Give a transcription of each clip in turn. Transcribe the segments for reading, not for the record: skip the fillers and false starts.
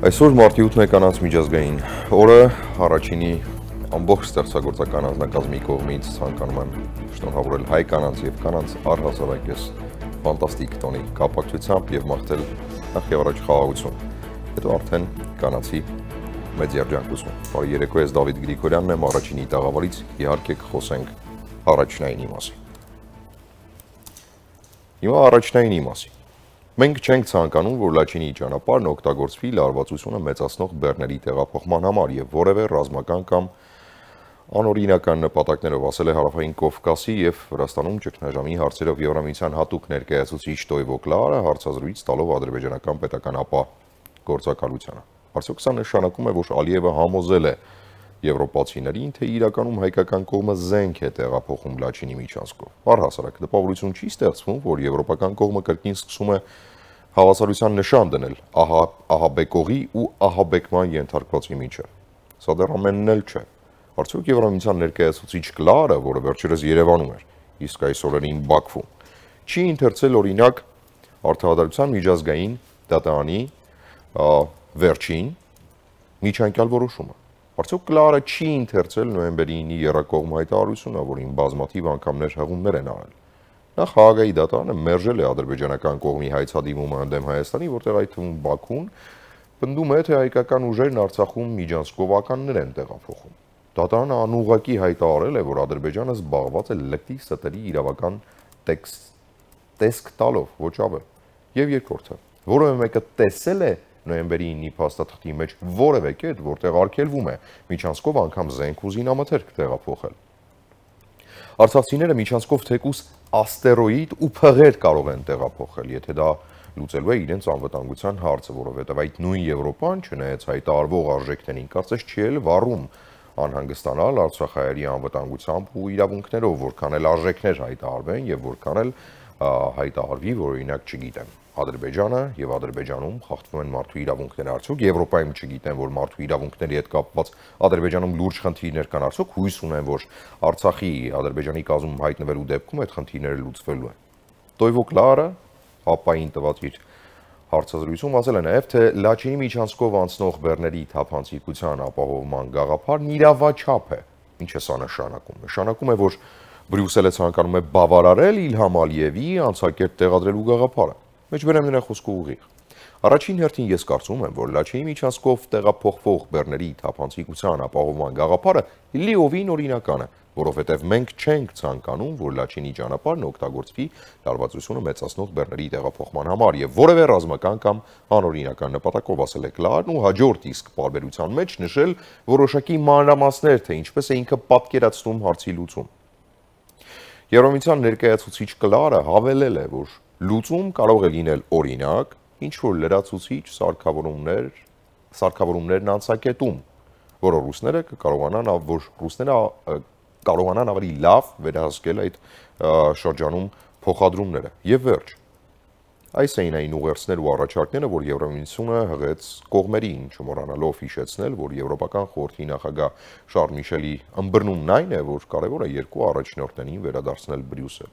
Այսօր մարտի 8-ն է կանանց միջազգային օրը, առաջինի ամբողջ ստեղծագործական անձնակազմի կողմից ցանկանում եմ շնորհավորել հայ կանանց եւ կանանց առհասարակ այս ֆանտաստիկ տոնի կապակցությամբ եւ մաղթել նախ եւ առաջ խաղաղություն։ Հետո արդեն կանացի մեծ երջանկություն։ Բարի երեկո, ես Դավիթ Գրիգորյանն եմ, առաջինի տաղավարից իհարկե կխոսենք առաջնայինի մասին։ Հիմա առաջնայինի մասին։ Մենք չենք ցանկանում, որ Լաչինի ճանապարհն օգտագործվի լարվածությունը մեծացնող բեռների տեղափոխման համար եւ որևէ ռազմական կամ անօրինական նպատակներով, ասել է Հարավային Կովկասի եւ Վրաստանում ճգնաժամի հարցերով Եվրամիության հատուկ ներկայացուցիչ Տոյվո Կլարը հարցազրույց տալով ադրբեջանական պետական ապա գործակալությանը։ Արդյոք սա նշանակում է, որ Ալիևը համոզել է եվրոպացիներին, թե իրականում հայկական կողմը զենք է տեղափոխում Լաչինի միջանցքով։ Առհասարակ տպավորություն չի ստեղծվում, որ եվրոպական կողմը կրկին սկսում է հավասարության նշան դնել ահաբեկողի ու ահաբեկման ենթարկվածի միջև։ Սա դեռ ամենն էլ չէ։ Արդյոք Եվրամիության ներկայացուցիչ Կլարը, որը վերջերս Երևանում էր, իսկ այս օրերին Բաքվում, չի ընթերցել օրինակ Արդարադատության միջազգային դատարանի վերջին միջանկյալ որոշումը։ Արդյոք Կլարը չի ընթերցել նոյեմբերի 9-ի եռակողմ հայտարարությունը, որին բազմաթիվ անգամներ հղումներ են արել։ Նախ Հաագայի դատարանը մերժել է ադրբեջանական կողմի հայցադիմումը ընդդեմ Հայաստանի, որտեղ այդ թվում Բաքուն պնդում է, թե հայկական ուժերն Արցախում միջանցքով ականներ են տեղափոխում։ Դատարանը անուղղակի հայտարարել է, որ Ադրբեջանը զբաղված է լկտի ստերի իրավական տեսք տալով, ոչ ավել։ Եվ երկրորդը, որևէ մեկը տեսել է նոյեմբերի 9-ի փաստաթղթի մեջ որևէ կետ, որտեղ արգելվում է միջանցքով անգամ զենք ու զինամթերք տեղափոխել։ Արցախցիները միջանցքով թեկուս աստերոիդ ու փղեր կարող են տեղափոխել, եթե դա լուծելու է իրենց անվտանգության հարցը, որովհետև այդ նույն Եվրոպան, չնայած հայտարարվող արժեքներին, կարծես չի էլ վառում անհանգստանալ արցախայերի անվտանգությամբ ու իրավունքներով, որքան էլ արժեքներ հայտարարվեն եւ որքան էլ հայտարարվի, որ օրինակ չգիտեմ, Ադրբեջանը եւ Ադրբեջանում խախտվում են մարդու իրավունքները, արդյոք Եվրոպայում չգիտեն, որ մարդու իրավունքների հետ կապված Ադրբեջանում լուրջ խնդիրներ կան, արդյոք հույս ունեն, որ Արցախի Ադրբեջանի կազմում հայտնվելու դեպքում այդ խնդիրները լուծվելու են։ Տոյվո Կլարը ապային տված իր հարցազրույցում ասել է նաեւ, թե Լաչինի միջանցքով անցնող բեռների թափանցիկության ապահովման գաղափարն իրավաչափ է։ Ինչ է սա նշանակում։ Նշանակում է, որ Բրյուսելը ցանկանում է բավարարել Իլհամ Ալիևի անցակերտ տեղադրելու գաղափարը։ Մեջբերեմ նրա խոսքը ուղիղ։ Առաջին հերթին ես կարծում եմ, որ Լաչինի միջանցքով տեղափոխվող բեռների թափանցիկության ապահովման գաղափարը լիովին օրինական է, որովհետև մենք չենք ցանկանում, որ Լաչինի ճանապարհն օգտագործվի լարվածությունը մեծացնող բեռների տեղափոխման համար եւ որևէ ռազմական կամ անօրինական նպատակով, ասել է Կլարն ու հաջորդ իսկ պարբերության մեջ նշել որոշակի մանրամասներ, թե ինչպես է ինքը պատկերացնում հարցի լուծում։ Եվրամիության ներկայացուցիչ Կլարը հավելել է, որ լուծում կարող է լինել օրինակ, ինչ որ լրացուցիչ սարքավորումներն անցակետում, որ ռուսները կարողանան ավելի լավ վերահսկել այդ շրջանում փոխադրումները եւ վերջ։ Այս էին այն ուղերձներ ու առաջարկները, որ Եվրամիությունը հղեց կողմերին, չմոռանալով հիշեցնել, որ Եվրոպական խորհրդի նախագահ Շարլ Միշելի ըմբռնումն այն է, որ կարևոր է երկու առաջնորդներին վերադարձնել Բրյուսել։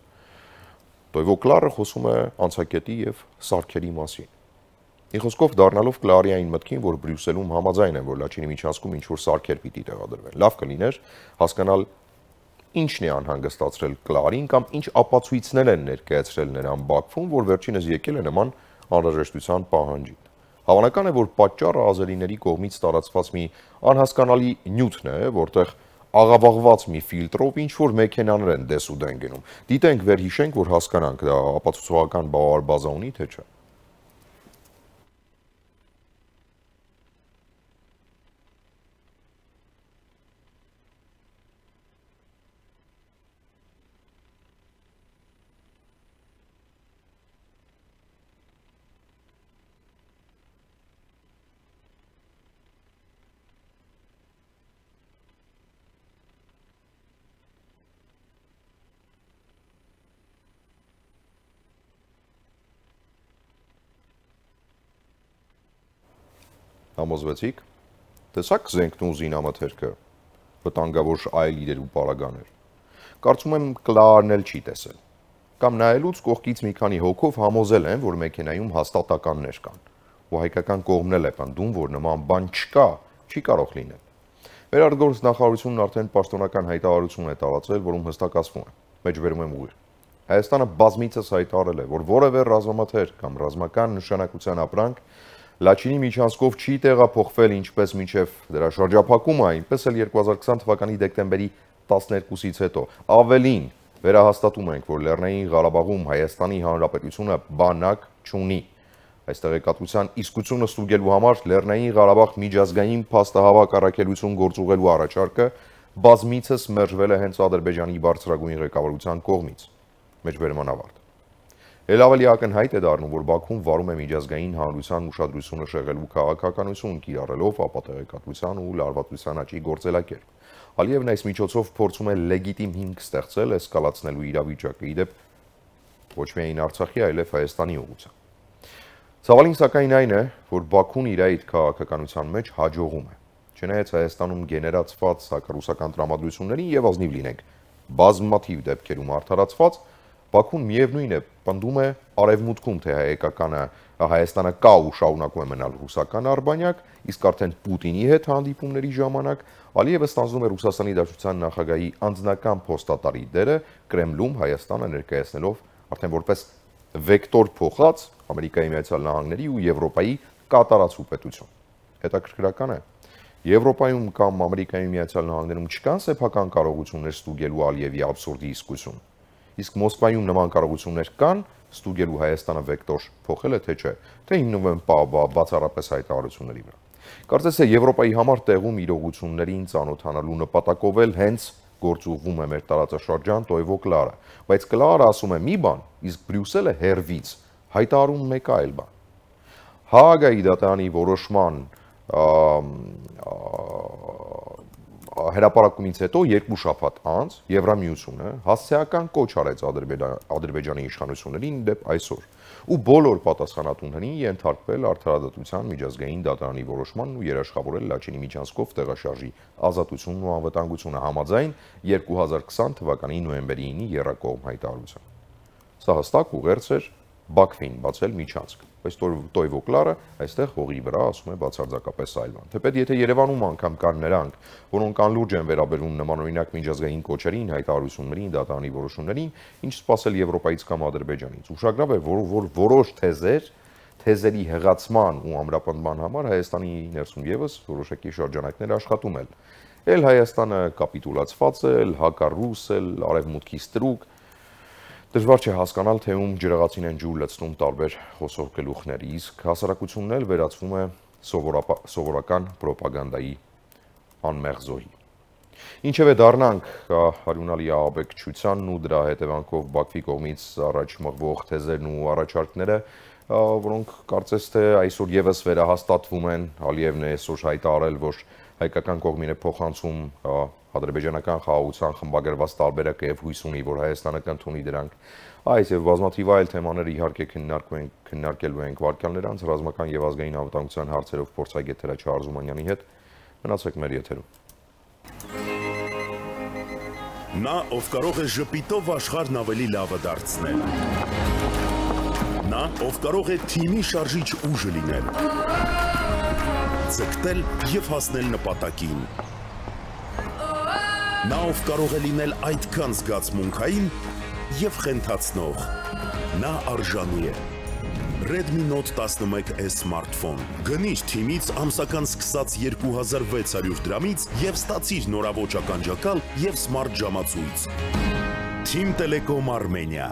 Տոյվո Կլարը խոսում է անցակետի եւ սարքերի մասին։ Մի խոսքով դառնալով Կլարի այն մտքին, որ Բրյուսելում համաձայն են, որ Լաչինի միջանցքում ինչ-որ սարքեր պիտի տեղադրվեն։ Լավ կլիներ հասկանալ ինչն է անհանգստացրել Կլարին կամ ինչ ապացույցներ են ներկայացրել նրան Բաքվում, որ վերջինս եկել է նման անհրաժեշտության պահանջին։ Հավանական է, որ պատճառը ազերիների կողմից տարածված մի անհասկանալի նյութն է, որտեղ աղավաղված մի ֆիլտրով ինչ-որ մեքենաներ են դես ու դեն գնում։ Դիտենք, վերհիշենք, որ հասկանանք, դա ապացուցողական բազա ունի, թե չէ։ Համոզվեցիք, տեսակ զենքն ու զինամթերքը, վտանգավոր այլ իրեր ու պարագաներ։ Կարծում եմ Կլարն էլ չի տեսել։ Կամ նայելուց կողքից մի քանի հոգով համոզել են, որ մեքենայում հաստատ ականներ կան։ ու հայկական կողմն էլ է պնդում, որ նման բան չկա, չի կարող լինել։ Վերարտգործ նախարարությունն արդեն պաշտոնական հայտարարություն է տարածել, որում հստակ ասվում է. մեջբերում եմ ուղիղ։ Հայաստանը բազմիցս հայտարարել է, որ որևէ ռազմամթեր կամ ռազմական նշանակության ապրանք Լաչինի միջանցքով չի տեղափոխվել ինչպես մինչև դրա շրջափակումը, այնպես էլ 2020 թվականի դեկտեմբերի 12-ից հետո։ Ավելին, վերահաստատում ենք, որ Լեռնային Ղարաբաղում Հայաստանի Հանրապետությունը բանակ չունի։ Այս տեղեկատվության իսկությունը ստուգելու համար Լեռնային Ղարաբաղ միջազգային փաստահավաք առաքելություն գործուղելու առաջարկը բազմիցս մերժվել է հենց Ադրբեջանի բարձրագույն ղեկավարության կողմից։ Մեջբերման ավարտ։ Էլ ավելի ակնհայտ է դառնում, որ Բաքուն վարում է միջազգային հանրության ուշադրությունը շեղելու քաղաքականություն, կիրառելով ապատեղեկատվության ու լարվածության աճի գործելակերպ։ Ալիևն այս միջոցով փորձում է լեգիտիմ հիմք ստեղծել էսկալացնելու իրավիճակը, ի դեպ ոչ միայն Արցախի, այլև Հայաստանի ուղղությամբ։ Ցավալին սակայն այն է, որ Բաքուն իր այդ քաղաքականության մեջ հաջողում է։ Չնայած Հայաստանում գեներացված հակառուսական տրամադրություններին եւ ազնիվ լինենք, բազմաթիվ դեպքերում արդարացված, Բաքուն միևնույն է պնդում է արևմուտքում, թե Հայաստանը կա ու շարունակում է մնալ ռուսական արբանյակ, իսկ արդեն Պուտինի հետ հանդիպումների ժամանակ Ալիևը ստանձնում է Ռուսաստանի Դաշնության նախագահի անձնական փոստատարի դերը Կրեմլում Հայաստանը ներկայացնելով արդեն որպես վեկտոր փոխած Ամերիկայի Միացյալ Նահանգների ու Եվրոպայի կատարածու պետություն։ Հետաքրքրական է, Եվրոպայում կամ Ամերիկայի Միացյալ Նահանգներում չկան սեփական կարողություններ ստուգելու Ալիևի աբսուրդի իսկություն։ Իսկ Մոսկվայում նման կարողություններ կան ստուգելու Հայաստանը վեկտոր փոխել է, թե չէ, թե հիմնվում են բացառապես հայտարարությունների վրա։ Կարծես թե Եվրոպայի համար տեղում իրողություններին ծանոթանալու նպատակով էլ հենց գործուղվում է մեր տարածաշրջան Տոևո Կլարը, բայց Կլարը ասում է մի բան, իսկ Բրյուսելը հերվից հայտարարում մեկ այլ բան։ Հաագայի դատարանի որոշման հրապարակումից հետո երկու շաբաթ անց Եվրամիությունը հասցեական կոչ արեց Ադրբեջանի իշխանություններին դեպ այսօր ու բոլոր պատասխանատուներին ենթարկվել արդարադատության միջազգային դատարանի որոշմանն ու երաշխավորել Լաչինի միջանցքով տեղաշարժի ազատությունն ու անվտանգությունը համաձայն 2020 թվականի նոյեմբերի 9-ի եռակողմ հայտարարության։ Սա հստակ ուղերձ էր Բաքվին բացել միջանցք, բայց Տոևո Կլարը այստեղ հողի վրա ասում է բացարձակապես այլ բան։ Թեպետ եթե Երևանում անգամ կան նրանք, որոնք անլուրջ են վերաբերվում նմանօրինակ միջազգային կոչերին, հայտարարություններին, դատարանի որոշումներին, ինչ սպասել Եվրոպայից կամ Ադրբեջանից։ Ուշագրավ է, որ որոշ թեզերի հղացման ու ամրապնդման համար Հայաստանի ներսում եւս որոշակի շրջանակներ աշխատում են։ Էլ Հայաստանը կապիտուլացված է, հակառուս է, արևմուտքի ստրուկ։ Դժվար չէ հասկանալ, թե ում ջրաղացին են ջուր լցնում տարբեր խոսող գլուխներ, իսկ հասարակությունն էլ վերածվում է սովորական պրոպագանդայի անմեղ զոհի։ Ինչևէ դառնանք արյունալի ահաբեկչությանն ու դրա հետևանքով Բաքվի կողմից առաջ մղվող թեզերն ու առաջարկները, որոնք կարծես թե այսօր եւս վերահաստատվում են, Ալիևն է այսօր հայտարարել, որ հայկական կողմին է փոխանցում ադրբեջանական խաղաղության խմբագրված տարբերակը եւ հույս ունի, որ Հայաստանը կընդունի դրանք։ Այս եւ բազմաթիվ այլ թեմաներ իհարկե քննարկելու ենք վարքյաններ անց ռազմական եւ ազգային անվտանգության հարցերով փորձագետ Հրաչյա Արզումանյանի հետ։ Մնացեք մեր եթերում։ Նա, ով կարող է ժպիտով աշխարհն ավելի լավը դարձնել։ Նա, ով կարող է թիմի շարժիչ ուժը լինել։ Ձգտել եւ հասնել նպատակին։ Նա, ով կարող է լինել այդքան զգացմունքային եւ խենթացնող։ Նա արժանի է։ Redmi Note 11S սմարթֆոն։ Գնիր թիմից ամսական սկսած 2600 դրամից եւ ստացիր նորաոճ ականջակալ եւ սմարթ ժամացույց։ Team Telecom Armenia։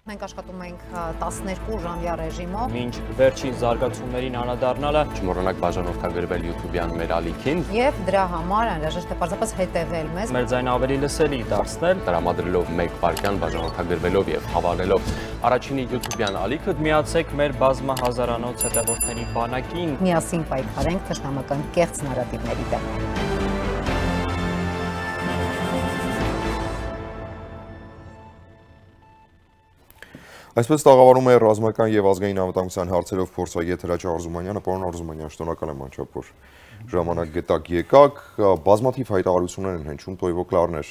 Մենք աշխատում ենք 12 ժամյա ռեժիմով։ Մինչ վերջին զարգացումներին անդրադառնալը, Չմոռանաք բաժանորդագրվել YouTube-յան մեր ալիքին Եվ դրա համար անհրաժեշտ է պարզապես հետևել մեզ։ մեր ձայնը ավելի լսելի դարձնել, տրամադրելով 1 վայրկյան բաժանորդագրվելով եւ հավանելով առաջինի YouTube-յան ալիքը, միացեք մեր բազմահազարանոց հետևորդների բանակին։ Միասին պայքարենք թշնամական կեղծ նարատիվների դեմ։ Այսպես տաղավարում է ռազմական եւ ազգային անվտանգության հարցերով փորձագետ Հրաչյա Արզումանյանը, պարոն Արզումանյան, շնորհակալ եմ անչափ, որ ժամանակ գտակ եկաք, բազմաթիվ հայտարարություններ են հնչում, Տոյվո Կլարներ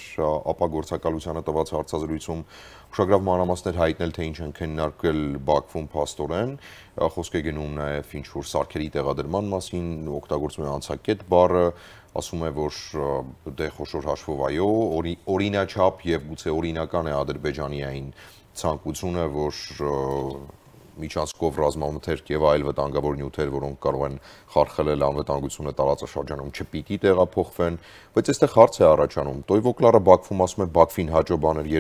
ապագործակալությանը տված հարցազրույցում ուշագրավ մանրամասներ հայտնել, թե ինչ են քննարկել Բաքվում փաստորեն, խոսք է գնում նաև ինչ-որ սարքերի տեղադրման մասին, օգտագործում է անցակետ բառը, ասում է, որ դե խոշոր հաշվով այո, օրինաչափ եւ գուցե օրինական է Ադրբեջանի այն ցանկությունը, որ միջանցքով ռազմամթերք եւ այլ վտանգավոր նյութեր, որոնք կարող են խարխլել անվտանգությունը տարածաշրջանում, չպիտի տեղափոխվեն, բայց այստեղ հարց է առաջանում։ Տոյվո Կլարը Բաքվում ասում է Բաքվին հաջո բաներ,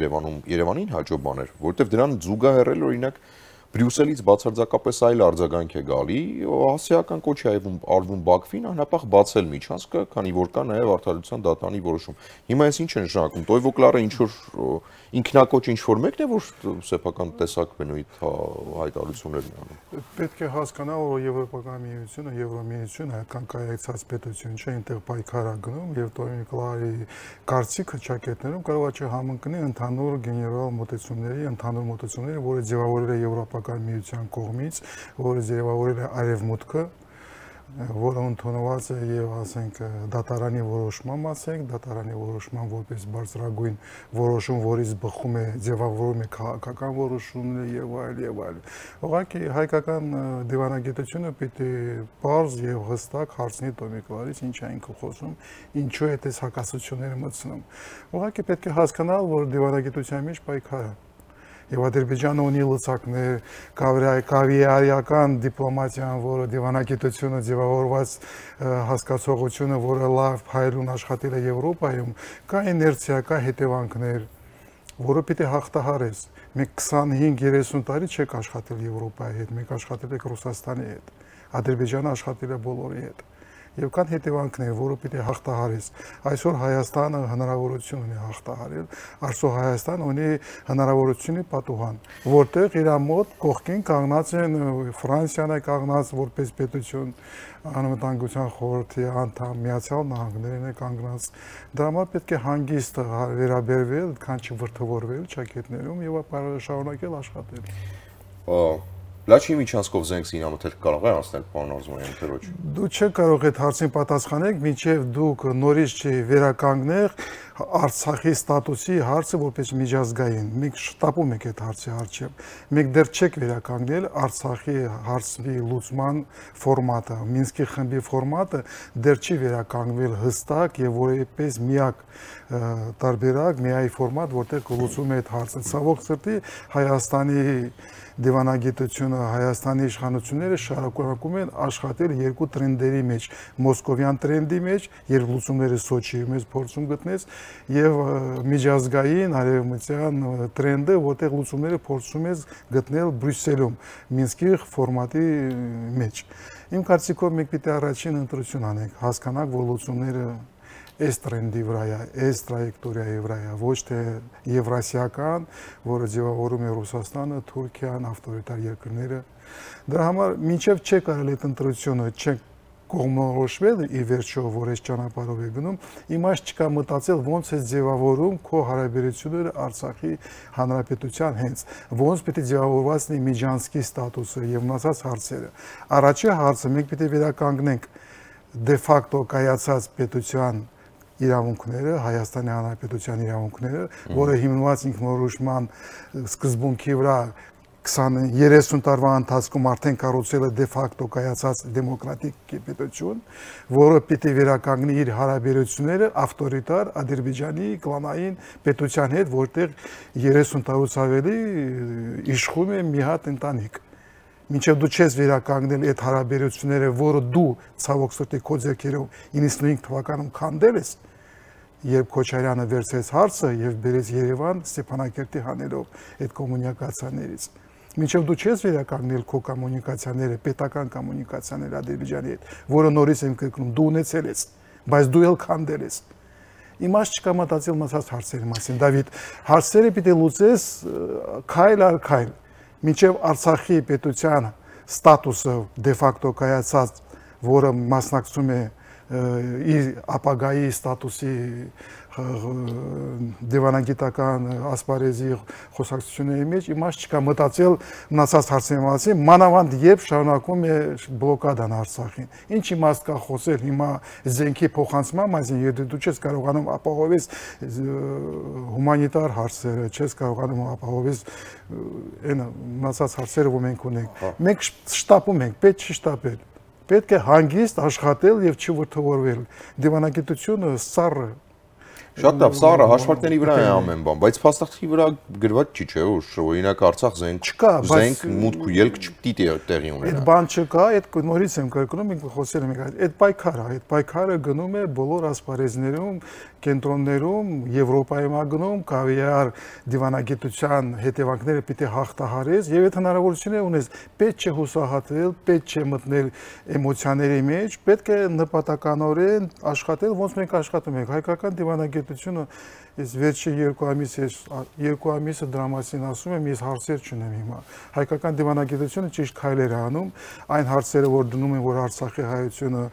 Երևանին հաջո բաներ, որովհետեւ դրան զուգահեռել օրինակ Բրյուսելից բացարձակապես այլ արձագանք է գալի, հասարակական կոչ է արվում Բաքվին անհապաղ բացել միջանցքը, քանի որ կա նաև արդարության դատարանի որոշում։ Հիմա այս ինչ է նշանակում։ Տոյվո Կլարը ինչ որ ինքնակոչ ինչ որ մեկն է, որ սեփական տեսակ բնույթ հայտարարություններ են անում։ Պետք է հասկանալ, որ Եվրոպական միությունը, Եվրոմիությունը այդքան կայացած պետություն չէ, այնտեղ պայքար է գնում եւ Տոյվո Կլարի կարծիքը ճակետներում կարող է չհամընկնի ընդհանուր գեներալ մոտեցումների, որը ձևավորել է Եվրոպական միության կողմից, որը ձևավորել է Արևմուտքը, որը ընդունված է եւ ասենք դատարանի որոշման մասենք, դատարանի որոշման որպես բարձրագույն որոշում, որից բխում է ձևավորում է քաղաքական որոշումները եւ այլ։ Ուղղակի հայկական դիվանագիտությունը պիտի բարձ եւ հստակ հարցնի Տոյվո Կլարից ինչ է ինքը խոսում, ինչու է այդպես հակասությունները մտցնում։ Ուղղակի պետք է հասկանալ, որ դիվանագիտության մեջ պայքար է։ Եվ Ադրբեջանը ունի լծակներ, կավիարական դիպլոմատիան, որը դիվանագիտությունը ձևավորված հասկացողությունը, որը լավ փայլուն աշխատել է Եվրոպայում, կա իներցիա, կա հետևանքներ, որը պիտի հաղթահարես։ Մենք 25-30 տարի չեք աշխատել Եվրոպայի հետ, մենք աշխատել ենք Ռուսաստանի հետ։ Ադրբեջանը աշխատել է բոլորի հետ։ Եվ կան հետևանքներ, որը պիտի հաղթահարես։ Այսօր Հայաստանը հնարավորություն ունի հաղթահարել, այսօր Հայաստանը ունի հնարավորությունի պատուհան, որտեղ իր մոտ կողքին կանգնած են Ֆրանսիան է կանգնած որպես պետություն, Անվտանգության խորհրդի անդամ, Միացյալ Նահանգներն է կանգնած։ Դրա համար պետք է հանգիստ վերաբերվել, քան չվրդովորվել ճակետներում եւ շարունակել աշխատել։ Լաչի միջանցքով զենք զինամթերք կարող է անցնել, պարոն Արզումանյան, թե ոչ։ Դու չեք կարող այդ հարցին պատասխանել, մինչև դուք նորից վերականգնեք Արցախի ստատուսի հարցը որպես միջազգային։ Մենք շտապում ենք այդ հարցի առջև։ Մենք դեռ չեք վերականգնել Արցախի հարցի լուծման ֆորմատը, Մինսկի խմբի ֆորմատը դեռ չի վերականգնվել հստակ եւ որպես միակ տարբերակ, միայի ֆորմատ, որտեղ կլուծում է այդ հարցը։ Ցավոք սրտի Հայաստանի դիվանագիտությունը, Հայաստանի իշխանությունները շարունակում են աշխատել երկու տրենդերի մեջ, մոսկովյան տրենդի մեջ, երբ լուծումները Սոչիի մեջ փորձում գտնես, եւ միջազգային արևմտյան տրենդը, որտեղ լուծումները փորձում ես գտնել Բրյուսելում, Մինսկի ֆորմատի մեջ։ Իմ կարծիքով մենք պիտի առաջին ընտրություն անենք, հասկանանք, որ լուծումները այս տրենդի վրա է, այս տրայեկտորիայի վրա է, ոչ թե եվրասիական, որը ձևավորում է Ռուսաստանը, Թուրքիան, ավտորիտար երկրները։ Դրա համար մինչև չեք արել այդ ընտրությունը, չեք կողմնորոշվել ի վերջո, որ այս ճանապարհով է գնում, իմաստ չկա մտածել ոնց է ձևավորում քո հարաբերությունները Արցախի հանրապետության հենց, ոնց պիտի ձևավորված լինի միջանցքի ստատուսը եւ մնացած հարցերը։ Առաջին հարցը մենք պիտի վերականգնենք դե ֆակտո կայացած պետության իրավունքները, Հայաստանի Հանրապետության իրավունքները, որը հիմնված ինքնորոշման սկզբունքի վրա 20-30 տարվա ընթացքում արդեն կառուցել է դե ֆակտո կայացած դեմոկրատիկ պետություն, որը պիտի վերականգնի իր հարաբերությունները ավտորիտար Ադրբեջանի կլանային պետության հետ, որտեղ 30 տարուց ավելի իշխում է մի հատ ընտանիք։ Մինչև դու չես վերականգնել այդ հարաբերությունները, որը դու ցավոք սրտի քո ձեռքերով 95 թվականում քանդել ես, երբ Քոչարյանը վերցրեց հարցը եւ բերեց Երևան Ստեփանակերտի հանելով այդ կոմունիկացիաներից։ Մինչև դու չես վերականգնել քո կոմունիկացիաները, պետական կոմունիկացիաները Ադրբեջանի հետ, որը նորից եմ կրկնում, դու ունեցել ես, բայց դու էլ քանդել ես։ Իմաստ չկա մտածել մնացած հարցերի մասին, Դավիթ, հարցերը պիտի լուծես քայլ առ քայլ։ Մինչև Արցախի պետության ստատուսը դե ֆակտո կայացած, որը մասնակցում է ապագայի ստատուսի դիվանագիտական ասպարեզի խոսակցությունների մեջ իմաստ չկա մտածել մնացած հարցերի մասին, մանավանդ երբ շարունակվում է բլոկադան Արցախին։ Ինչ իմաստ կա խոսել հիմա զենքի փոխանցման մասին, եթե դու չես կարողանում ապահովել հումանիտար հարցերը, չես կարողանում ապահովել այն մնացած հարցերը, որ մենք ունենք։ Մենք շտապում ենք, պետք չի շտապել։ Պետք է հանգիստ աշխատել եւ չվրթովորվել։ Դիվանագիտությունը սառը Շատ լավ, սառը հաշվարկների վրա է ամեն բան, բայց փաստացի վրա գրված չի, չէ՞, որ օրինակ Արցախ զենք մուտք ու ելք չպիտի տեղի ունենա։ Այդ բան չկա, այդ նորից եմ կրկնում, մենք խոսել ենք, այդ պայքարը գնում է բոլոր ասպարեզներում, կենտրոններում, Եվրոպայում գնում, կավիար դիվանագիտության հետևանքները պիտի հաղթահարես, եւ այդ հնարավորությունը ունես, պետք չէ հուսահատվել, պետք չէ մտնել էմոցիաների մեջ, պետք է նպատականորեն աշխատել, ոնց մենք աշխատում ենք, հայկական դիվանագիտությունը Ես վերջի երկու ամիսը դրա մասին ասում եմ, ես հարցեր չունեմ հիմա։ Հայկական դիվանագիտությունը ճիշտ քայլեր է անում, այն հարցերը, որ դնում են, որ Արցախի հայությունը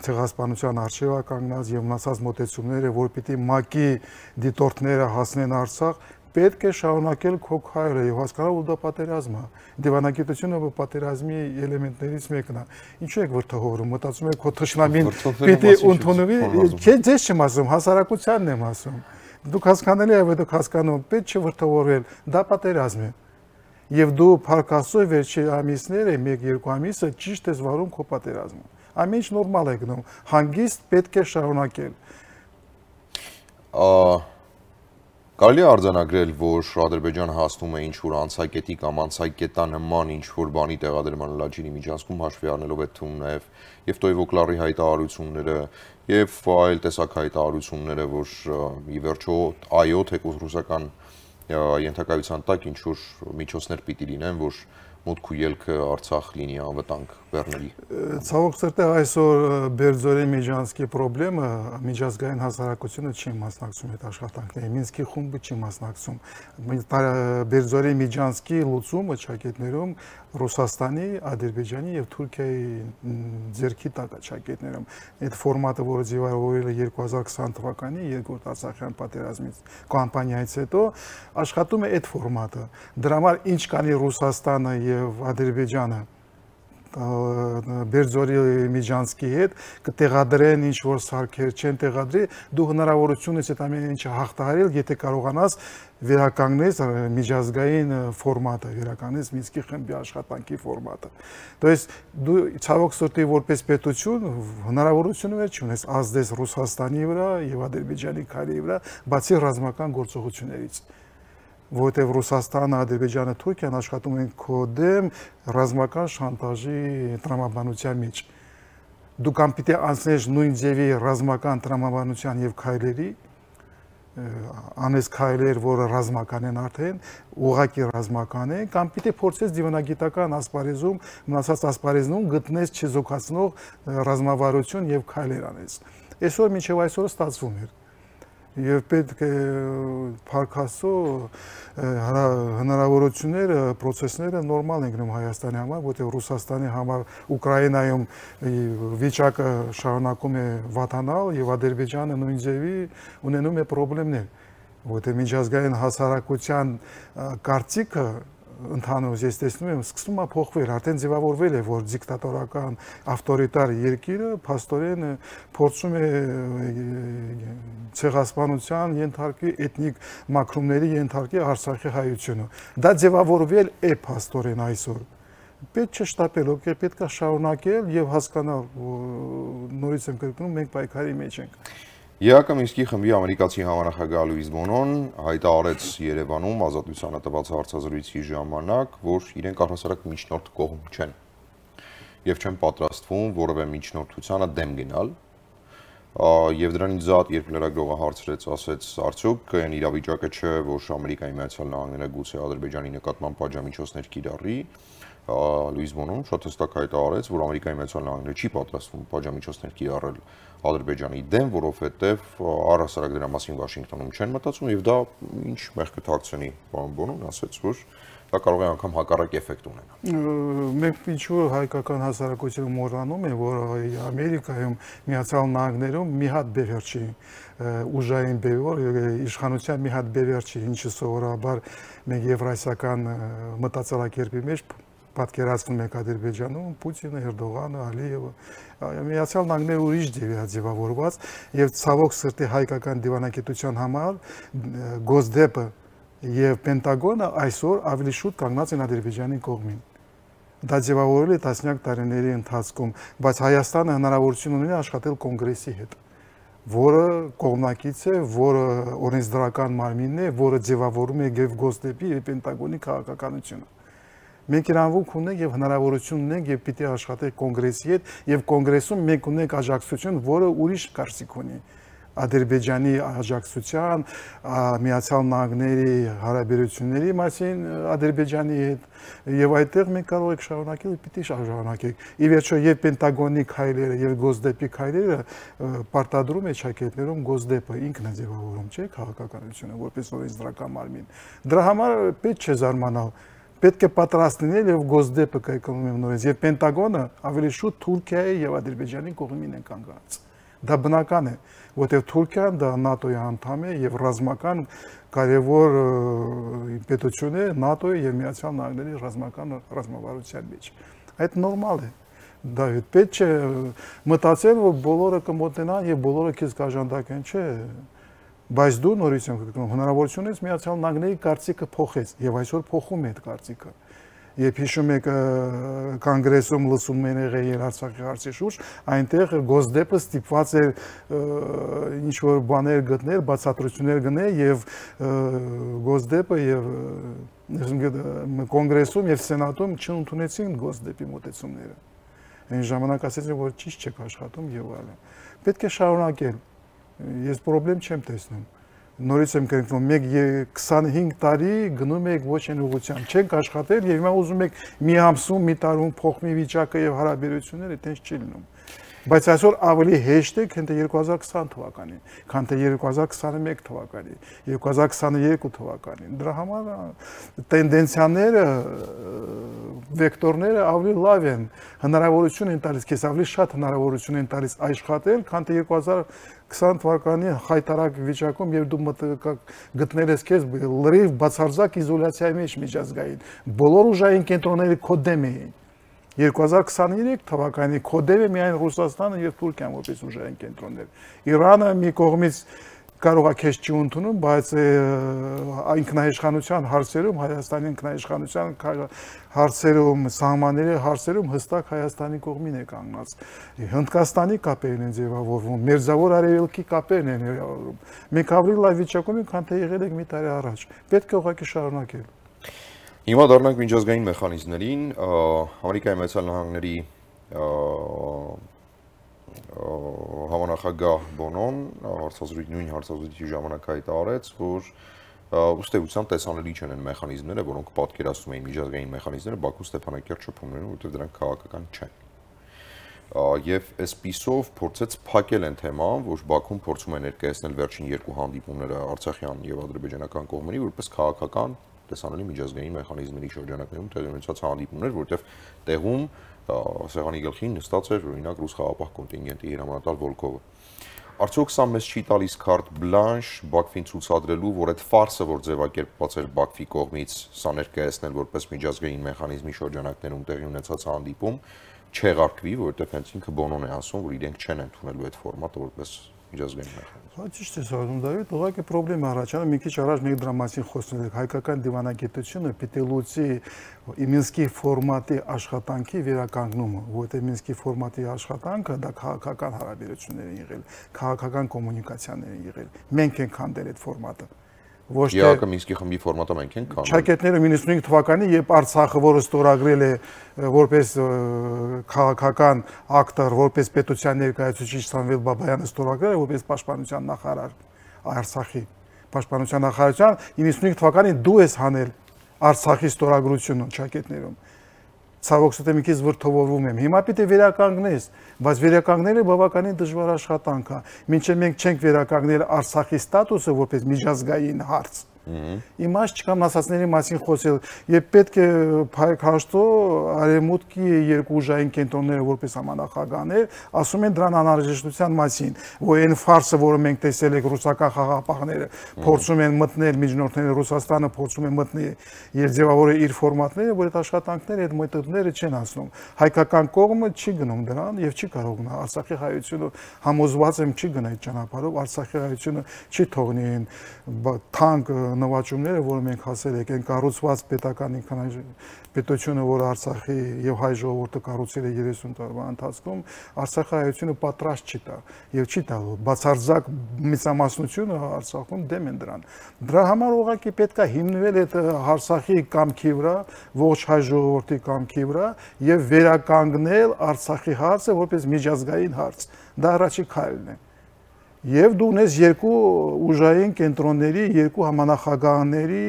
ցեղասպանության առջև է կանգնած եւ մնացած մոտեցումները, որ պիտի ՄԱԿ-ի դիտորդները հասնեն Արցախ, պետք է շարունակել քո քայլը եւ հասկանալ, որ դա պատերազմ է։ Դիվանագիտությունը պատերազմի էլեմենտներից մեկն է։ Ինչու եք վրթովորում, մտածում եք, քո թշնամին պիտի ընդունվի, ես չեմ ասում, հասարակությանն եմ ասում։ Դուք հասկանալի է, որ դուք հասկանում, պետք չէ վրթովորվել, դա պատերազմ է։ Եվ դու փառքաստու վերջի ամիսները, 1-2 ամիսը ճիշտ ես վարում քո պատերազմը։ Ամեն ինչ նորմալ է գնում, հանգիստ պետք է շարունակել։ Կարելի է արձանագրել, որ Ադրբեջանը հասնում է ինչ-որ անցակետի կամ անցակետանման ինչ-որ բանի տեղադրման Լաչինի միջանցքում հաշվի առնելով այդ թվում եւ Տոյվոկլարի հայտարարությունները եւ այլ տեսակ հայտարարությունները, որ ի վերջո այո, թեկուզ ռուսական ենթակայության տակ ինչ-որ միջոցներ պիտի լինեն, որ մուտք ու ելքը Արցախ լինի անվտանգ բեռների։ Ցավոք սրտի այսօր Բերձորի Միջանցքի խնդրը միջազգային հասարակությունը չի մասնակցում այդ աշխատանքներին, Մինսկի խումբը չի մասնակցում։ Բերձորի Միջանցքի լուծումը ճակետներում Ռուսաստանի, Ադրբեջանի եւ Թուրքիայի ձեռքի տակ է ճակետներում։ Այդ ֆորմատը, որը ձևավորվել է 2020 թվականի երկրորդ Արցախյան պատերազմից կամպանիայից հետո, աշխատում է այդ ֆորմատը։ Դրա համար ինչ կանի Ռուսաստանը եւ Ադրբեջանը Բերձորի Միջանցքի հետ կտեղադրեն ինչ որ սարքեր չեն տեղադրի, դու հնարավորություն ես այդ ամեն ինչը հաղթահարել, եթե կարողանաս վերականգնես միջազգային ֆորմատը, վերականգնես Մինսկի խմբի աշխատանքի ֆորմատը։ То есть դու ցավոք սրտի որպես պետություն հնարավորություններ չունես ազդես Ռուսաստանի վրա եւ Ադրբեջանի քայլերի վրա, բացի ռազմական գործողություններից։ Որտեղ Ռուսաստանը, Ադրբեջանը, Թուրքիան աշխատում են քո դեմ ռազմական շանտաժի տրամաբանության մեջ։ Դու կամ պիտի անցնես նույն ձևի ռազմական տրամաբանության եւ քայլերի, անես քայլեր, որը ռազմական են արդեն, ուղղակի ռազմական են, կամ պիտի փորձես դիվանագիտական ասպարեզում, մնացած ասպարեզնում գտնես չեզոքացնող ռազմավարություն եւ քայլեր անես։ Այսօր մինչեւ այսօր ստացվում էր։ Եվ պետք է փառքաստու հնարավորությունները, process-ները նորմալ են գնում Հայաստանի համար, որտեղ Ռուսաստանի համար Ուկրաինայում վիճակը շարունակում է վատանալ եւ Ադրբեջանը նույն ձևի ունենում է խնդիրներ, որտեղ միջազգային հասարակության կարծիքը ընդհանուր ես տեսնում եմ սկսում է փոխվել, արդեն ձևավորվել է, որ դիկտատորական ավտորիտար երկիրը փաստորեն փորձում է ցեղասպանության ենթարկի, էթնիկ մաքրումների ենթարկի Արցախի հայությունը։ Դա ձևավորվել է փաստորեն այսօր։ Պետք չէ շտապել, պետք է շարունակել եւ հասկանալ, նորից եմ կրկնում, մենք պայքարի մեջ ենք։ ԵԱԿ Մինսկի խմբի ամերիկացի համանախագահ Լուիս Բոնոն հայտարարեց Երևանում ազատությանը տված հարցազրույցի ժամանակ, որ իրենք առհասարակ միջնորդ կողմ չեն եւ չեն պատրաստվում որևէ միջնորդությանը դեմ գնալ։ Եվ դրանից զատ, երբ լրագրողը հարցրեց, ասեց, արդյոք այն իրավիճակը չէ, որ Ամերիկայի Միացյալ Նահանգները գուցե Ադրբեջանի նկատմամբ պատժամիջոցներ կիրառի, Լուիս Բոնոն շատ հստակ հայտարարեց, որ Ամերիկայի Միացյալ Նահանգները չի պատրաստվում պատժամիջոցներ կիրառել Ադրբեջանի դեմ, որովհետև առհասարակ դրա մասին Վաշինգտոնում չեն մտածում եւ դա ինչ մեղքը թաքցնի, պարոն Բոնոն ասաց, որ դա կարող է անգամ հակառակ էֆեկտ ունենա։ Մենք ինչու հայկական հասարակությունը մոռանում է, որ Ամերիկայում, Միացյալ Նահանգներում մի հատ բևեռ չի, ուժային բևեռ, իշխանության մի հատ բևեռ չի, ինչը սովորաբար մենք եվրասիական մտածելակերպի մեջ պատկերացնում ենք Ադրբեջանում, Պուտինը, Էրդողանը, Ալիևը, Միացյալ Նահանգները ուրիշ ձևավորված եւ ցավոք սրտի հայկական դիվանագիտության համար Գոսդեպը եւ Պենտագոնը այսօր ավելի շուտ կանգնած են Ադրբեջանի կողմին։ Դա ձևավորել է տասնյակ տարիների ընթացքում, բայց Հայաստանը հնարավորություն ունի աշխատել կոնգրեսի հետ, որը կողմնակից է, որը օրենսդրական մարմինն է, որը ձևավորում է եւ Գոսդեպի եւ Պենտագոնի քաղաքականությունը։ Մենք իրանվունք ունենք եւ հնարավորություն ունենք եւ պիտի աշխատենք կոնգրեսի հետ եւ կոնգրեսում մենք ունենք աջակցություն, որը ուրիշ կարծիք ունի Ադրբեջանի աջակցության, Միացյալ Նահանգների հարաբերությունների մասին Ադրբեջանի հետ եւ այդտեղ մենք կարող ենք շարունակել, պիտի շարունակենք։ Ի վերջո եւ Պենտագոնի քայլերը եւ Գոսդեպի քայլերը պարտադրում է ճակետներում Գոսդեպը ինքն է ձևավորում, չէ՞, քաղաքականությունը որպես օրենսդրական մարմին։ Դրա համար պետք չէ զարմանալ։ Պետք է պատրաստ լինել եւ Գոսդեպը կայքանում եմ նորից եւ Պենտագոնը ավելի շուտ Թուրքիայի եւ Ադրբեջանի կողմին են կանգնած։ Դա բնական է, որտեղ Թուրքիան դա ՆԱՏՕ-ի անդամ է եւ ռազմական կարևոր պետություն է ՆԱՏՕ-ի եւ Միացյալ Նահանգների ռազմական ռազմավարության մեջ։ Այդ նորմալ է։ Դավիթ, պետք չէ մտածել, որ բոլորը կմոտնան եւ բոլորը քեզ կաժանդակեն, չէ։ Բայց դու նորից եմ կգնում, հնարավորություն ես Միացյալ Նահանգների կարծիքը փոխեց եւ այսօր փոխում է այդ կարծիքը։ Երբ հիշում եք կոնգրեսում լսում են եղել Արցախի հարցի շուրջ, այնտեղ Գոսդեպը ստիպված էր ինչ որ բաներ գտնել, բացատրություններ գնել եւ Գոսդեպը եւ կոնգրեսում եւ սենատում չընդունեցին Գոսդեպի մոտեցումները։ Այն ժամանակ ասեցին, որ ճիշտ չեք աշխատում եւ այլն։ Պետք է շարունակել։ Ես խնդրեմ չեմ տեսնում։ Նորից եմ կրկնում, մեկ 25 տարի գնում եք ոչ այն ուղղությամբ, չենք աշխատել եւ հիմա ուզում եք մի ամսում, մի տարում փոխվի վիճակը եւ հարաբերությունները, այդպես չի լինում։ Բայց այսօր ավելի հեշտ է, քան թե 2020 թվականին, քան թե 2021 թվականին, 2022 թվականին։ Դրա համար տենդենցիաները, վեկտորները ավելի լավ են, հնարավորություն են տալիս, քեզ ավելի շատ հնարավորություն են տալիս աշխատել, քան թե 2020 թվականի հայտարարակ վիճակում եւ դու գտնել ես քեզ լրիվ բացարձակ իզոլյացիայի մեջ միջազգային։ Բոլոր ուժային կենտրոնները քո դեմ էին։ 2023 թվականի կոդերը միայն Ռուսաստանը եւ Թուրքիան որպես ուժային կենտրոններ։ Իրանը մի կողմից կարող է քեզ չի ընդունում, բայց ինքնաիշխանության հարցերում, Հայաստանի ինքնաիշխանության հարցերում, սահմանների հարցերում հստակ Հայաստանի կողմին է կանգնած։ Հնդկաստանի կապերն են ձևավորվում, Մերձավոր Արևելքի կապերն են ձևավորվում։ Մենք ավելի լավ վիճակում ենք, քան թե եղել ենք մի տարի առաջ։ Պետք է ուղղակի շարունակել։ Հիմա դառնանք միջազգային մեխանիզմներին, Ամերիկայի Միացյալ Նահանգների համանախագահ Բոնոն նույն հարցազրույցի ժամանակ հայտարարեց, որ ըստ էության տեսանելի չեն այն մեխանիզմները, որոնք պատկերացնում էին միջազգային մեխանիզմները Բաքու Ստեփանակերտ շփումներում, որտեղ դրանք քաղաքական չեն։ Եվ այսպիսով փորձեց փակել այն թեման, որ Բաքուն փորձում է ներկայացնել վերջին երկու հանդիպումները արցախյան եւ ադրբեջանական կողմերի որպես քաղաքական տեսանելի միջազգային մեխանիզմների շրջանակներում տեղի ունեցած հանդիպումներ, որտեղ տեղում սեղանի գլխին նստած էր օրինակ ռուս խաղապահ կոնտինգենտի հրամանատար Վոլկովը։ Արդյոք սա մեզ չի տալիս քարտ բլանշ Բաքվին ցուցադրելու, որ այդ ֆարսը, որ ձևակերպված էր Բաքվի կողմից, սա ներկայացնել որպես միջազգային մեխանիզմի շրջանակներում տեղի ունեցած հանդիպում, չեղարկվի, որովհետև հենց ինքը Բոնոն է ասում, որ իրենք չեն ընդունելու այդ ֆորմատը որպես միջազգային մեխանիզմ։ Ճիշտ է ասում Դավիթ, ուղղակի խնդրեմ առաջանում, մի քիչ առաջ մենք դրա մասին խոսել ենք, հայկական դիվանագիտությունը պիտի լուծի Մինսկի ֆորմատի աշխատանքի վերականգնումը, որտեղ Մինսկի ֆորմատի աշխատանքը դա քաղաքական հարաբերություններ են եղել, քաղաքական կոմունիկացիաներ են եղել։ Մենք ենք հանդել այդ ֆորմատը։ Ոչ թե ԵԱԿ Մինսկի խմբի ֆորմատը մենք ենք կանոն։ Ճակետները 95 թվականին, երբ Արցախը, որը ստորագրել է որպես քաղաքական ակտոր, որպես պետության ներկայացուցիչ Սամվել Բաբայանը ստորագրել է որպես պաշտպանության նախարար Արցախի պաշտպանության նախարարության 95 թվականին դու ես հանել Արցախի ստորագրությունը ճակետներում։ Ցավոք սրտի մի քիչ վրթովորվում եմ։ Հիմա պիտի վերականգնես, բայց վերականգնելը բավականին դժվար աշխատանք է։ Մինչև մենք չենք վերականգնել Արցախի ստատուսը որպես միջազգային հարց, Իմաստ չկա մասածների մասին խոսել, եւ պետք է փայք հաշտո արևմուտքի երկու ուժային կենտրոնները որպես համանախագահներ ասում են դրան անհրաժեշտության մասին, որ այն ֆարսը, որը մենք տեսել ենք ռուսական խաղաղապահները փորձում են մտնել միջնորդները Ռուսաստանը փորձում է մտնել եւ ձևավորել իր ֆորմատները, որ այդ աշխատանքները այդ մետոդները չեն անցնում։ Հայկական կողմը չի գնում դրան եւ չի կարող գնալ։ Արցախի հայությունը համոզված եմ չի գնա այդ ճանապարհով, Արցախի հայությունը չի թողնի այն թանկ նվաճումները, որը մենք հասել ենք, այն կառուցված պետական պետությունը, որ Արցախի եւ հայ ժողովուրդը կառուցել է 30 տարվա ընթացքում, Արցախի հայությունը պատրաստ չի տա եւ չի տալու։ Բացարձակ մեծամասնությունը Արցախում դեմ են դրան։ Դրա համար ուղղակի պետք է հիմնվել այդ Արցախի կամքի վրա, ողջ հայ ժողովրդի կամքի վրա եւ վերականգնել Արցախի հարցը որպես միջազգային հարց։ Դա առաջի քայլն է։ Եվ դու ունես երկու ուժային կենտրոնների, երկու համանախագահների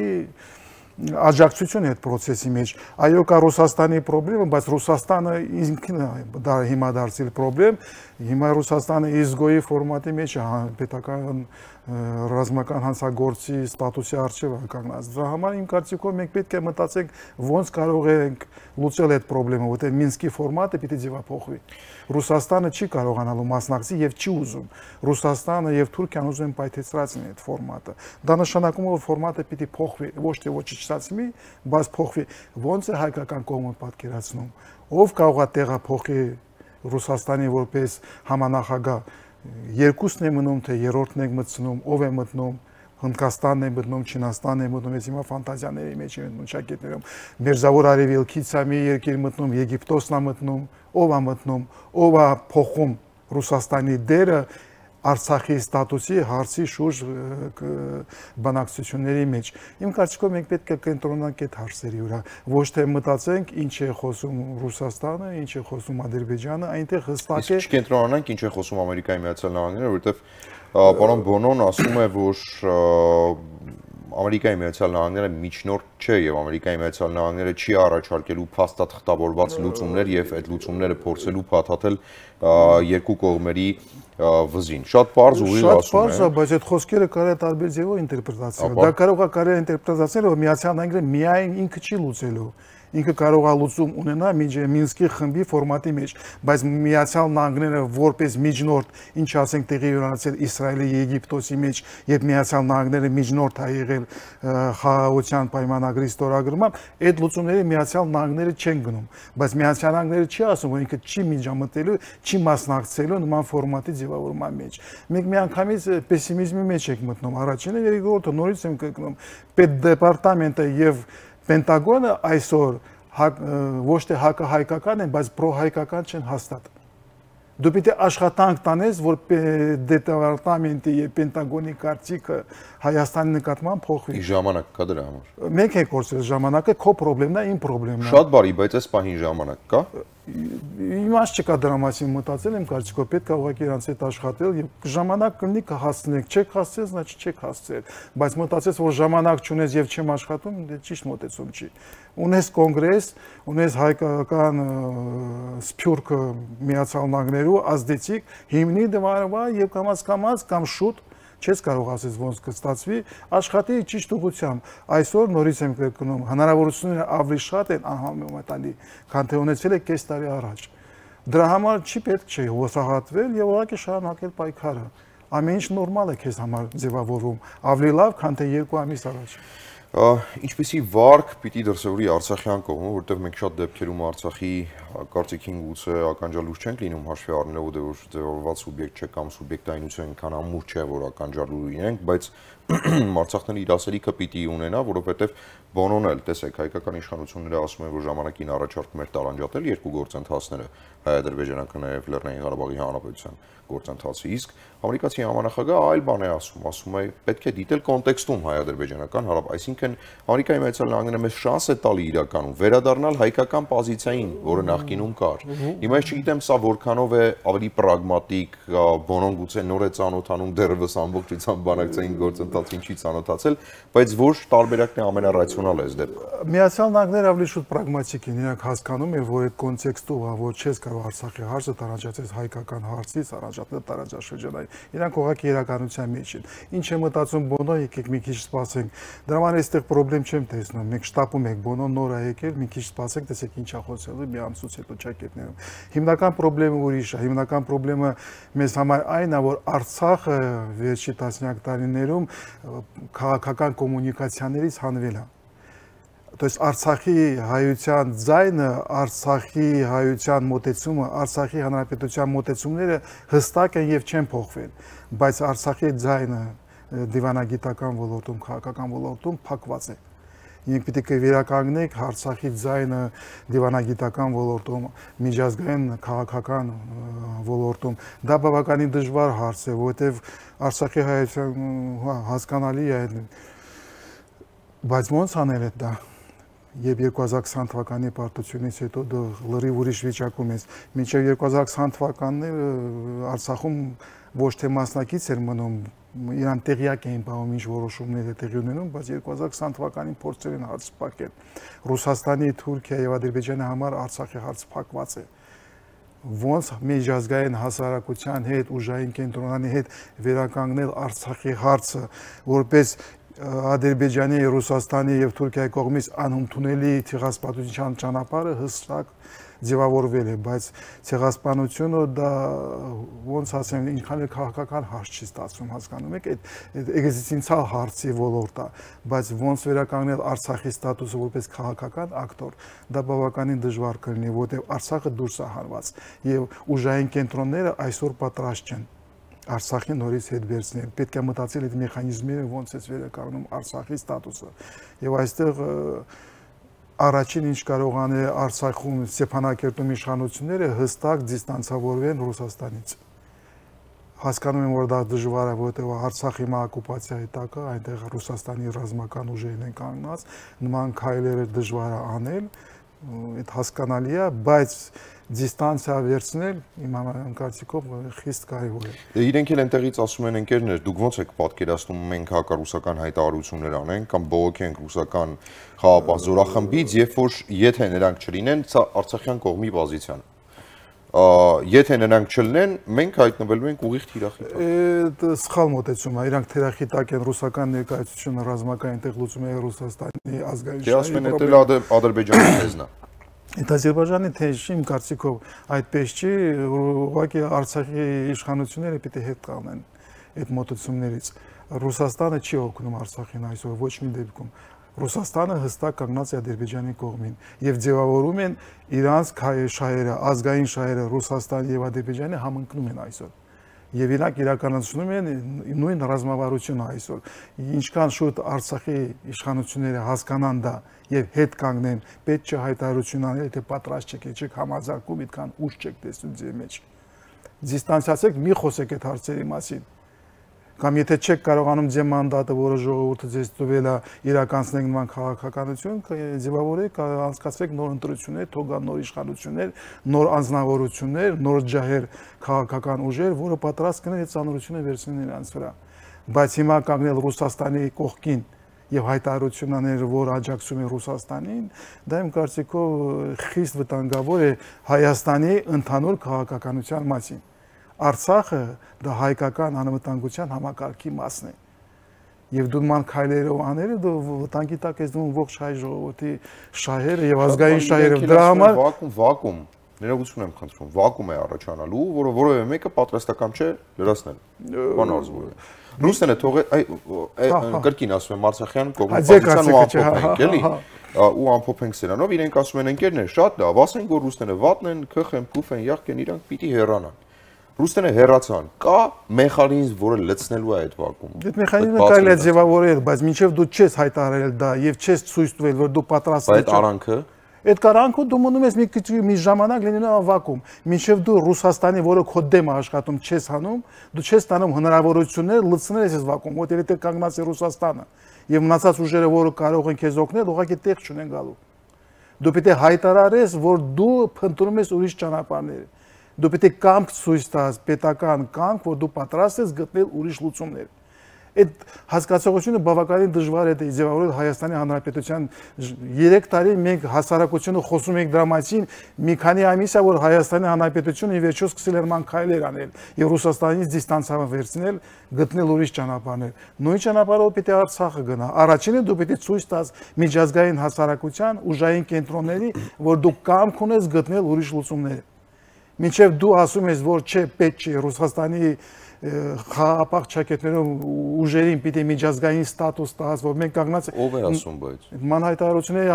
աջակցություն է այդ process-ի մեջ։ Այո, կա Ռուսաստանի խնդիրը, բայց Ռուսաստանը ինքն է հիմա դարձել խնդրեմ։ Հիմա Ռուսաստանը ISGO-ի ֆորմատի մեջ է պետական ռազմական հանցագործի ստատուսի արժեվ կանգնած։ Դրա համար իմ կարծիքով մենք պետք է մտածենք ոնց կարող ենք լուծել այդ խնդիրը, որտեղ Մինսկի ֆորմատը պիտի ձևափոխվի։ Ռուսաստանը չի կարողանալու մասնակցի եւ չի ուզում։ Ռուսաստանը եւ Թուրքիան ուզում են պայթեցրածին այդ ֆորմատը։ Դա նշանակում է, որ ֆորմատը պիտի փոխվի, ոչ թե ոչնչացվի, բայց փոխվի։ Ոնց է հայկական կողմը պատկերացնում։ Ով կարող է տեղափոխի Ռուսաստանի որպես համանախագահ։ Երկուսն է մնում, թե երրորդն է մտցնում, ով է մտնում, Հնդկաստանն է մտնում, Չինաստանն է մտնում, ես հիմա ֆանտազիաների մեջ եմ մտնում, շակետներում, Մերձավոր Արևելքից է մի երկիր մտնում, Եգիպտոսն է մտնում, ով է մտնում, ով է փոխում Ռուսաստանի դերը Արցախի ստատուսի հարցի շուրջ բանակցությունների մեջ։ Իմ կարծիքով մենք պետք է կենտրոնանանք այդ հարցերի վրա, ոչ թե մտածենք ինչ է խոսում Ռուսաստանը, ինչ է խոսում Ադրբեջանը, այնտեղ հստակ է։ Իսկ կենտրոնանանք ինչ է խոսում Ամերիկայի Միացյալ Նահանգները, որովհետև պարոն Բոնոն ասում է, որ Ամերիկայի Միացյալ Նահանգները միջնորդ չէ եւ Ամերիկայի Միացյալ Նահանգները չի առաջարկելու փաստաթղթավորված լուծումներ եւ այդ լուծումները փորձելու փաթաթել երկու կողմերի վզին։ Շատ པարզ ուղիղ ասում է։ Շատ པարզ է, բայց այդ խոսքերը կարող է տարբեր ձևով ինտերպրետացնել։ Դա կարող է ինտերպրետացնել, որ Միացյալ Նահանգները միայն ինքը չի լուծելու։ Ինքը կարող է լուծում ունենա Մինսկի խմբի ֆորմատի մեջ, բայց Միացյալ Նահանգները որպես միջնորդ, ինչ ասենք տեղի ունեցել Իսրայելի, Եգիպտոսի մեջ, երբ Միացյալ Նահանգները միջնորդ է եղել խաղաղության պայմանագրի ստորագրման, այդ լուծումների Միացյալ Նահանգները չեն գնում, բայց Միացյալ Նահանգները չի ասում, որ ինքը չի միջամտելու, չի մասնակցելու նման ֆորմատի ձևավորման մեջ։ Մենք միանգամից պեսիմիզմի մեջ ենք մտնում, առաջինը եւ երկրորդը նորից ենք կրկնում, պետդեպարտամենտը եւ Պենտագոնը այսօր ոչ թե հակահայկական են, բայց պրոհայկական չեն հաստատ։ Դու պիտի աշխատանք տանես, որ դեպարտամենտի եւ Պենտագոնի կարծիքը Հայաստանի նկատմամբ փոխվի։ Ժամանակ կա դրա համար։ Մենք ենք կորցրել ժամանակը, քո խնդիրն է, իմ խնդիրն է։ Շատ բարի, բայց այս պահին ժամանակ կա։ Իմաստ չկա դրա մասին մտածել, իմ կարծիքով պետք է ուղղակի իրանց հետ աշխատել եւ ժամանակ կլինի կհասցնեք, չեք հասցրել, значит չեք հասցրել, բայց մտածես, որ ժամանակ չունես եւ չեմ աշխատում, դե ճիշտ մոտեցում չի։ Ունես կոնգրես, ունես հայկական սփյուռքը Միացյալ Նահանգներու ազդեցիկ, հիմնի դվարվա եւ կամաց կամ շուտ չես կարող ասես ոնց կստացվի, աշխատի ճիշտ ուղղությամբ։ Այսօր նորից եմ կրկնում, հնարավորությունները ավելի շատ են անհամեմատալի, քան թե ունեցել եք կես տարի առաջ։ Դրա համար չի պետք չէ հոսահատվել եւ ուղղակի շարունակել պայքարը։ Ամեն ինչ նորմալ է քեզ համար ձևավորվում, ավելի լավ, քան թե 2 ամիս առաջ։ Ինչպեսի վարկ պիտի դրսևորի Արցախյան կողմը, որտեղ մենք շատ դեպքերում Արցախի կարծիքին գուցե ականջալուր չենք լինում հաշվի առնելով որ ձևավորված սուբյեկտ չէ կամ սուբյեկտայնությունը այնքան ամուր չէ, որ ականջալուր լինենք, բայց Արցախների իր ասելիքը պիտի ունենա, որովհետև Բոնոն էլ, տեսեք, հայկական իշխանությունները ասում են, որ ժամանակին առաջարկում էր տարանջատել երկու գործընթացները, հայ-ադրբեջանական եւ Լեռնային Ղարաբաղի Հանրապետության գործընթացը, իսկ ամերիկացի համանախագահը այլ բան է ասում է պետք է դիտել կոնտեքստում հայ-ադրբեջանական հարաբերական, այսինքն Ամերիկայի Միացյալ Նահանգները մեզ շանս է տալի իրականում վերադառնալ հայկական պոզիցիային, որը նախկինում կար։ Հիմա ես չգիտեմ սա որքանով է ավելի պրագմատիկ, Բոնոն գուցե նոր է ծանոթանում դեռևս ամբողջությամբ բանակցային գործընթացը ծանոթացել, ինչի ծանոթացել, բայց ոչ տարբերակն է ամենառացիոնալը այս դեպքում։ Միացյալ Նահանգները ավելի շուտ պրագմատիկ են, իրանք հասկանում են, որ այդ կոնտեքստով, որ չես կարող Արցախի հարցը տարանջատել հայկական հարցից, առանջատել տարածաշրջանային։ Իրանք ուղղակի իրականության մեջ են։ Ինչ է մտածում Բոնո, եկեք մի քիչ սպասենք։ Դրա համար այստեղ խնդրեմ չեմ տեսնում։ Մենք շտապում ենք Բոնոն նոր է եկել, մի քիչ սպասենք, տեսեք ինչ է խոսելու մի ամսուց հետո ճակետներում։ Հիմնական խնդրեմը ուրիշ է, հիմնական խնդրեմը մեզ համար այն է, որ Արցախը վերջի տասնյակ տարիներում քաղաքական կոմունիկացիաներից հանվել է։ То есть Արցախի հայության ձայնը, Արցախի հայության մոտեցումը, Արցախի հանրապետության մոտեցումները հստակ են եւ չեն փոխվել, բայց Արցախի ձայնը դիվանագիտական ոլորտում, քաղաքական ոլորտում փակված է։ Մենք պետք է վերականգնենք Արցախի ձայնը դիվանագիտական ոլորտում, միջազգային քաղաքական ոլորտում։ Դա բավականին դժվար հարց է, որովհետեւ Արցախի հայության հասկանալի է, բայց ոնց անել դա։ Եվ 2020 թվականի պարտությունից հետո դա լրիվ ուրիշ վիճակում է։ Մինչև 2020 թվականն Արցախում ոչ թե մասնակից էր մնում, իրան տեղյակ էին բաղում ինչ որոշումներ է տեղի ունենում, բայց 2020 թվականին փորձել են հարց փակել։ Ռուսաստանի, Թուրքիայի եւ Ադրբեջանի համար Արցախի հարց փակված է։ Ոնց միջազգային հասարակության հետ, ուժային կենտրոնանի հետ վերականգնել Արցախի հարցը, որպես Ադրբեջանի, Ռուսաստանի եւ Թուրքիայի կողմից անընդունելի ցեղասպանության ճանապարհը հստակ ձևավորվել է, բայց ցեղասպանությունը դա ոնց ասեմ, ինչքան էլ քաղաքական հարց չի ստացվում, հասկանում եք, այդ էգզիստենցիալ հարցի ոլորտ է, բայց ոնց վերականգնել Արցախի ստատուսը որպես քաղաքական ակտոր, դա բավականին դժվար կլինի, որտեղ Արցախը դուրս է հարված եւ ուժային կենտրոնները այսօր պատրաստ չեն Արցախի նորից հետ վերցնել, պետք է մտածել այդ մեխանիզմները ոնց է վերականգնում Արցախի ստատուսը։ Եվ այստեղ առաջին ինչ կարող անել Արցախում Ստեփանակերտում իշխանությունները հստակ դիստանցավորվեն Ռուսաստանից։ Հասկանում եմ, որ դա դժվար է, որովհետև Արցախի օկուպացիայի տակ է, այնտեղ Ռուսաստանի ռազմական ուժերն են կանգնած, նման քայլերը դժվար է անել, այդ հասկանալի է, բայց դիստանցիա վերցնել իմ կարծիքով խիստ կարևոր է։ Իրենք էլ այնտեղից ասում են ընկերներ, դուք ոնց եք պատկերացնում մենք հակառուսական հայտարարություններ անենք կամ բողոքենք ռուսական խաղապահ զորախմբից, երբ որ եթե նրանք չլինեն, սա Արցախյան կողմի պոզիցիան։ Եթե նրանք չլինեն, մենք հայտնվելու ենք ուղիղ թիրախի տակ։ Սխալ մոտեցում է, իրանք թիրախի տակ են ռուսական ներկայացությունը ռազմական այնտեղ լուծում է Ռուսաստանի ազգային շահի։ Ասում են դա Ադրբեջանի թեզն է։ Այդ Ադրբեջանի թեզը իմ կարծիքով այդպես չի, ուղղակի Արցախի իշխանությունները պիտի հետ կանգնեն այդ մոտեցումներից։ Ռուսաստանը չի օգնում Արցախին այսօր ոչ մի դեպքում։ Ռուսաստանը հստակ կանգնած է Ադրբեջանի կողմին եւ ձևավորում են իրանց շահերը, ազգային շահերը Ռուսաստանի եւ Ադրբեջանի համընկնում են այսօր։ Եվ իրանք իրականացնում են նույն ռազմավարությունը այսօր։ Ինչքան շուտ Արցախի իշխանությունները հասկանան դա եւ հետ կանգնեն, պետք չէ հայտարարություն անել, թե պատրաստ չեք, չեք համաձայնվում, այդքան ուժ չեք տեսնում ձեր մեջ։ Դիստանցացեք, մի խոսեք այդ հարցերի մասին։ Կամ եթե չեք կարողանում ձեր մանդատը, որը ժողովուրդը ձեզ տվել է, իրականացնեք նման քաղաքականություն, ձևավորեք, անցկացրեք նոր ընտրություններ, թողան նոր իշխանություններ, նոր անձնավորություններ, նոր ջահեր քաղաքական ուժեր, որը պատրաստ կնեն այդ ծանրությունը վերցնել նրանց վրա։ Բայց հիմա կանգնել Ռուսաստանի կողքին եւ հայտարարություն անել, որ աջակցում է Ռուսաստանին, դա իմ կարծիքով խիստ վտանգավոր է Հայաստանի ընդհանուր քաղաքականության մասին։ Արցախը դա հայկական անվտանգության համակարգի մասն է։ Եվ դու նման քայլերով անելը դու վտանգի տակ ես դնում ողջ հայ ժողովրդի շահերը եւ ազգային շահերը։ Դրա համար վակուում, ներողություն եմ խնդրում, վակուում է առաջանալու, որը որևէ մեկը պատրաստական չէ լրացնել։ Բան արզվում է։ Ռուսները կրկին ասում եմ Արցախյան կողմնակցության ու ամփոփենք, էլի։ Ու ամփոփենք սրանով, իրենք ասում են ընկերներ, շատ լավ, ասենք որ ռուսները վատն են, քխ են, փուֆ են, յախք են, իրանք պիտի հեռանան։ Ռուսները հեռացան, կա մեխանիզմ, որը լցնելու է այդ վակուումը։ Այդ մեխանիզմը կարելի է ձևավորել, բայց մինչև դու չես հայտարարել դա եւ չես ցույց տվել, որ դու պատրաստ ես։ Այդ արանքը Այդ կարանքը դու մնում ես մի ժամանակ լինելու վակուում, մինչև դու Ռուսաստանի, որը քո դեմ է աշխատում, չես հանում, դու չես տանում հնարավորություններ լցնել այս վակուում, որտեղ դե կանգնած է Ռուսաստանը եւ մնացած ուժերը, որը կարող են քեզ օգնել, ուղղակի տեղ չունեն գալու։ Դու պետք է հայտարարես, որ դու փնտրում ես ուրիշ ճանապարհներ։ Դու պետք է կամք ցույց տաս, պետական կամք, որ դու պատրաստ ես գտնել ուրիշ լուծումներ։ Այդ հասկացողությունը բավականին դժվար է ձևավորել Հայաստանի Հանրապետության 3 տարի մենք հասարակությունը խոսում ենք դրա մասին, մի քանի ամիս է որ Հայաստանի Հանրապետությունը ի վերջո սկսել էր ման քայլեր անել եւ Ռուսաստանից դիստանցիա վերցնել, գտնել ուրիշ ճանապարհներ։ Նույն ճանապարհով պիտի Արցախը գնա։ Առաջինը դու պիտի ցույց տաս միջազգային հասարակության ուժային կենտրոնների, որ դու կամք ունես գտնել ուրիշ լուծումներ։ Մինչև դու ասում ես, որ չէ, պետք չէ Ռուսաստանի խաղապահ ճակատներով ուժերին պիտի միջազգային ստատուս տաս, որ մենք կանգնած ով է ասում բայց մանհայտարարությունների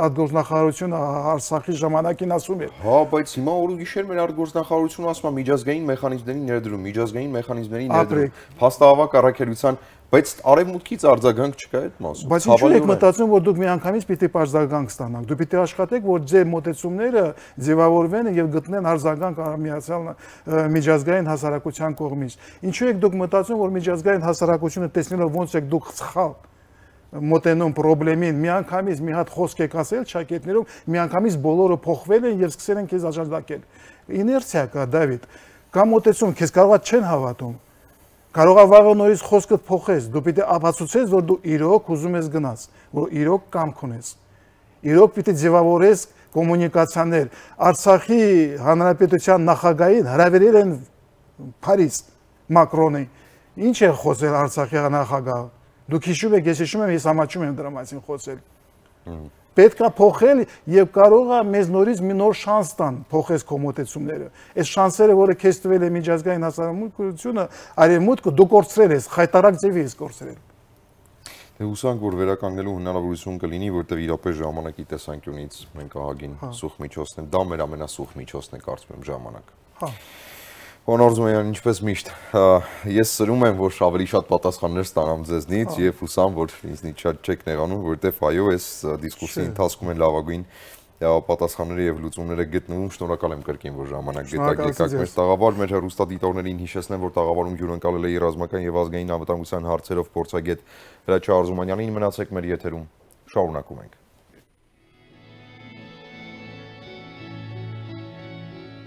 արտգործնախարարությունը Արցախի ժամանակին ասում էր։ Հա, բայց հիմա օր ու գիշեր մեր արտգործնախարարությունը ասում է միջազգային մեխանիզմների ներդրում, միջազգային մեխանիզմների ներդրում, փաստահավաք առաքելության, բայց արևմուտքից արձագանք չկա այդ մասում։ Բայց ինչու եք մտածում, որ դուք միանգամից պիտի արձագանք ստանաք։ Դու պիտի աշխատեք, որ ձեր մոտեցումները ձևավորվեն եւ գտնեն արձագանք միացյալ միջազգային հասարակության կողմից։ Ինչու եք դուք մտածում, որ միջազգային հասարակությունը տեսնելով ոնց եք դուք սխալ մոտենում խնդրին, միանգամից մի հատ խոսք եք ասել ճակետներով, միանգամից բոլորը փոխվել են եւ սկսել են քեզ աջակցել։ Իներցիա կա, Դավիթ։ Կամ մոտեցում, քեզ կարողա չեն հավատում։ Կարող է վաղը նորից խոսքդ փոխես, դու պիտի ապացուցես, որ դու իրոք ուզում ես գնաս, որ իրոք կամք ունես։ Իրոք պիտի ձևավորես կոմունիկացիաներ։ Արցախի հանրապետության նախագահին հրավիրել են Փարիզ Մակրոնի։ Ինչ է խոսել Արցախի նախագահը։ Դուք հիշում եք, ես հիշում եմ, ես համաչում եմ դրա մասին խոսել։ Պետք է փոխել եւ կարող է մեզ նորից մի նոր շանս տան փոխես քո մոտեցումները։ Այս շանսերը, որը քեզ տվել է միջազգային հասարակությունը, արևմուտքը դու կորցրել ես, խայտարակ ձևի ես կորցրել։ Դե հուսանք, որ վերականգնելու հնարավորություն կլինի, որտեղ իրապես ժամանակի տեսանկյունից մենք ահագին սուխ միջոցն է, դա մեր ամենասուխ միջոցն է կարծում եմ ժամանակ։ Հա։ Պարոն Արզումանյան, ինչպես միշտ, ես սրում եմ, որ ավելի շատ պատասխաններ ստանամ ձեզնից եւ հուսամ, որ ինձնից շատ չեք նեղանում, որովհետեւ այո, այս դիսկուսիայի ընթացքում են լավագույն պատասխանները եւ լուծումները գտնվում։ Շնորհակալ եմ կրկին, որ ժամանակ եկաք մեր տաղավար, մեր հեռուստադիտողներին հիշեցնեմ, որ տաղավարում հյուրընկալել է ռազմական եւ ազգային անվտանգության հարցերով փորձագետ Հրաչյա Արզումանյանին։ Մնացեք մեր եթերում, շարունակում ենք։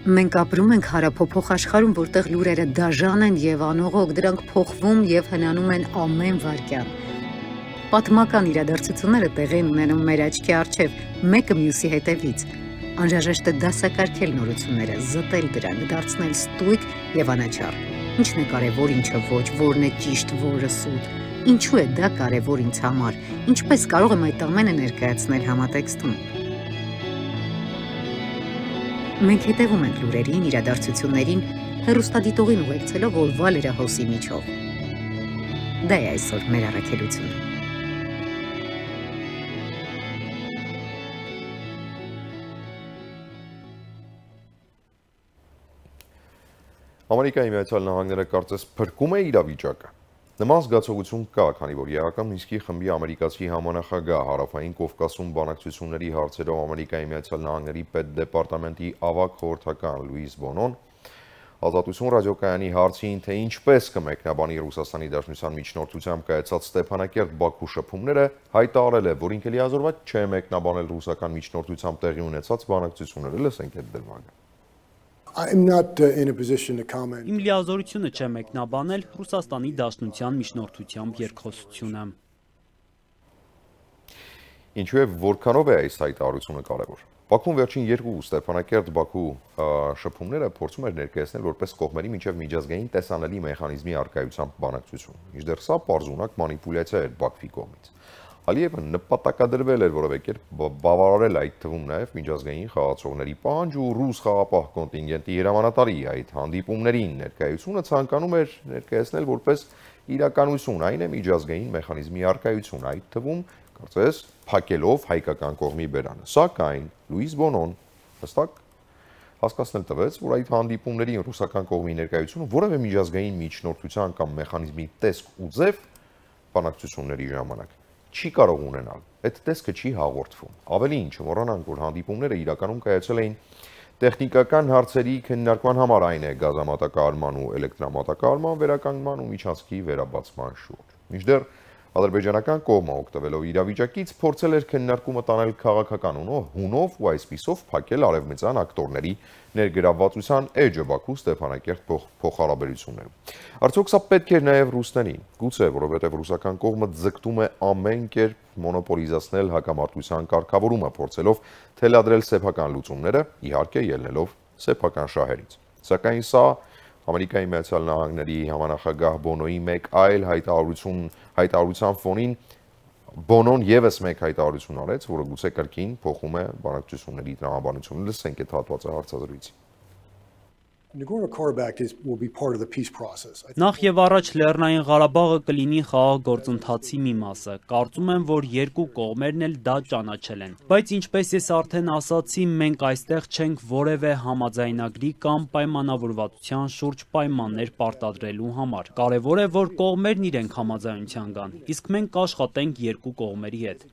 Մենք ապրում ենք հարափոփող աշխարհում, որտեղ լուրերը դաժան են եւ անողոք, դրանք փոխվում եւ հնանում են ամեն վայրկյան։ Պատմական իրադարձությունները տեղի են ունենում մեր աչքի առջև, մեկը մյուսի հետևից։ Անհրաժեշտ է դասակարգել նորությունները, զտել դրանք, դարձնել ստույգ եւ անաչառ։ Ինչն է կարեւոր, ինչը ոչ, որն է ճիշտ, որը սուտ։ Ինչու է դա կարեւոր ինձ համար։ Ինչպես կարող եմ այդ ամենը ներկայացնել համատեքստում։ Մենք հետևում ենք լուրերին, իրադարձություններին, հեռուստադիտողին ուղեկցելով օրվա լրահոսի միջով։ Դա է այսօր մեր առաքելությունը։ Ամերիկայի Միացյալ Նահանգները կարծես փրկում է իրավիճակը։ Նման զգացողություն կա, քանի որ Երական Մինսկի խմբի ամերիկացի համանախագահ Հարավային Կովկասում բանակցությունների հարցերով Ամերիկայի Միացյալ Նահանգների պետդեպարտամենտի ավագ խորհրդական Լուիս Բոնոն Ազատություն ռադիոկայանի հարցին, թե ինչպես կմեկնաբանի Ռուսաստանի Դաշնության միջնորդությամբ կայացած Ստեփանակերտ-Բաքու շփումները, հայտարարել է, որ ինքը լիազորված չէ մեկնաբանել ռուսական միջնորդությամբ տեղի ունեցած բանակցությունները։ Լսենք այդ դրվագը։ I'm not in a position to comment. Իմ լիազորությունը չէ մեկնաբանել Ռուսաստանի Դաշնության միջնորդությամբ երկխոսությունը։ Ինչու է որքանով է այս հայտարարությունը կարևոր։ Բաքուն վերջին երկու Ստեփանակերտ-Բաքու շփումները փորձում էր ներկայացնել որպես կողմերի միջև միջազգային տեսանելի մեխանիզմի առկայությամբ բանակցություն։ Մինչդեռ սա պարզունակ մանիպուլյացիա էր Բաքվի կողմից։ Ալիևը նպատակադրվել էր որևէ կերպ բավարարել այդ թվում նաև միջազգային խաղացողների պահանջ ու ռուս խաղապահ կոնտինգենտի հրամանատարի այդ հանդիպումներին ներկայությունը ցանկանում էր ներկայացնել որպես իրականություն, այն է միջազգային մեխանիզմի առկայություն, այդ թվում կարծես փակելով հայկական կողմի բերանը։ Սակայն Լուիս Բոնոն հստակ հասկացնել տվեց, որ այդ հանդիպումների ռուսական կողմի ներկայությունը որևէ միջազգային միջնորդության կամ մեխանիզմի տեսք ու ձև բանակցությունների ժամանակ չի կարող ունենալ։ Այդ տեսքը չի հաղորդվում։ Ավելին, չմոռանանք, որ հանդիպումները իրականում կայացել էին տեխնիկական հարցերի քննարկման համար, այն է գազամատակարարման ու էլեկտրամատակարարման վերականգնման ու միջանցքի վերաբացման շուրջ։ Մինչդեռ Ադրբեջանական կողմը օգտվելով իրավիճակից փորձել էր քննարկումը տանել քաղաքական հունով ու այսպիսով փակել արևմտյան ակտորների ներգրավվածության էջը Բաքու Ստեփանակերտ փոխհարաբերություններում։ Արդյոք սա պետք էր նաև ռուսներին, գուցե որովհետև ռուսական կողմը ձգտում է ամեն կերպ մոնոպոլիզացնել հակամարտության կարգավորումը, փորձելով թելադրել սեփական լուծումները, իհարկե ելնելով սեփական շահերից։ Սակայն սա Ամերիկայի Միացյալ Նահանգների համանախագահ Բոնոյի մեկ այլ հայտարարության ֆոնին Բոնոն եւս մեկ հայտարարություն արեց, որը գուցե կրկին փոխում է բանակցությունների տրամաբանությունը։ Լսենք այդ հատվածը հարցազրույցի։ will be part of the peace process. Նախ եւ առաջ Լեռնային Ղարաբաղը կլինի խաղաղ գործընթացի մի մասը։ Կարծում եմ, որ երկու կողմերն էլ դա ճանաչել են։ Բայց ինչպես ես արդեն ասացի, մենք այստեղ չենք որևէ համաձայնագրի կամ պայմանավորվածության շուրջ պայմաններ պարտադրելու համար։ Կարևոր է, որ կողմերն իրենք համաձայնության գան, իսկ մենք կաշխատենք երկու կողմերի հետ։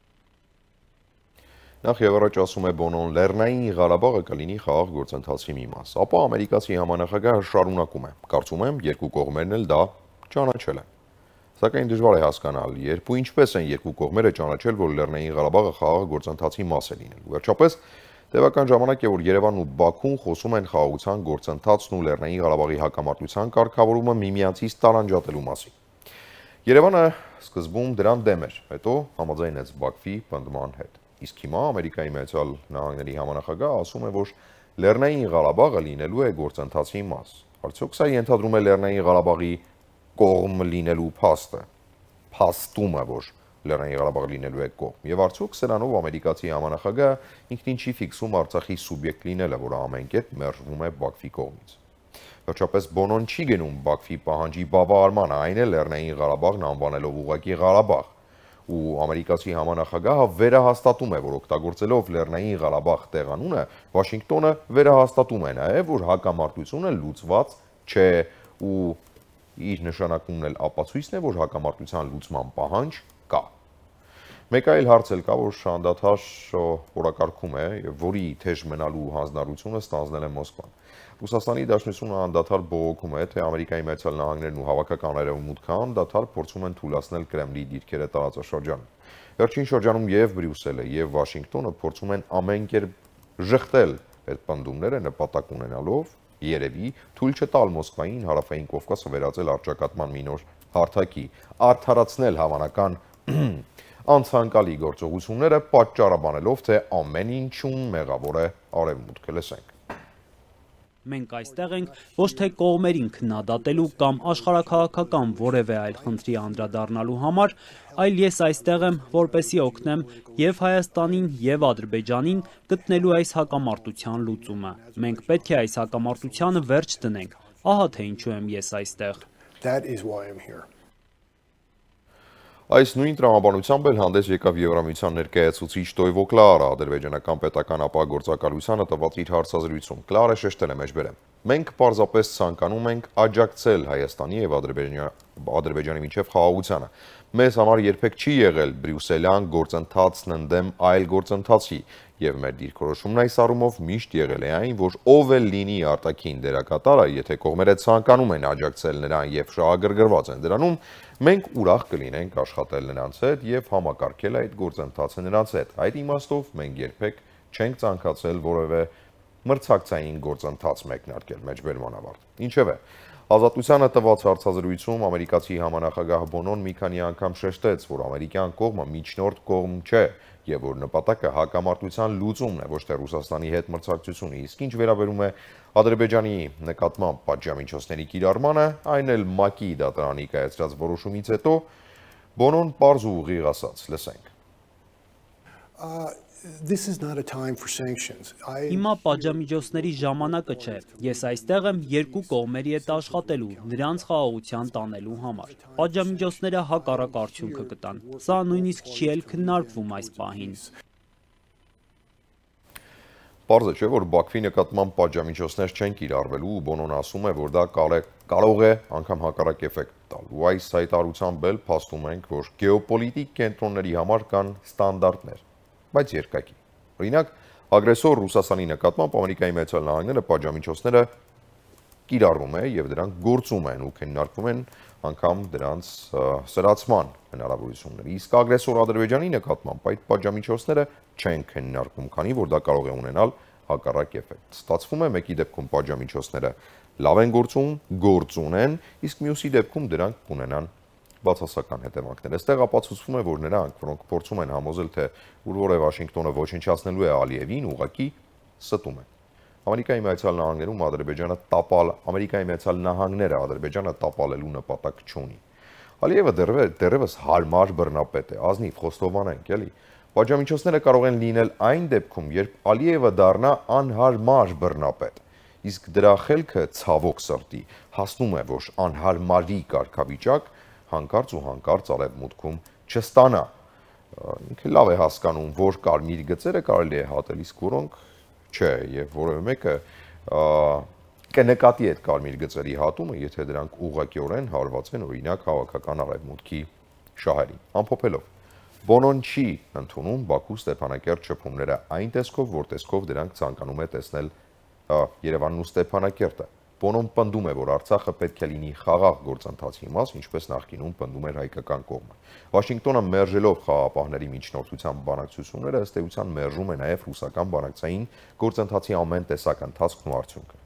Նախ եւ առաջ ասում է Բոնոն, Լեռնային Ղարաբաղը կլինի խաղաղ գործընթացի մի մաս։ Ապա ամերիկացի համանախագահը շարունակում է. Կարծում եմ, երկու կողմերն էլ դա ճանաչել են։ Սակայն դժվար է հասկանալ, երբ ու ինչպես են երկու կողմերը ճանաչել, որ Լեռնային Ղարաբաղը խաղաղ գործընթացի մաս է լինելու։ Վերջապես, տևական ժամանակ է, որ Երևանն ու Բաքուն խոսում են խաղաղության գործընթացն ու Լեռնային Ղարաբաղի հակամարտության կարգավորումը միմյանցից տարանջատելու մասին։ Երևանը սկզբում դրան դեմ էր, հետո համաձայնեց Բաքվի պնդման հետ։ Իսկ հիմա Ամերիկայի Միացյալ Նահանգների համանախագահը ասում է, որ Լեռնային Ղարաբաղը լինելու է գործընթացի մաս։ Արդյոք սա ենթադրում է Լեռնային Ղարաբաղի կողմ լինելու փաստը, փաստումը, որ Լեռնային Ղարաբաղը լինելու է կողմ։ Եվ արդյոք սրանով ամերիկացի համանախագահը ինքնին չի ֆիքսում Արցախի սուբյեկտ լինելը, որը ամեն կերպ մերժվում է Բաքվի կողմից։ Վերջապես Բոնոն չի գնում Բաքվի պահանջի բավարարմանը, այն է Լեռնային Ղարաբաղն անվանելով ուղղակի Ղարաբաղ։ Ու ամերիկացի համանախագահը վերահաստատում է, որ օգտագործելով Լեռնային Ղարաբաղ տեղանունը, Վաշինգտոնը վերահաստատում է նաև, որ հակամարտությունը լուծված չէ ու իր նշանակումն էլ ապացույցն է, որ հակամարտության լուծման պահանջ կա։ Մեկ այլ հարց էլ կա, որ անդադար օրակարգում է, որի թեժ մնալու հանձնառությունը ստանձնել է Մոսկվան։ Ռուսաստանի Դաշնությունը անդադար բողոքում է, թե Ամերիկայի Միացյալ Նահանգներն ու հավաքական արևմուտքը անդադար փորձում են թույլատրել Կրեմլի դիրքերը տարածաշրջանում։ Վերջին շրջանում եւ Բրյուսելը եւ Վաշինգտոնը փորձում են ամեն կերպ ժխտել այդ պնդումները նպատակ ունենալով երևի թույլ չտալ Մոսկվային հարավային Կովկասը վերածել առճակատման մի նոր հարթակի, արդարացնել հավանական անցանկալի գործողությունները պատճառաբանելով, թե ամեն ինչում մեղավոր է արևմուտքը։ Լսենք։ Մենք այստեղ ենք ոչ թե կողմերին քննադատելու կամ աշխարհաքաղաքական որևէ այլ խնդրի անդրադառնալու համար, այլ ես այստեղ եմ, որպեսզի օգնեմ եւ Հայաստանին եւ Ադրբեջանին գտնելու այս հակամարտության լուծումը։ Մենք պետք է այս հակամարտությանը վերջ դնենք։ Ահա թե ինչու եմ ես այստեղ։ That is why I'm here. Այս նույն տրամաբանությամբ էլ հանդես եկավ Եվրամիության ներկայացուցիչ Տոյվո Կլարը, ադրբեջանական պետական ապահովագրությանը տված իր հարցազրույցում։ Կլարը շեշտել է մեջբերեմ. Մենք պարզապես ցանկանում ենք աջակցել Հայաստանի եւ Ադրբեջանի միջև խաղաղությանը։ Մեզ համար երբեք չի եղել բրյուսելյան գործընթացն ընդդեմ այլ գործընթացի, եւ մեր դիրքորոշումն այս առումով միշտ եղել է այն, որ ով էլ լինի արտաքին դերակատարը, եթե կողմերը ցանկանում են աջակցել նրան եւ շահագրգռված են դրանում, մենք ուրախ կլինենք աշխատել նրանց հետ եւ համակարգել այդ գործընթացը նրանց հետ։ Այդ իմաստով մենք երբեք չենք ցանկացել որևէ մրցակցային գործընթաց մեկնարկել, մեջբերման ավարտ։ Ինչևէ, Ազատությանը տված հարցազրույցում ամերիկացի համանախագահ Բոնոն մի քանի անգամ շեշտեց, որ ամերիկյան կողմը միջնորդ կողմ չէ եւ որ նպատակը հակամարտության լուծումն է, ոչ թե Ռուսաստանի հետ մրցակցությունը։ Իսկ ինչ վերաբերում է Ադրբեջանի նկատմամբ պատժամիջոցների կիրառմանը, այն էլ ՄԱԿ-ի դատարանի կայացրած որոշումից հետո Բոնոն պարզ ու ուղիղ ասաց, լսենք. This is not a time for sanctions. Հիմա պատժամիջոցների ժամանակը չէ։ Ես այստեղ եմ երկու կողմերի հետ աշխատելու, նրանց խաղաղության տանելու համար։ Պատժամիջոցները հակառակ արդյունքը կտան։ Սա նույնիսկ չի էլ քննարկվում այս պահին։ Պարզ է, չէ, որ Բաքվի նկատմամբ պատժամիջոցներ չեն կիրառվելու, ու Բոնոն ասում է, որ դա կարող է անգամ հակառակ էֆեկտ տալ։ Ու այս հայտարարությամբ էլ փաստում ենք, որ գեոպոլիտիկ կենտրոնների համար կան ստանդարտներ, բայց երկակի։ Օրինակ, ագրեսոր Ռուսաստանի նկատմամբ Ամերիկայի Միացյալ Նահանգները պատժամիջոցները կիրառվում է եւ դրանք գործում են ու քննարկվում են անգամ դրանց սրացման հնարավորությունները։ Իսկ ագրեսոր Ադրբեջանի նկատմամբ այդ պատժամիջոցները չեն քննարկվում, քանի որ դա կարող է ունենալ հակառակ էֆեկտ։ Ստացվում է մեկի դեպքում պատժամիջոցները լավ են գործուն են, իսկ մյուսի դեպքում դրանք կունենան բացասական հետևանքներ։ Այստեղ ապացուցվում է, որ նրանք, որոնք փորձում են համոզել, թե ուր որ է Վաշինգտոնը ոչնչացնելու է Ալիևին, ուղղակի ստում են։ Ամերիկայի Միացյալ Նահանգներում Ամերիկայի Միացյալ Նահանգները Ադրբեջանը տապալելու նպատակ չունի։ Ալիևը դեռևս հարմար բռնապետ է, ազնիվ խոստովանենք, էլի։ Պատժամիջոցները կարող են լինել այն դեպքում, երբ Ալիևը դառնա անհարմար բռնապետ, իսկ դրա խելքը ցավոք սրտի հասնում է, որ անհարմարի կարգավիճակ հանկարծ ու հանկարծ արևմուտքում չստանա։ Ինքը լավ է հասկանում, որ կարմիր գծերը կարելի է հատել, իսկ որոնք չէ, եւ որևէ մեկը կնկատի այդ կարմիր գծերի հատումը, եթե դրանք ուղղակիորեն հարված են օրինակ հավաքական արևմուտքի շահերին։ Ամփոփելով, Բոնոն չի ընդունում Բաքու Ստեփանակերտ շփումները այն տեսքով, որ տեսքով դրանք ցանկանում է տեսնել Երևանն ու Ստեփանակերտը։ Բոնոն պնդում է, որ Արցախը պետք է լինի խաղաղ գործընթացի մաս, ինչպես նախկինում պնդում էր հայկական կողմը։ Վաշինգտոնը մերժելով խաղաղապահների միջնորդության բանակցությունները, ըստ էության մերժում է նաև ռուսական բանակցային գործընթացի ամեն տեսակ ընթացքն ու արդյունքը։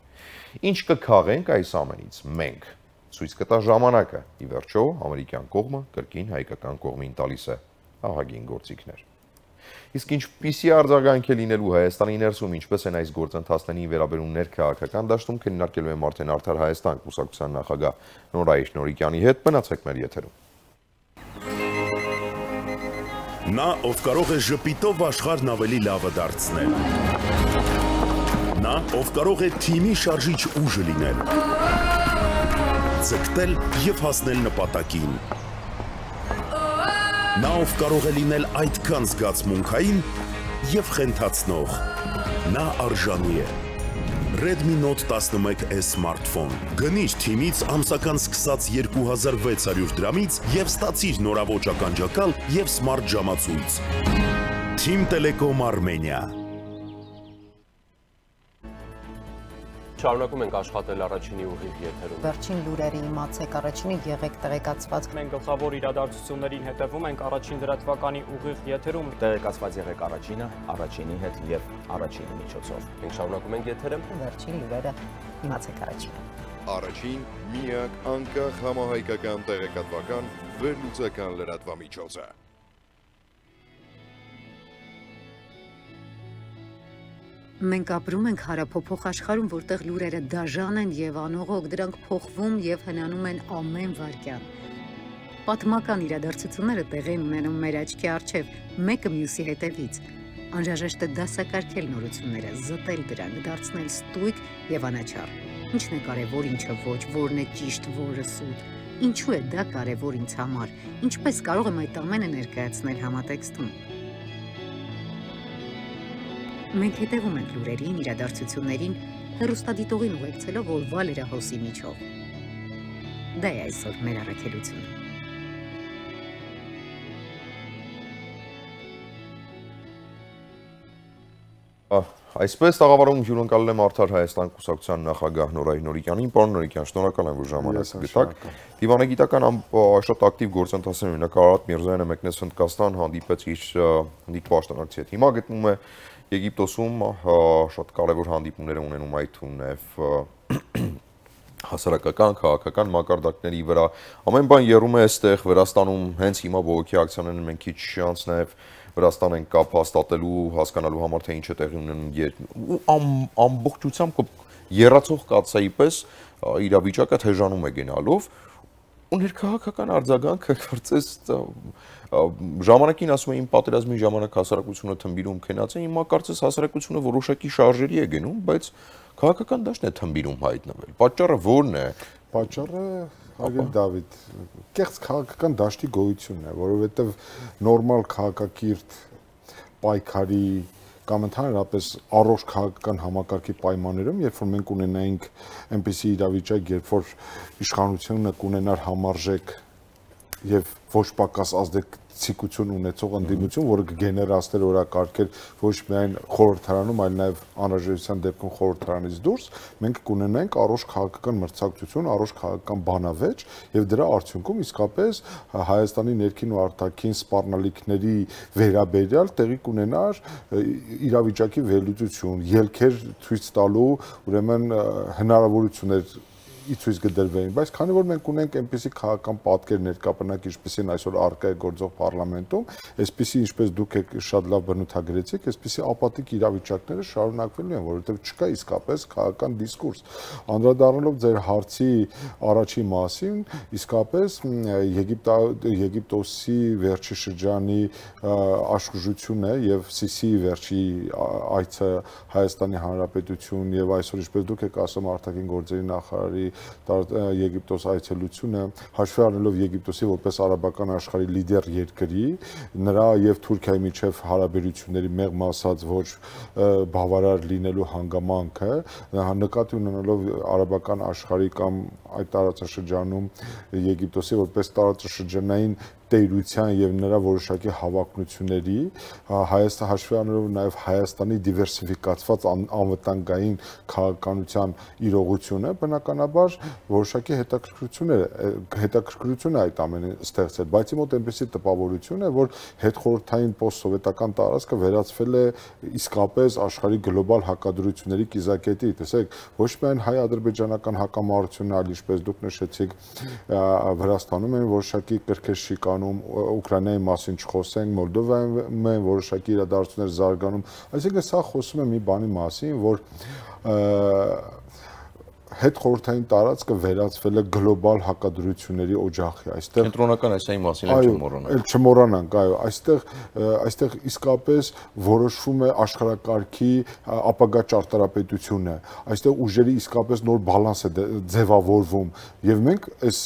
Ինչ կքաղենք այս ամենից մենք։ Ցույց կտա ժամանակը։ Ի վերջո, ամերիկյան կողմը կրկին հայկական կողմին տալիս է ահագին գործիքներ։ Իսկ ինչպիսի արձագանք է լինելու Հայաստանի ներսում, ինչպես են այս գործընթացներին վերաբերում ներքաղաքական դաշտում, քննարկելու եմ արդեն Արդար Հայաստան կուսակցության նախագահ Նորայր Նորիկյանի հետ, մնացեք մեր եթերում։ Նա, ով կարող է ժպիտով աշխարհն ավելի լավը դարձնել։ Նա, ով կարող է թիմի շարժիչ ուժը լինել։ Ձգտել եւ հասնել նպատակին։ Նա, ով կարող է լինել այդքան զգացմունքային եւ խենթացնող, նա արժանի է։ Redmi Note 11e սմարթֆոն։ Գնիր թիմից ամսական սկսած 2600 դրամից եւ ստացիր նորաոճ ականջակալ եւ սմարթ ժամացույց։ Team Telecom Armenia։ Շարունակում ենք աշխատել առաջինի ուղիղ եթերում։ Վերջին լուրերի իմացեք, առաջինի եղեք տեղեկացված։ Մենք գլխավոր իրադարձություններին հետևում ենք առաջին լրատվականի ուղիղ եթերում։ Տեղեկացված եղեք առաջինի հետ եւ առաջինի միջոցով։ Մենք շարունակում ենք եթերը։ Վերջին լուրերը իմացեք առաջինը։ Առաջին միակ անկախ համահայկական տեղեկատվական վերլուծական լրատվամիջոցը։ Մենք ապրում ենք հարափոփող աշխարհում, որտեղ լուրերը դաժան են եւ անողոք, դրանք փոխվում եւ հնանում են ամեն վայրկյան։ Պատմական իրադարձությունները տեղի են ունենում մեր աչքի առջև, մեկը մյուսի հետևից։ Անհրաժեշտ է դասակարգել նորությունները, զտել դրանք, դարձնել ստույգ եւ անաչառ։ Ինչն է կարևոր, ինչը ոչ, որն է ճիշտ, որը սուտ։ Ինչու է դա կարևոր ինձ համար։ Ինչպես կարող եմ այդ ամենը ներկայացնել համատեքստում։ Մենք հետևում ենք լուրերին, իրադարձություններին, հեռուստադիտողին ուղեկցելով օրվա լրահոսի միջով։ Դա է այսօր մեր առաքելությունը։ Այսպես տաղավարում հյուրընկալել եմ Արդար Հայաստան կուսակցության նախագահ Նորայր Նորիկյանին, պարոն Նորիկյան, շնորհակալ եմ, որ ժամանակ գտաք։ Դիվանագիտական շատ ակտիվ գործընթացներ ունի, Կարարատ Միրզոյանը մեկնեց Հնդկաստան, հանդիպեց իր հնդիկ պաշտոնակցի հետ։ Հիմա գտնվում է Եգիպտոսում, շատ կարևոր հանդիպումներ ունենում այդ ու նաև հասարակական, քաղաքական մակարդակների վրա։ Ամեն բան եռում է այստեղ Վրաստանում, հենց հիմա բողոքի ակցիաներն մենք քիչ անց նաև Վրաստան են կապ հաստատելու, հասկանալու համար թե ինչ է տեղի ունենում ու ամբողջությամբ եռացող կաթսայի պես իրավիճակը թեժանում է գնալով ու ներքաղաքական արձագանքը կարծես ժամանակին ասում էին պատերազմի ժամանակ հասարակությունը թմբիրում քնած է, հիմա կարծես հասարակությունը որոշակի շարժերի է գնում, բայց քաղաքական դաշտն է թմբիրում հայտնվել։ Պատճառը ո՞րն է։ Պատճառը Հարգելի Դավիթ, կեղծ քաղաքական դաշտի գոյությունն է, որովհետև նորմալ քաղաքակիրթ պայքարի կամ ընդհանրապես առողջ քաղաքական համակարգի պայմաններում, երբ որ մենք ունենայինք այնպիսի իրավիճակ, երբ որ իշխանությունը կունենար համարժեք եւ ոչ պակաս ցիկություն ունեցող ընդդիմություն, որը կգեներացներ օրակարգեր ոչ միայն խորհրդարանում, այլ նաև անհրաժեշտության դեպքում խորհրդարանից դուրս, մենք կունենանք առողջ քաղաքական մրցակցություն, առողջ քաղաքական բանավեճ եւ դրա արդյունքում իսկապես Հայաստանի ներքին ու արտաքին սպառնալիքների վերաբերյալ տեղի կունենար իրավիճակի վերլուծություն, ելքեր ցույց տալու, ուրեմն հնարավորություններ ցույց կդրվեին, բայց քանի որ մենք ունենք այնպիսի քաղաքական պատկեր ներկապնակ, ինչպեսին այսօր առկա է գործող parlamentum, այսպիսի ինչպես դուք եք շատ լավ բնութագրեցիք, այսպիսի ապատիկ իրավիճակները շարունակվելու են, որովհետև չկա իսկապես քաղաքական դիսկուրս։ Անդրադառնալով ձեր հարցի առաջի մասին, իսկապես Եգիպտոսի վերջի շրջանի աշխուժությունը եւ Սիսիի վերջի այցը Հայաստանի Հանրապետություն եւ այսօր ինչպես դուք եք ասում արտաքին գործերի նախարարի Եգիպտոս այցելությունը հաշվի առնելով Եգիպտոսի որպես արաբական աշխարհի լիդեր երկրի նրա եւ Թուրքիայի միջև հարաբերությունների մեղմ ասած ոչ բավարար լինելու հանգամանքը նկատի ունենալով արաբական աշխարհի կամ այդ տարածաշրջանում Եգիպտոսի որպես տարածաշրջանային տերության եւ նրա որոշակի հավակնությունների Հայաստան հաշվի առնելով նաեւ Հայաստանի դիվերսիֆիկացված անվտանգային քաղաքականության իրողությունը բնականաբար որոշակի հետաքրքրություն է այդ ամենը ստեղծել, բայց մոտ այնպեսի տպավորություն է, որ հետխորհրդային պոստսովետական տարածքը վերածվել է իսկապես աշխարհի գլոբալ հակադրությունների կիզակետի, տեսեք, ոչ միայն հայ-ադրբեջանական հակամարտությունն, այլ ինչպես դուք նշեցիք, Վրաստանում են որոշակի կրքեր շիկանում Ուկրաինայի մասին չխոսենք, Մոլդովայում են որոշակի իրադարձություններ զարգանում, այսինքն սա խոսում է մի բանի մասին, որ հետխորհրդային տարածքը վերածվել է գլոբալ հակադրությունների օջախի, այստեղ կենտրոնական Ասիայի մասին չմոռանանք, այո, այստեղ իսկապես որոշվում է աշխարհակարգի ապագա ճարտարապետությունը, այստեղ ուժերի իսկապես նոր բալանս է ձևավորվում եւ մենք այս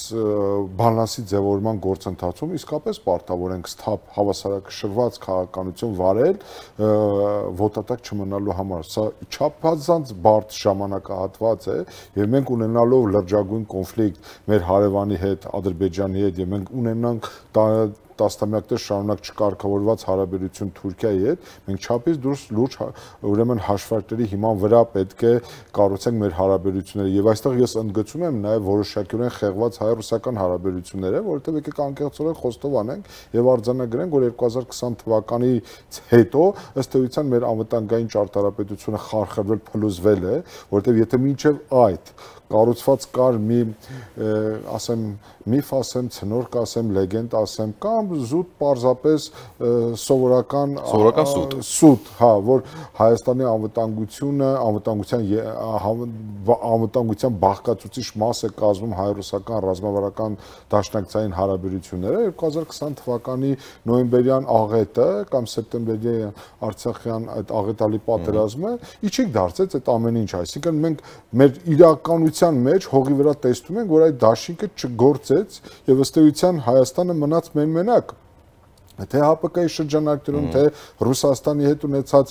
բալանսի ձևավորման գործընթացում իսկապես պարտավոր ենք սթափ հավասարակշռված քաղաքականություն վարել ոտատակ չմնալու համար, սա չափազանց բարդ ժամանակահատված է եւ մենք ունենալով լրջագույն կոնֆլիկտ մեր հարևանի հետ, Ադրբեջանի հետ եւ մենք ունենանք տասնամյակներ շարունակ չկարգավորված հարաբերություն Թուրքիայի հետ, մենք չափից դուրս լուրջ ուրեմն հաշվարկների հիման վրա պետք է կառուցենք մեր հարաբերությունները եւ այստեղ ես ընդգծում եմ նաեւ որոշակիորեն խեղված հայ-ռուսական հարաբերությունները, որովհետեւ եկեք անկեղծորեն խոստով անենք եւ արձանագրենք, որ 2020 թվականից հետո ըստ էության մեր անվտանգային ճարտարապետությունը խարխրվել, փլուզվել է, որովհետեւ եթե մինչեւ այդ կառուցված կար մի ասեմ միֆ ասեմ, ցնորք ասեմ, լեգենդ ասեմ կամ զուտ պարզապես սովորական սուտ, հա, որ Հայաստանի անվտանգության բաղկացուցիչ մաս է կազմում հայ-ռուսական ռազմավարական դաշնակցային հարաբերությունները 2020 թվականի նոյեմբերյան աղետը կամ սեպտեմբերյան արցախյան այդ աղետալի պատերազմը իջիկ դարձեց այդ ամեն ինչ, այսինքն մենք մեր իրականության մեջ հողի վրա տեսնում ենք, որ այդ դաշինքը չգործեց եւ ըստ էության Հայաստանը մնաց մենակ թե ՀԱՊԿ-ի շրջանակներում, թե Ռուսաստանի հետ ունեցած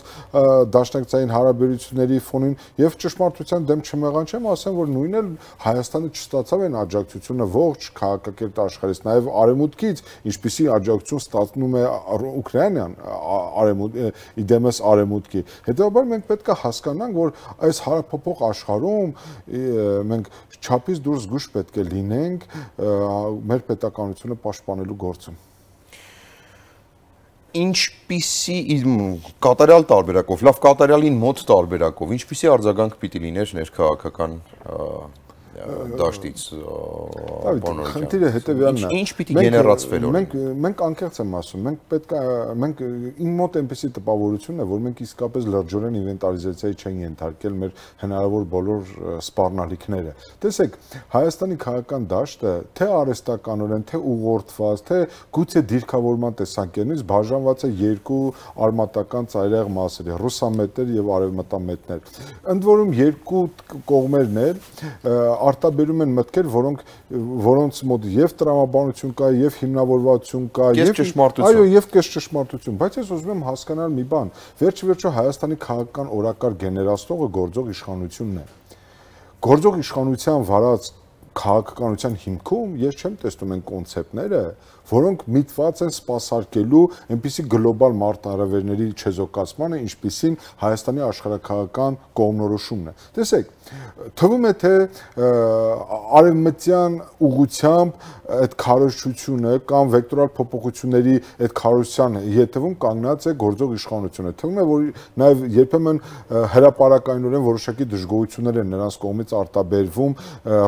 դաշնակցային հարաբերությունների ֆոնին եւ ճշմարտության դեմ չմեղանչեմ, ասեմ, որ նույնն էլ Հայաստանը չստացավ այն աջակցությունը ողջ քաղաքակիրթ աշխարհից, նաեւ արևմուտքից, ինչպիսի աջակցություն ստացնում է Ուկրաինան իդեմս արևմուտքի։ Հետեւաբար մենք պետք է հասկանանք, որ այս հարաբերփոխ աշխարհում մենք չափից դուրս զգուշ պետք է լինենք մեր պետականությունը պաշտպանելու գործում։ Ինչպիսի կատարյալ տարբերակով, լավ կատարյալին մոտ տարբերակով, ինչպիսի արձագանք պիտի լիներ ներքաղաքական դաշտից խնդիրը հետևյալն է։ Ինչ պիտի գեներացվեր մենք անկեղծ եմ ասում, մենք իմ մոտ այնպեսի տպավորություն է, որ մենք իսկապես լրջորեն ինվենտարիզացիայի չեն ենթարկել մեր հնարավոր բոլոր սպառնալիքները։ Տեսեք, Հայաստանի քաղաքական դաշտը թե արհեստականորեն, թե ուղղորդված, թե գուցե դիրքավորման տեսանկյունից բաժանված է երկու արմատական ծայրահեղ մասերի՝ ռուսամետներ եւ արևմտամետներ։ Ընդ որում երկու կողմերն էլ արտաբերում են մտքեր, որոնց մոտ եւ տրամաբանություն կա, եւ հիմնավորվածություն կա, եւ կես ճշմարտություն, բայց ես ուզում եմ հասկանալ մի բան, վերջիվերջո Հայաստանի քաղաքական օրակարգ գեներացնողը գործող իշխանությունն է։ Գործող իշխանության վարած քաղաքականության հիմքում ես չեմ տեսնում այն կոնցեպտները, որոնք միտված են սպասարկելու այնպիսի գլոբալ մարտահրավերների չեզոքացմանը, ինչպիսին Հայաստանի աշխարհաքաղաքական կողմնորոշումն է։ Տեսեք, թվում է թե արևմտյան ուղղությամբ այդ քարոզչությունը կամ վեկտորալ փոփոխությունների այդ քարոզության ետևում կանգնած է գործող իշխանությունը։ Թվում է, որ նաև երբեմն հրապարակայնորեն որոշակի դժգոհություններ են նրանց կողմից արտաբերվում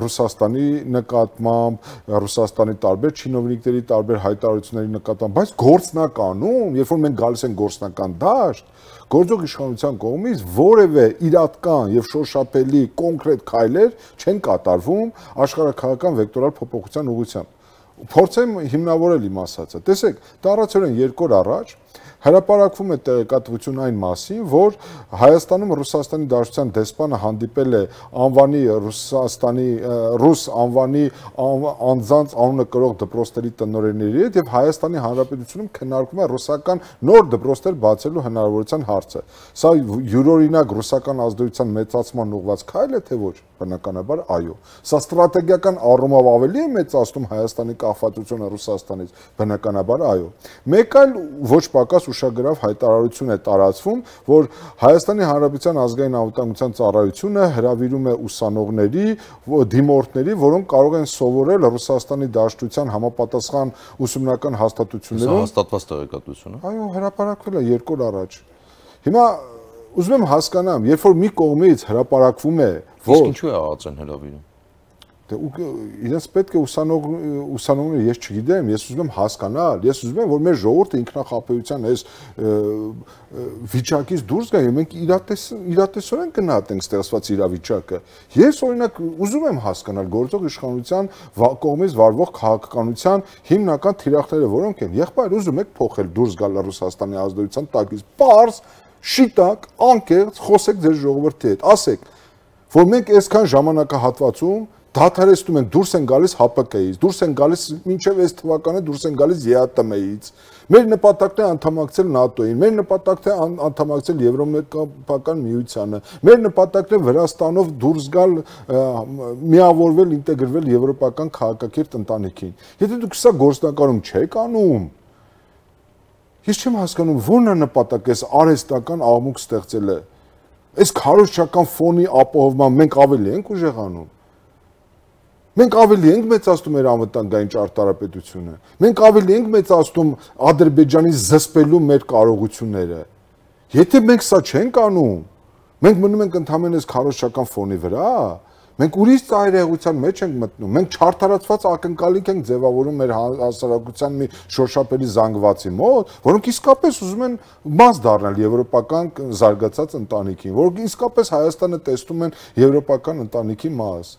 Ռուսաստանի նկատմամբ, Ռուսաստանի տարբեր չինովնիկների տարբեր հայտարարությունների նկատմամբ, բայց գործնականում, երբ որ մենք գալիս ենք գործնական դաշտ, գործող իշխանության կողմից որևէ իրատկան եւ շոշափելի կոնկրետ քայլեր չեն կատարվում աշխարհաքաղաքական վեկտորալ փոփոխության ուղղությամբ։ Փորձեմ հիմնավորել իմ ասածը։ Տեսեք, տարածորեն 2 օր առաջ հրապարակվում է տեղեկատվություն այն մասին, որ Հայաստանում Ռուսաստանի Դաշնության դեսպանը հանդիպել է անվանի ռուս անվանի անձանց անունը կրող դպրոցների տնօրենների հետ եւ Հայաստանի Հանրապետությունում քննարկվում է ռուսական նոր դպրոցներ բացելու հնարավորության հարցը։ Սա յուրօրինակ ռուսական ազդեցության մեծացման ուղղված քայլ է, թե ոչ։ Բնականաբար այո։ Սա ստրատեգիական առումով ավելի է մեծացնում Հայաստանի կախվածությունը Ռուսաստանից։ Բնականաբար այո։ Մեկ այլ ոչ պակաս ուշագրավ հայտարարություն է տարածվում, որ Հայաստանի Հանրապետության ազգային անվտանգության ծառայությունը հրավիրում է ուսանողների, դիմորդների, որոնք կարող են սովորել Ռուսաստանի Դաշնության համապատասխան ուսումնական հաստատություններում։ Հաստատված տեղեկատվություն է։ Այո, հրապարակվել է 2 օր առաջ։ Հիմա ուզում եմ հասկանամ, երբ որ մի կողմից հրապարակվում է, որ իսկ ինչու է ԱԱԾ-ն հրավիրում։ Դե իրենց պետք է ուսանողները ես չգիտեմ, ես ուզում եմ հասկանալ, ես ուզում եմ, որ մեր ժողովուրդը ինքնախապեյության այս վիճակից դուրս գա, եւ մենք իրատեսորեն գնահատենք ստեղծված իրավիճակը։ Ես օրինակ ուզում եմ հասկանալ գործող իշխանության կողմից վարվող քաղաքականության հիմնական թիրախները որոնք են։ Եղբայր, ուզում եք փոխել դուրս գալ Ռուսաստանի ազդեցության տակից, պարզ, շիտակ, անկեղծ խոսեք ձեր ժողովրդի հետ, ասեք, որ մենք այսքան ժամանակահատվածում դադարեցնում ենք, դուրս են գալիս ՀԱՊԿ-ից, դուրս են գալիս մինչև այս թվականը դուրս են գալիս ԵԱՏՄ-ից։ Մեր նպատակն է անդամակցել ՆԱՏՕ-ին, մեր նպատակն է անդամակցել Եվրոմետրոպոլիտան միությանը, մեր նպատակն է Վրաստանով դուրս գալ, միավորվել, ինտեգրվել եվրոպական քաղաքակիրթ ընտանիքին։ Եթե դուք սա գործնականում չեք անում, ես չեմ հասկանում ո՞րն է նպատակը այս արհեստական աղմուկ ստեղծելը։ Այս քարոզչական ֆոնի ապահովման մենք ավելի ենք ուժեղանում։ Մենք ավելի ենք մեծացնում մեր անվտանգային ճարտարապետությունը։ Մենք ավելի ենք մեծացնում Ադրբեջանի զսպելու մեր կարողությունները։ Եթե մենք սա չենք անում, մենք մնում ենք ընդհանրապես քարոզչական ֆոնի վրա, մենք ուրիշ ծայրահեղության մեջ ենք մտնում։ Մենք չարթարացված ակնկալիք ենք ձևավորում մեր հասարակության մի շոշափելի զանգվածի մոտ, որոնք իսկապես ուզում են մաս դառնալ եվրոպական զարգացած ընտանիքին, որոնք իսկապես Հայաստանը տեսնում են եվրոպական ընտանիքի մաս։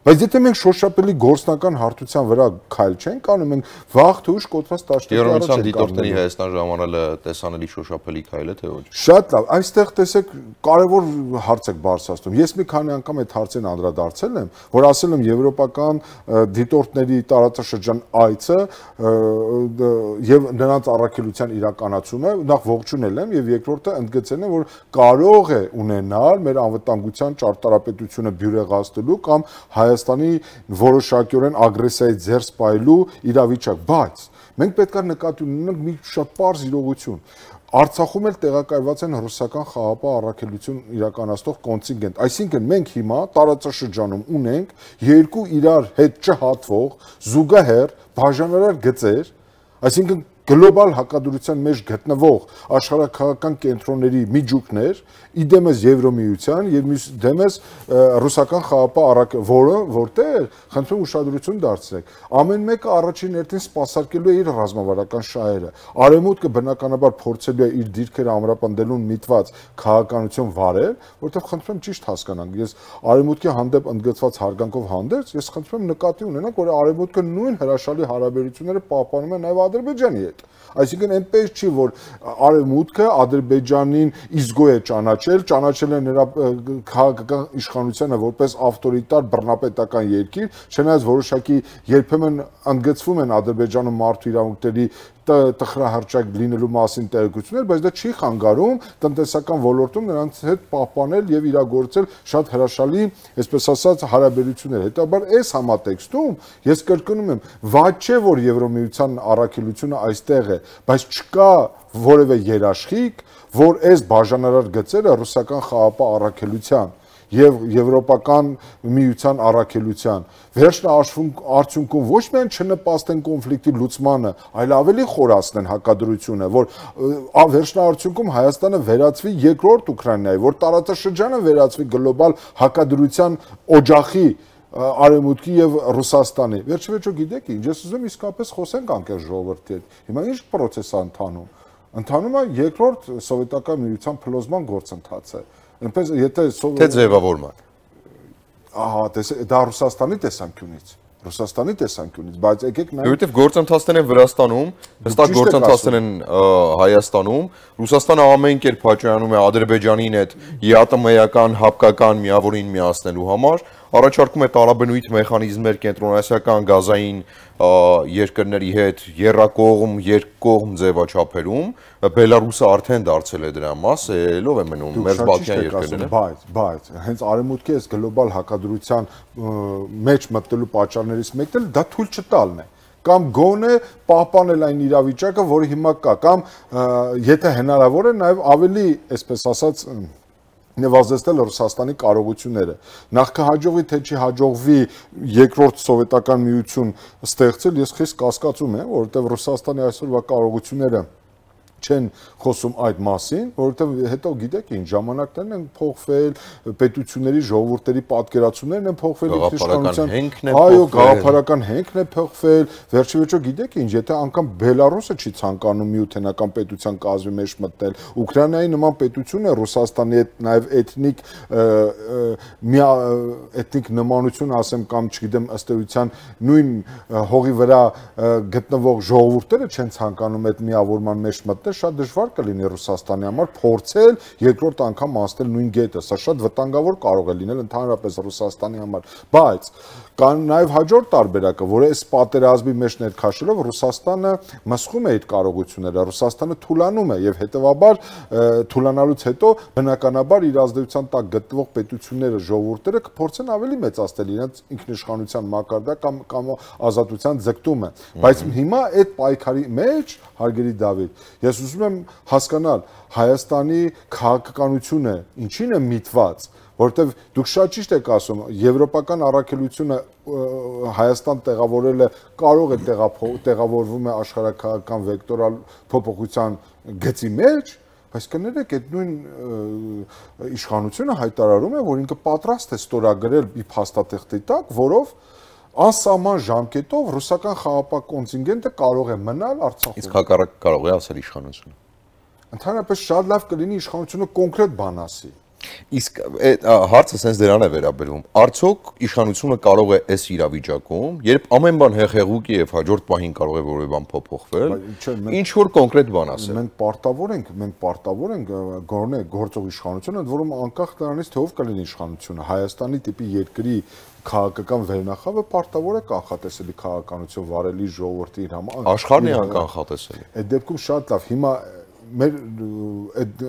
Բայց եթե մենք շոշափելի գործնական հարթության վրա քայլ չենք անում, մենք վաղ թե ուշ կոտրած տաշտի առաջ ենք դիտորդների Հայաստան ժամանելը տեսանելի շոշափելի քայլ է, թե ոչ։ Շատ լավ, այստեղ տեսեք կարևոր հարց եք բարձրացնում։ Ես մի քանի անգամ այդ հարցին անդրադարձել եմ, որ ասել եմ եվրոպական դիտորդների տարածաշրջան այցը եւ նրանց առաքելության իրականացումը նախ ողջունել եմ եւ երկրորդը ընդգծել եմ, որ կարող է ունենալ մեր անվտանգության ճարտարապետությունը բյուրեղացնելու կամ Հայաստանի որոշակիորեն ագրեսիայի ձեռս պայելու իրավիճակ, բայց մենք պետք է նկատի ունենանք մի շատ պարզ իրողություն։ Արցախում էլ տեղակայված են ռուսական խաղապահ առաքելություն իրականացնող կոնտինգենտ, այսինքն մենք հիմա տարածաշրջանում ունենք երկու իրար հետ չհատվող զուգահեռ բաժանարար գծեր, այսինքն գլոբալ հակադրության մեջ գտնվող աշխարհաքաղաքական կենտրոնների միջուկներ, իդեմս Եվրոմիության եւ դեմս ռուսական խաղապահ որտեղ խնդրում ուշադրություն դարձրեք, ամեն մեկը առաջին հերթին սպասարկելու է իր ռազմավարական շահերը, արևմուտքը բնականաբար փորձելու է իր դիրքերը ամրապնդելուն միտված քաղաքականություն վարել, որտեղ խնդրում ճիշտ հասկանանք, ես արևմուտքի հանդեպ ընդգծված հարգանքով հանդերձ, ես խնդրում եմ նկատի ունենանք, որ արևմուտքը նույն հրաշալի հարաբերությունները պահպանում է նաեւ Ադրբեջանի հետ։ Այսինքն այնպես չի, որ Արևմուտքը Ադրբեջանին իզգո է ճանաչել է նրա քաղաքական իշխանությանը որպես ավտորիտար բռնապետական երկիր, չնայած որոշակի երբեմն ընդգծվում են Ադրբեջանում մարդու իրավունքների տխրահարճակ լինելու մասին տեղեկություններ, բայց դա չի խանգարում տնտեսական ոլորտում նրանց հետ պահպանել եւ իրագործել շատ հրաշալի, այսպես ասած, հարաբերություններ։ Հետաբար այս համատեքստում ես կրկնում եմ, վատ չէ, որ Եվրոմիության առաքելությունը այստեղ է, բայց չկա որևէ երաշխիք, որ այս բաժանարար գծերը ռուսական խաղապահ առաքելության եւ Եվրոպական միության առաքելության վերջնաարդյունքում ոչ միայն չնպաստեն կոնֆլիկտի լուծմանը, այլ ավելի խորացնեն հակադրությունը, որ վերջնաարդյունքում Հայաստանը վերածվի երկրորդ Ուկրաինայի, որ տարածաշրջանը վերածվի գլոբալ հակադրության օջախի Արևմուտքի եւ Ռուսաստանի։ Վերջիվերջո գիտեք ինչ, ես ուզում եմ իսկապես խոսենք անկեղծ ժողովրդի հետ։ Հիմա ինչ process է ընթանում։ Ընթանում է երկրորդ սովետական միության փլուզման գործընթացը։ Այնպես եթե թե ձևավորման։ Ահա, դա Ռուսաստանի տեսանկյունից, բայց եկեք նայենք, որովհետև գործընթացներ են Վրաստանում, հստակ գործընթացներ են Հայաստանում, Ռուսաստանը ամեն կերպ հաճայանում է Ադրբեջանին հետ ԵԱՏՄ-ական հապկական միավորին միացնելու համար, առաջարկում է տարաբնույթ մեխանիզմներ կենտրոնասիական գազային երկրների հետ եռակողմ, երկկողմ ձևաչափերում, Բելարուսը արդեն դարձել է դրա մաս, ելով է մնում մերձբալթյան երկրները։ Բայց հենց Արևմուտքի այս գլոբալ հակադրության մեջ մտնելու պատճառներից մեկն էլ դա թույլ չտալն է։ Կամ գոնե պահպանել այն իրավիճակը, որը հիմա կա, կամ եթե հնարավոր է, նաև ավելի, այսպես ասած, նվազեցնել Ռուսաստանի կարողությունները։ Նախ կհաջողվի, թե չի հաջողվի երկրորդ սովետական միություն ստեղծել, ես խիստ կասկածում եմ, որովհետև Ռուսաստանի այսօրվա կարողությունները չեն խոսում այդ մասին, որովհետև հետո գիտեք ինչ ժամանակներն են փոխվել, պետությունների ժողովուրդների պատկերացումներն են փոխվել, այո, գաղափարական հենքն է փոխվել, վերջիվերջո գիտեք ինչ, եթե անգամ Բելարուսը չի ցանկանում միութենական պետության կազմի մեջ մտնել, Ուկրաինայի նման պետությունը Ռուսաստանի հետ նաև էթնիկ նմանություն ասեմ կամ չգիտեմ ըստ էության նույն հողի վրա գտնվող ժողովուրդները չեն ցանկանում այդ միավորման մեջ մտնել, շատ դժվար կլինի Ռուսաստանի համար փորձել երկրորդ անգամ անցնել նույն գետը, սա շատ վտանգավոր կարող է լինել ընդհանրապես Ռուսաստանի համար, բայց կան նաև հաջորդ տարբերակը, որ այս պատերազմի մեջ ներքաշելով Ռուսաստանը մսխում է այդ կարողությունները, Ռուսաստանը թուլանում է եւ հետեւաբար թուլանալուց հետո բնականաբար իր ազդեցության տակ գտնվող պետությունները, ժողովուրդները կփորձեն ավելի մեծացնել իրենց ինքնիշխանության մակարդակ կամ ազատության ձգտումը, բայց հիմա այդ պայքարի մեջ, հարգելի Դավիթ, ես ուզում եմ հասկանալ Հայաստանի քաղաքականությունը ինչին է միտված, որտեվ դուք շատ ճիշտ եք ասում, եվրոպական առաքելությունը Հայաստան տեղավորելը կարող է տեղավորվում է աշխարհաքաղաքական վեկտորալ փոփոխության գծի մեջ, բայց կներեք այդ նույն իշխանությունը հայտարարում է, որ ինքը պատրաստ է ստորագրել մի փաստաթղթի տակ, որով անսահման ժամկետով ռուսական խաղապահ կոնտինգենտը կարող է մնալ Արցախում։ Իսկ հակառակ կարող է ասել իշխանությունը։ Ընդհանրապես շատ լավ կլինի իշխանությունը կոնկրետ բան ասի։ Իսկ հարցը sense դրան է վերաբերում։ Արդյոք իշխանությունը կարող է այս իրավիճակում, երբ ամեն բան հեղեղուկ է եւ հաջորդ պահին կարող է որևէ բան փոփոխվել, ինչ որ կոնկրետ բան ասել։ Մենք պարտավոր ենք գոնե գործող իշխանությունը, ընդ որում անկախ նրանից թե ով կլինի իշխանությունը, Հայաստանի տիպի երկրի քաղաքական վերնախավը պարտավոր է կանխատեսելի քաղաքականություն վարելի ժողովրդի իր համար։ Աշխարհն է անկանխատեսելի։ Այդ դեպքում շատ լավ։ Հիմա մեր այդ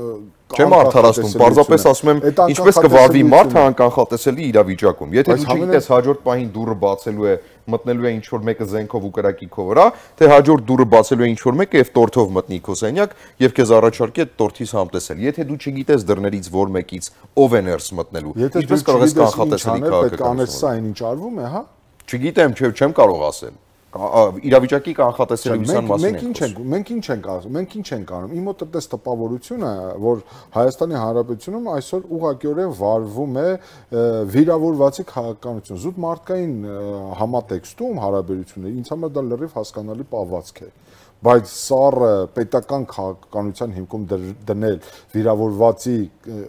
չեմ արդարացնում, պարզապես ասում եմ, ինչպես կվարվի մարդը անկանխատեսելի իրավիճակում։ Եթե դու չգիտես հաջորդ պահին դուռը բացելու է, մտնելու է ինչ-որ մեկը զենքով ու կրակի քո վրա, թե հաջորդ դուռը բացելու է ինչ-որ մեկը եւ տորթով մտնի քո սենյակ եւ քեզ առաջարկի այդ տորթից համտեսել։ Եթե դու չգիտես դռներից որ մեկից ով է ներս մտնելու, ինչպես կարող ես կանխատեսելի քաղաքականություն։ Սա ինչ արվում է, հա։ Չգիտեմ, չեմ կարող ասել։ Իրավիճակի կանխատեսելիության մասին մենք ինչ ենք ասում, մենք ինչ ենք անում։ Իմ մոտ այդպես տպավորությունը, որ Հայաստանի Հանրապետությունում այսօր ուղղակիորեն վարվում է վիրավորվածի քաղաքականություն։ Զուտ մարդկային համատեքստում հարաբերությունները ինձ համար դա լրիվ հասկանալի պահվածք է։ Բայց սառը պետական քաղաքականության հիմքում դնել վիրավորվածի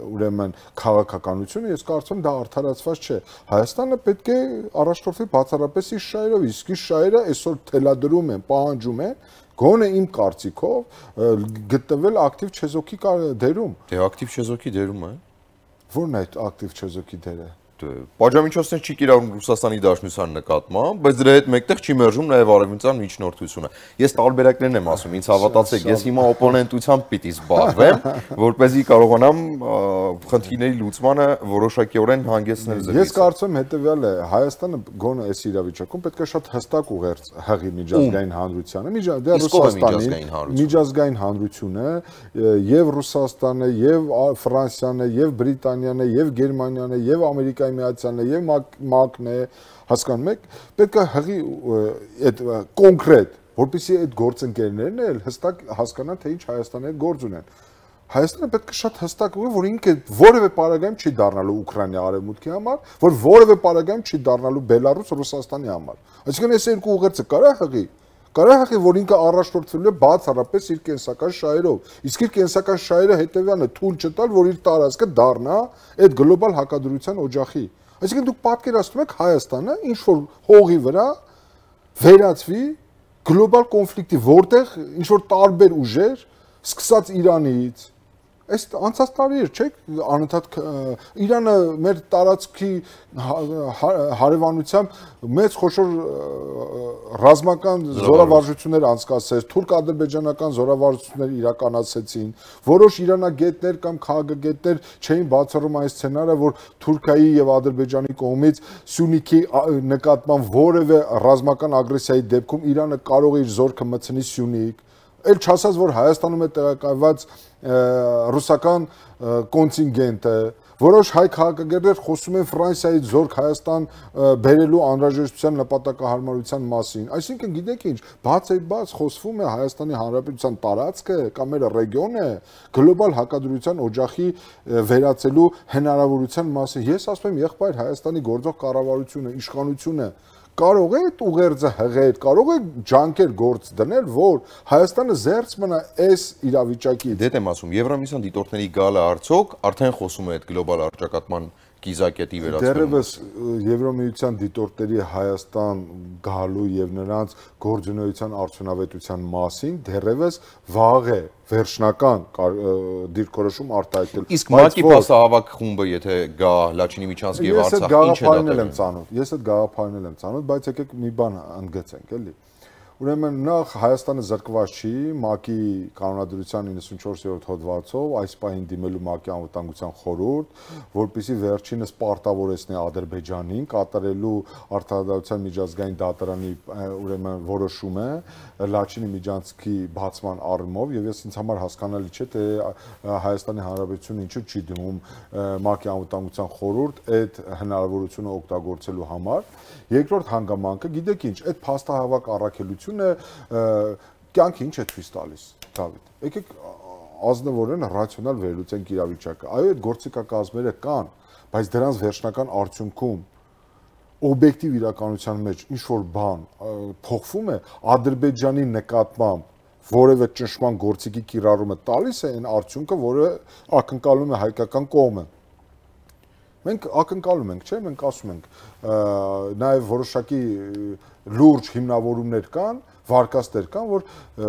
ուրեմն քաղաքականությունը, ես կարծում եմ դա արդարացված չէ։ Հայաստանը պետք է առաջնորդվի բացառապես իր շահերով, իսկ իր շահերը այսօր թելադրում են, պահանջում են Գոնե իմ կարծիքով գտնվել ակտիվ չեզոքի դերում։ Դե ակտիվ չեզոքի դերում է։ Որն է այդ ակտիվ չեզոքի դերը։ Պատժամիջոցներ չի կիրառում Ռուսաստանի Դաշնության նկատմամբ, բայց դրա հետ մեկտեղ չի մերժում նաև արևմտյան միջնորդությունը։ Ես տարբերակներն եմ ասում, ինձ հավատացեք, ես հիմա օպոնենտությամբ պիտի զբաղվեմ, որպեսզի կարողանամ խնդիրների լուծմանը որոշակիորեն հանգեցնել ձեզ։ Ես կարծում եմ հետեւյալը, Հայաստանը գոնե այս իրավիճակում պետք է շատ հստակ ուղերձ հղի միջազգային հանրությանը, դե Ռուսաստանի միջազգային հանրությունը եւ Ռուսաստանը, եւ Ֆրանսիան է, եւ Բրիտանիան է, եւ Գերմանիան է, եւ Ամերիկայի Միացյալն է, եւ ՄԱԿ-ն է, հասկանում եք, պետք է հղի այդ կոնկրետ, որպեսզի այդ գործընկերներն էլ հստակ հասկանան, թե ինչ Հայաստանի հետ գործ ունեն։ Հայաստանը պետք է շատ հստակ ուղի, որ ինքը որևէ պարագայում չի դառնալու Ուկրաինայի արևմուտքի համար, որ որևէ պարագայում չի դառնալու Բելարուս Ռուսաստանի համար։ Այսինքն այս երկու ուղերձը կարա հղի։ Կարա հղի, որ ինքը առաջնորդվելու է բացառապես իր կենսական շահերով։ Իսկ իր կենսական շահերը հետևյալն է՝ թույլ չտալ, որ իր տարածքը դառնա այդ գլոբալ հակադրության օջախի։ Այսինքն դուք պատկերացնում եք Հայաստանը ինչ որ հողի վրա վերածվի գլոբալ կոնֆլիկտի, որտեղ ինչ որ տարբեր ուժեր, սկսած Իրանից, այս անցած տարի էր, չէ՞, անընդհատ Իրանը մեր տարածքի հարևանությամբ մեծ խոշոր ռազմական զորավարժություններ անցկացրեց, թուրք-ադրբեջանական զորավարժություններ իրականացեցին, որոշ իրանագետներ կամ քաղաքագետներ չէին բացառում այն սցենարը, որ Թուրքիայի եւ Ադրբեջանի կողմից Սյունիքի նկատմամբ որևէ ռազմական ագրեսիայի դեպքում Իրանը կարող է իր զորքը մտցնի Սյունիք։ Էլ չասած, որ Հայաստանում է տեղակայված ռուսական կոնտինգենտը, որոշ հայ քաղաքագետներ խոսում են Ֆրանսիայից զորք Հայաստան բերելու անհրաժեշտության նպատակահարմարության մասին։ Այսինքն, գիտեք ինչ, բաց խոսվում է Հայաստանի Հանրապետության տարածքը կամ մեր ռեգիոնը գլոբալ հակադրության օջախի վերածելու հնարավորության մասին։ Ես ասում եմ, եղբայր Հայաստանի գործող կառավարությունը, իշխանությունը կարող է այդ ուղերձը հղել, կարող է ջանքեր գործ դնել, որ Հայաստանը զերծ մնա այս իրավիճակից։ Դե եմ ասում, Եվրամիության դիտորդների գալը արդյոք արդեն խոսում է այդ գլոբալ առճակատման կիզակետի վերածվելու։ Դեռևս Եվրամիության դիտորդների Հայաստան գալու եւ նրանց գործունեության արդյունավետության մասին դեռևս վաղ է վերջնական դիրքորոշում արտահայտել։ Իսկ ՄԱԿ-ի փաստահավաք խումբը եթե գա Լաչինի Միչանսկի եւ Արցախ, ինչ է դա։ Ես այդ գաղափարն եմ ծանոթ, բայց եկեք մի բան ընդգծենք, էլի։ Ուրեմն նախ Հայաստանը զրկված չի ՄԱԿ-ի կանոնադրության 94-րդ հոդվածով այս պահին դիմելու ՄԱԿ-ի անվտանգության խորհուրդ, որպեսզի վերջինս պարտավորեցնի Ադրբեջանին կատարելու Արտադրության միջազգային դատարանի ուրեմն որոշումը Լաչինի Միջանցքի բացման առումով, եւ ես ինձ համար հասկանալի չէ, թե Հայաստանի Հանրապետությունը ինչու չի դիմում ՄԱԿ-ի անվտանգության խորհուրդ այդ հնարավորությունը օգտագործելու համար։ Երկրորդ հանգամանքը, գիտեք ինչ, այդ փաստահավաք առաքելությունը կյանքը ինչ է ցույց տալիս, Դավիթ։ Եկեք ազնվորեն ռացիոնալ վերլուծենք իրավիճակը։ Այո, այդ գործիքակազմերը կան, բայց դրանց վերջնական արդյունքում օբյեկտիվ իրականության մեջ ինչ որ բան փոխվում է Ադրբեջանի նկատմամբ որևէ ճնշման գործիքի կիրառումը տալիս է այն արդյունքը, որը ակնկալում է հայկական կողմը։ Մենք ակնկալում ենք, չէ՞, մենք ասում ենք, նաև որոշակի լուրջ հիմնավորումներ կան, վարկաստեր կան, որ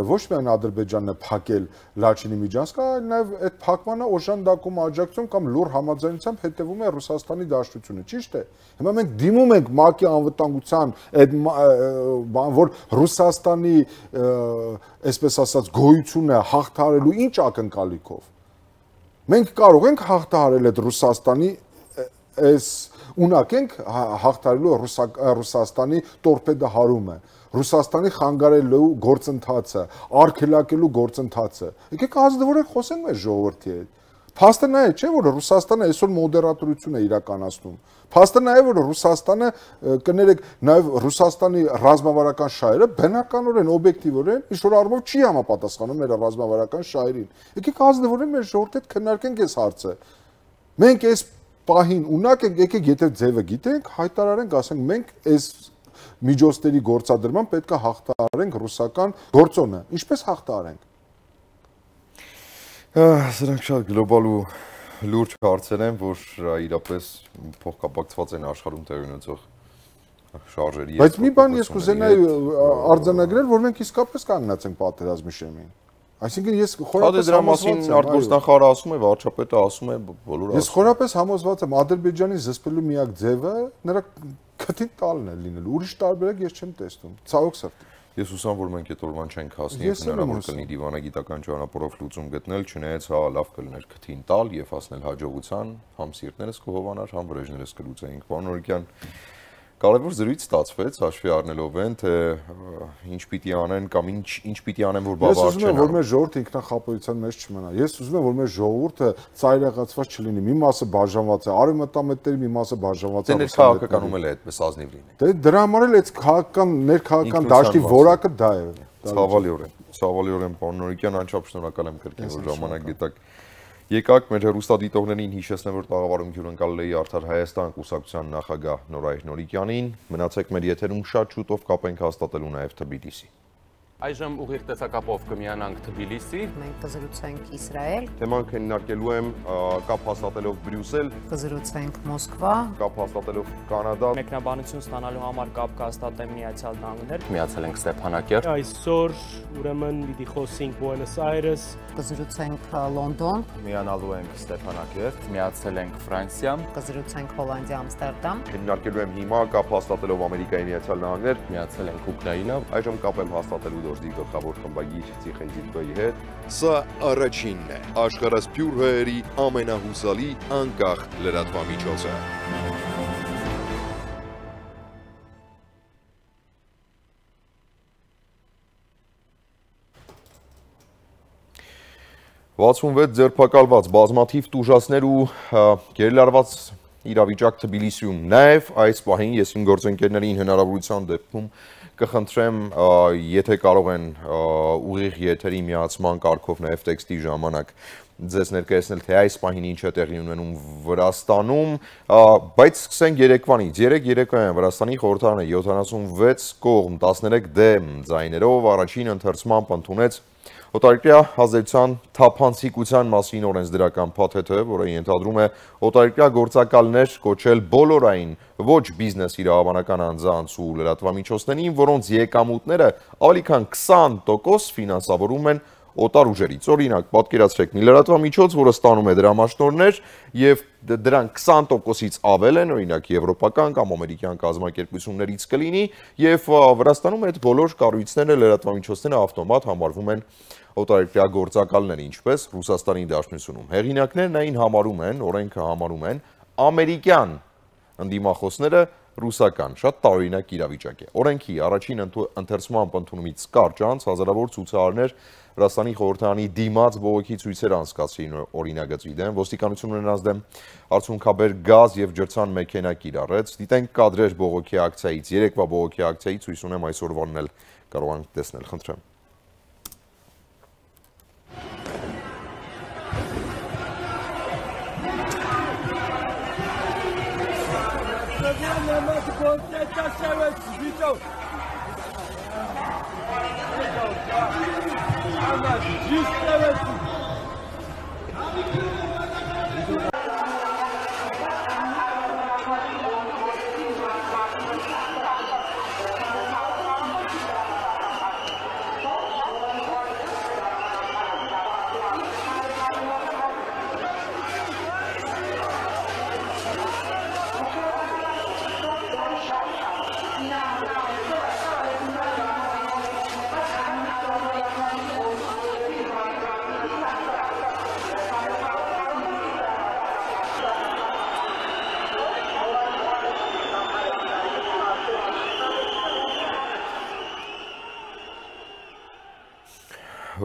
ոչ միայն Ադրբեջանն է փակել Լաչինի Միջանցքը, այլ նաև այդ փակմանը օժանդակում աջակցում կամ լուր համաձայնությամբ հետևում է Ռուսաստանի Դաշնությունը, ճիշտ է։ Հիմա մենք դիմում ենք ՄԱԿ-ի անվտանգության այդ բան, որ Ռուսաստանի, այսպես ասած, գոյությունը հաղթահարելու ինչ ակնկալիքով։ Մենք կարող ենք հաղթահարել այդ Ռուսաստանի այս ունակ ենք հաղթարելու Ռուսաստանի տորպեդահարումը, Ռուսաստանի խանգարելու գործընթացը, արգելակելու գործընթացը։ Եկեք ազնվորեն խոսենք մեր ժողովրդի հետ։ Փաստը նա է, չէ՞, որ Ռուսաստանը այսօր մոդերատորություն է իրականացնում։ Փաստը նա է, որ Ռուսաստանը, կներեք, նաև Ռուսաստանի ռազմավարական շահերը բնականորեն, օբյեկտիվորեն ինչ-որ առումով չի համապատասխանում մեր ռազմավարական շահերին։ Եկեք ազնվորեն մեր ժողովրդի հետ քննարկենք այս հարցը։ Մենք այս պահին ունակ ենք, եկեք եթե ձևը գիտենք, հայտարարենք, ասենք մենք այս միջոցների գործադրման պետք է հաղթահարենք ռուսական գործոնը։ Ինչպես հաղթահարենք։ Սրանք շատ գլոբալ ու լուրջ հարցեր են, որ իրապես փոխկապակցված են աշխարհում տեղի ունեցող շարժերի։ Բայց մի բան ես կուզենայի արձանագրել, որ մենք իսկապես կանգնած ենք պատերազմի շեմին։ Այսինքն ես խորապես դրա մասին արտգործնախարարը ասում է, վարչապետը ասում է, բոլորը։ Ես խորապես համոզված եմ, Ադրբեջանի զսպելու միակ ձևը նրա քթին տալն է լինել։ Ուրիշ տարբերակ ես չեմ տեսնում։ Ցավոք սրտի։ Ես հուսամ, որ մենք այդ օրվան չենք հասնի, եթե հնարավոր կլինի դիվանագիտական ճանապարհով լուծում գտնել, չնայած հա լավ կլիներ քթին տալ եւ հասնել հաջողության, համ սիրտներս կհովանար, համ վրեժներս կլուծեինք։ Պարոն Օրիկյան, կարևոր զրույց ստացվեց, հաշվի առնելով այն, թե ինչ պիտի անեն կամ ինչ պիտի անեն, որ բավարար չեն։ Ես ուզում եմ, որ մեր ժողովուրդը ինքնախապոյության մեջ չմնա։ Ես ուզում եմ, որ մեր ժողովուրդը ծայրահեղացված չլինի։ Մի մասը բաժանված է արևմտամետների, մի մասը բաժանված է։ Դե քաղաքականում էլ է այդպես ազնիվ լինի։ Դե դրա համար էլ այդ քաղաքական ներքաղաքական դաշտի որակը դա է։ Ցավալիորեն, պարոն Նորիկյան, անչափ շնորհակալ եմ կրկին, որ ժամանակ գտաք։ Եկաք մեր հեռուստադիտողներին հիշեցնեմ, որ տաղավարում հյուրընկալել էի Արդար Հայաստան կուսակցության նախագահ Նորայր Նորիկյանին։ Մնացեք մեր եթերում, շատ շուտով կապենք հաստատելու նաև Թբիլիսի։ Այժմ ուղիղ տեսակապով կմիանանք Թբիլիսի։ Մենք կզրուցենք Իսրայել, Թեման քննարկելու եմ կապ հաստատելով Բրյուսել, կզրուցենք Մոսկվա, կապ հաստատելով Կանադա, Մեկնաբանություն ստանալու համար կապ կհաստատեմ Միացյալ Նահանգներ։ Միացել ենք Ստեփանակերտ։ Այսօր ուրեմն պիտի խոսենք Buenos Aires, կզրուցենք Լոնդոն, Միանալու ենք Ստեփանակերտ, միացել ենք Ֆրանսիա, կզրուցենք Հոլանդիա, Ամստերդամ, քննարկելու եմ հիմա կապ հաստատելով Ամերիկայի Միացյալ Նահանգներ, միացել ենք Ուկրաինա, այժմ կապ եմ հաստատելու դոժդի գլխավոր խմբագիր Ցիխեյզիկոյի հետ։ Սա առաջինն է աշխարհասփյուր հայերի ամենահուսալի անկախ լրատվամիջոցը։ «66 ձերբակալված բազմաթիվ տուժածներ ու գերլարված իրավիճակ Թբիլիսիում, նաև այս պահին ես իմ գործընկերներին հնարավորության դեպքում կխնդրեմ, եթե կարող են ուղիղ եթերի միացման կարգով նաև տեքստի ժամանակ ձեզ ներկայացնել, թե այս պահին ինչ է տեղի ունենում Վրաստանում, բայց սկսենք երեկվանից։ Երեկոյան Վրաստանի խորհրդարանը 76 կողմ 13 դեմ ձայներով առաջին ընթերցմամբ ընդունեց օտարերկրյա ազդեցության թափանցիկության մասին օրենսդրական փաթեթը, որը ենթադրում է օտարերկրյա գործակալներ կոչել բոլորային ոչ բիզնես իրավաբանական անձանց ու լրատվամիջոցներին, որոնց եկամուտները ավելի քան 20% ֆինանսավորում են օտար ուժերից։ Օրինակ, պատկերացրեք մի լրատվամիջոց, որը ստանում է դրամաշնորհներ եւ դրանք 20%-ից ավել են, օրինակ եվրոպական կամ ամերիկյան կազմակերպություններից կլինի, եւ Վրաստանում այդ բոլոր կառույցները լրատվամիջոցները ավտոմատ համարվում են օտարերկրյա գործակալներ, ինչպես Ռուսաստանի Դաշնությունում։ Հեղինակներն այն համարում են, օրենքը համարում են ամերիկյան ընդդիմախոսները ռուսական, շատ տարօրինակ իրավիճակ է։ Օրենքի առաջին ընթերցման ընդունումից կարճ անց հազարավոր ցուցարարներ Վրաստանի խորհրդարանի դիմաց բողոքի ցույցեր անցկացրին օրինագծի դեմ, ոստիկանությունը նրանց դեմ արցունքաբեր գազ եւ ջրցան մեքենա կիրառեց։ Դիտենք կադրեր բողոքի ակցիայից, երեկվա բողոքի ակցիայից, հույս ունեմ այսօրվանն էլ կարող ենք տեսնել, խնդրեմ։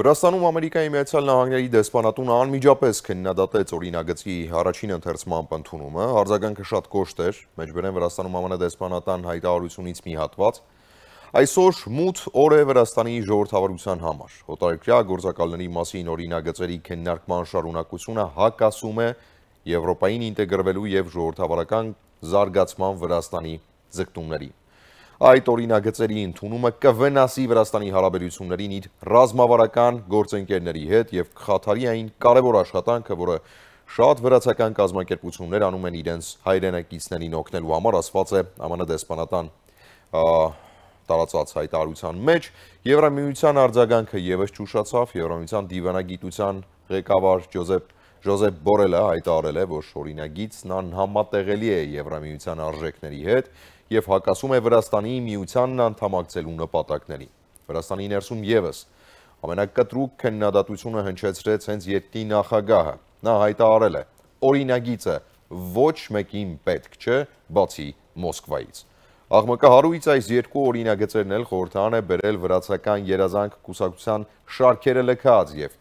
Վրաստանում Ամերիկայի Միացյալ Նահանգների դեսպանատունը անմիջապես քննադատեց օրինագծի առաջին ընթերցման ընդունումը, արձագանքը շատ կոշտ էր, մեջբերեն Վրաստանում ԱՄՆ դեսպանատան հայտարարությունից մի հատված։ Այսօր մութ օր է Վրաստանի ժողովրդավարության համար։ Օտարերկրյա գործակալների մասին օրինագծերի քննարկման շարունակությունը հակասում է Եվրոպային ինտեգրվելու եւ ժողովրդավարական զարգացման Վրաստանի ձգտումներին։ Այդ օրինագծերի ընդունումը կվնասի Վրաստանի հարաբերություններին իր ռազմավարական գործընկերների հետ եւ կխաթարի այն կարևոր աշխատանքը, որը շատ վրացական կազմակերպություններ անում են իրենց հայրենակիցներին օգնելու համար, ասված է ԱՄՆ դեսպանատան տարածած հայտարարության մեջ, Եվրամիության արձագանքը եւս ճուշացավ, Եվրամիության դիվանագիտության ղեկավար Ջոզեփ Բորելը հայտարարել է, որ օրինագիծն անհամատեղելի է Եվրամիության արժեքների հետ եւ հակասում է Վրաստանի միությանն անդամակցելու նպատակներին։ Վրաստանի ներսում եւս ամենակտրուկ քննադատությունը հնչեցրեց հենց երկրի նախագահը։ Նա հայտարարել է. օրինագիծը ոչ մեկին պետք չէ, բացի Մոսկվայից։ Աղմկահարույց այս երկու օրինագծերն էլ խորհրդան է բերել վրացական երազանք կուսակցության շարքերը լքած եւ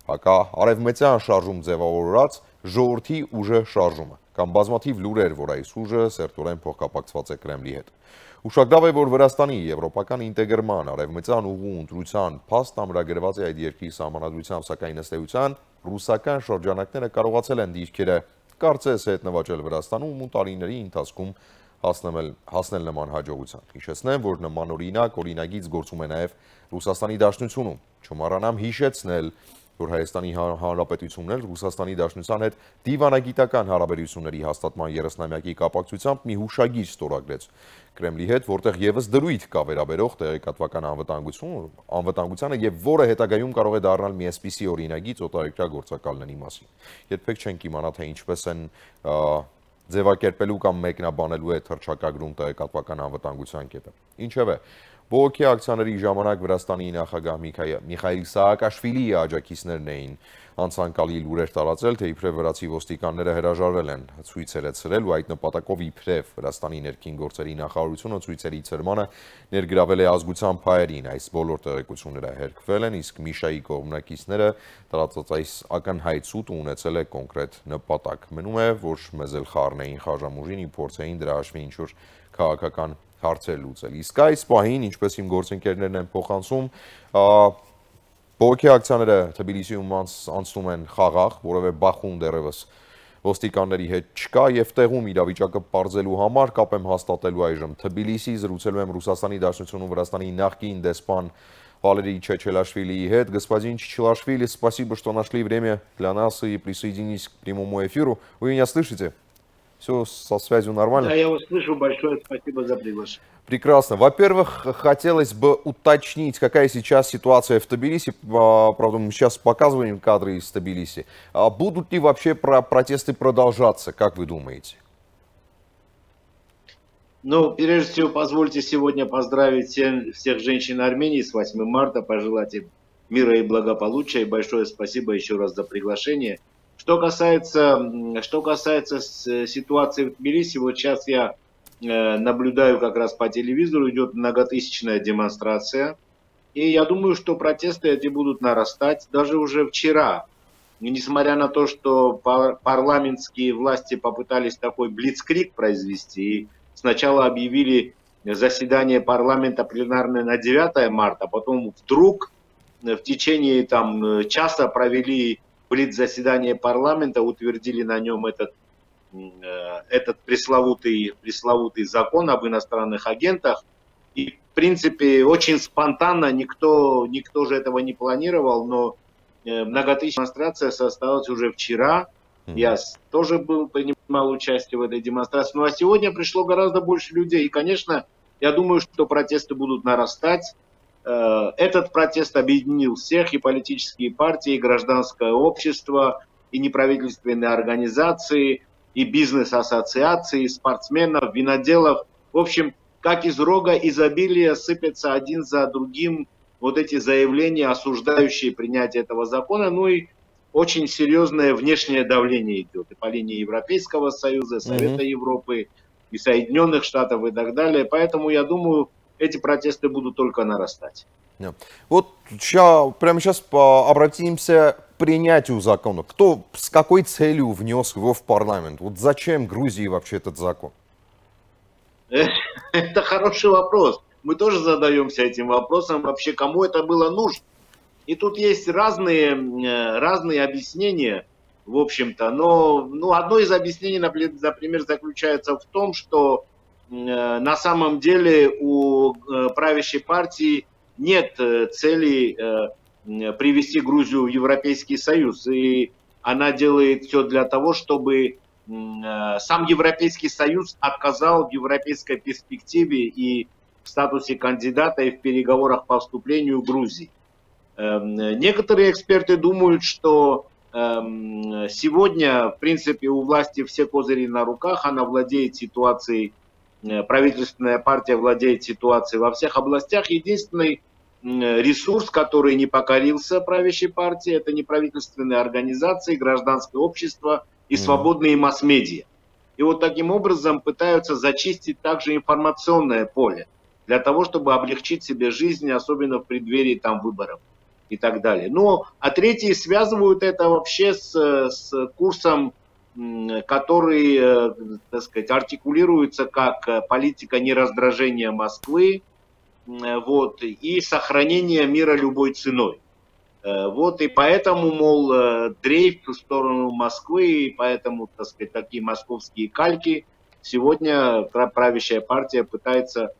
հակաարևմտյան շարժում ձևավորած ժողովրդի ուժը շարժումը, կամ բազմաթիվ լուրեր, որ այս ուժը սերտորեն փոխկապակցված է Կրեմլի հետ։ Ուշագրավ է, որ Վրաստանի եվրոպական ինտեգրման արևմտյան ուղու ընտրության փաստ ամրագրված է այդ երկրի սահմանադրությամբ, սակայն ըստ էության ռուսական շրջանակները կարողացել են դիրքերը կարծես հետ նվաճել Վրաստանում ու տարիների ընթացքում հասնել նման հաջողության։ Հիշեցնեմ, որ նման օրինագիծ գործում է նաև Ռուսաստանի Դաշնությունում։ Չմոռանամ հիշեցնել, որ Հայաստանի Հանրապետությունն էլ Ռուսաստանի Դաշնության հետ դիվանագիտական հարաբերությունների հաստատման 30-ամյակի կապակցությամբ մի հուշագիր ստորագրեց Կրեմլի հետ, որտեղ եւս դրույթ կա վերաբերող տեղեկատվական անվտանգությանը եւ որը հետագայում կարող է դառնալ մի այսպիսի օրինագիծ օտարերկրյա գործակալների մասին։ Երբեք չենք իմանա, թե ինչպես են ձևակերպելու կամ մեկնաբանելու է թռչակագրում տեղեկատվական անվտանգության կետը։ Ինչևէ, բողոքի ակցիաների ժամանակ Վրաստանի նախագահ Միխայիլ Սահակաշվիլիի աջակիցներն էին անցանկալի լուրեր տարածել, թե իբրև վրացի ոստիկանները հրաժարվել են ցույցերը ցրել ու այդ նպատակով իբրև Վրաստանի ներքին գործերի նախարարությունը ցույցերի ցրմանը ներգրավել է ազգության փայերին։ Այս բոլոր տեղեկությունները հերքվել են, իսկ Միշայի կողմնակիցները տարածած այս ակնհայտ սուտը ունեցել է կոնկրետ նպատակ։ Մնում է, որ մեզ էլ խառնեին խաժամուժին ու փորձեին դրա հաշվի ինչ-որ քաղաքական հարցեր լուծել։ Իսկ այս պահին, ինչպես իմ գործընկերներն են փոխանցում, բողոքի ակցիաները Թբիլիսիում անցնում են խաղաղ, որովհետև Բախում դեռևս ոստիկանների հետ չկա եւ տեղում իրավիճակը պարզելու համար կապ եմ հաստատելու այժմ Թբիլիսի, զրուցելու եմ Ռուսաստանի Դաշնությունում Վրաստանի նախկին դեսպան Валерий Чечелашвили и господин Чечелашвили, спасибо, что нашли время для нас и присоединились к прямому эфиру. Вы меня слышите? Все со связью нормально? Да, я вас слышу. Большое спасибо за приглашение. Прекрасно. Во-первых, хотелось бы уточнить, какая сейчас ситуация в Тбилиси. Правда, мы сейчас показываем кадры из Тбилиси. Будут ли вообще протесты продолжаться, как вы думаете? Ну, прежде всего, позвольте сегодня поздравить всех женщин Армении с 8 марта, пожелать им мира и благополучия. И большое спасибо еще раз за приглашение. Что касается ситуации в Тбилиси, вот сейчас я наблюдаю как раз по телевизору, идет многотысячная демонстрация. И я думаю, что протесты эти будут нарастать. Даже уже вчера, несмотря на то, что парламентские власти попытались такой блицкриг произвести, и сначала объявили заседание парламента пленарное на 9 марта, а потом вдруг в течение часа провели блиц-заседание парламента, утвердили на нем этот пресловутый закон об иностранных агентах. И, в принципе, очень спонтанно, никто же этого не планировал, но многотысячная демонстрация состоялась уже вчера. Я тоже принимал участие в этой демонстрации. Ну а сегодня пришло гораздо больше людей. И, конечно, я думаю, что протесты будут нарастать. Этот протест объединил всех, и политические партии, и гражданское общество, и неправительственные организации, и бизнес-ассоциации, и спортсменов, виноделов. В общем, как из рога изобилия сыпятся один за другим вот эти заявления, осуждающие принятие этого закона. Ну и очень серьезное внешнее давление идет и по линии Европейского Союза, Совета Европы, и Соединенных Штатов и так далее. Поэтому, я думаю, эти протесты будут только нарастать. Вот прямо сейчас обратимся к принятию закона. Кто с какой целью внес его в парламент? Вот зачем Грузии вообще этот закон? Это хороший вопрос. Мы тоже задаемся этим вопросом. Вообще, кому это было нужно? И тут есть разные объяснения, в общем-то. Но одно из объяснений, например, заключается в том, что на самом деле у правящей партии нет цели привести Грузию в Европейский Союз. И она делает все для того, чтобы сам Европейский Союз отказал в европейской перспективе и в статусе кандидата и в переговорах по вступлению Грузии. Некоторые эксперты думают, что сегодня, в принципе, у власти все козыри на руках, она владеет ситуацией, правительственная партия владеет ситуацией во всех областях. Единственный ресурс, который не покорился правящей партии, это неправительственные организации, гражданское общество и свободные масс-медиа. И вот таким образом пытаются зачистить также информационное поле, для того, чтобы облегчить себе жизнь, особенно в преддверии там выборов и так далее. Ну, а третьи связывают это вообще с курсом, который, так сказать, артикулируется как политика нераздражения Москвы, вот, и сохранения мира любой ценой. Вот, и поэтому, мол, дрейф в сторону Москвы, и поэтому, так сказать, такие московские кальки сегодня правящая партия пытается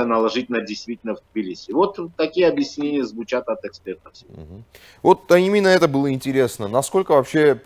наложить на действительно в Тбилиси. Вот такие объяснения звучат от экспертов. Вот именно это было интересно. Насколько вообще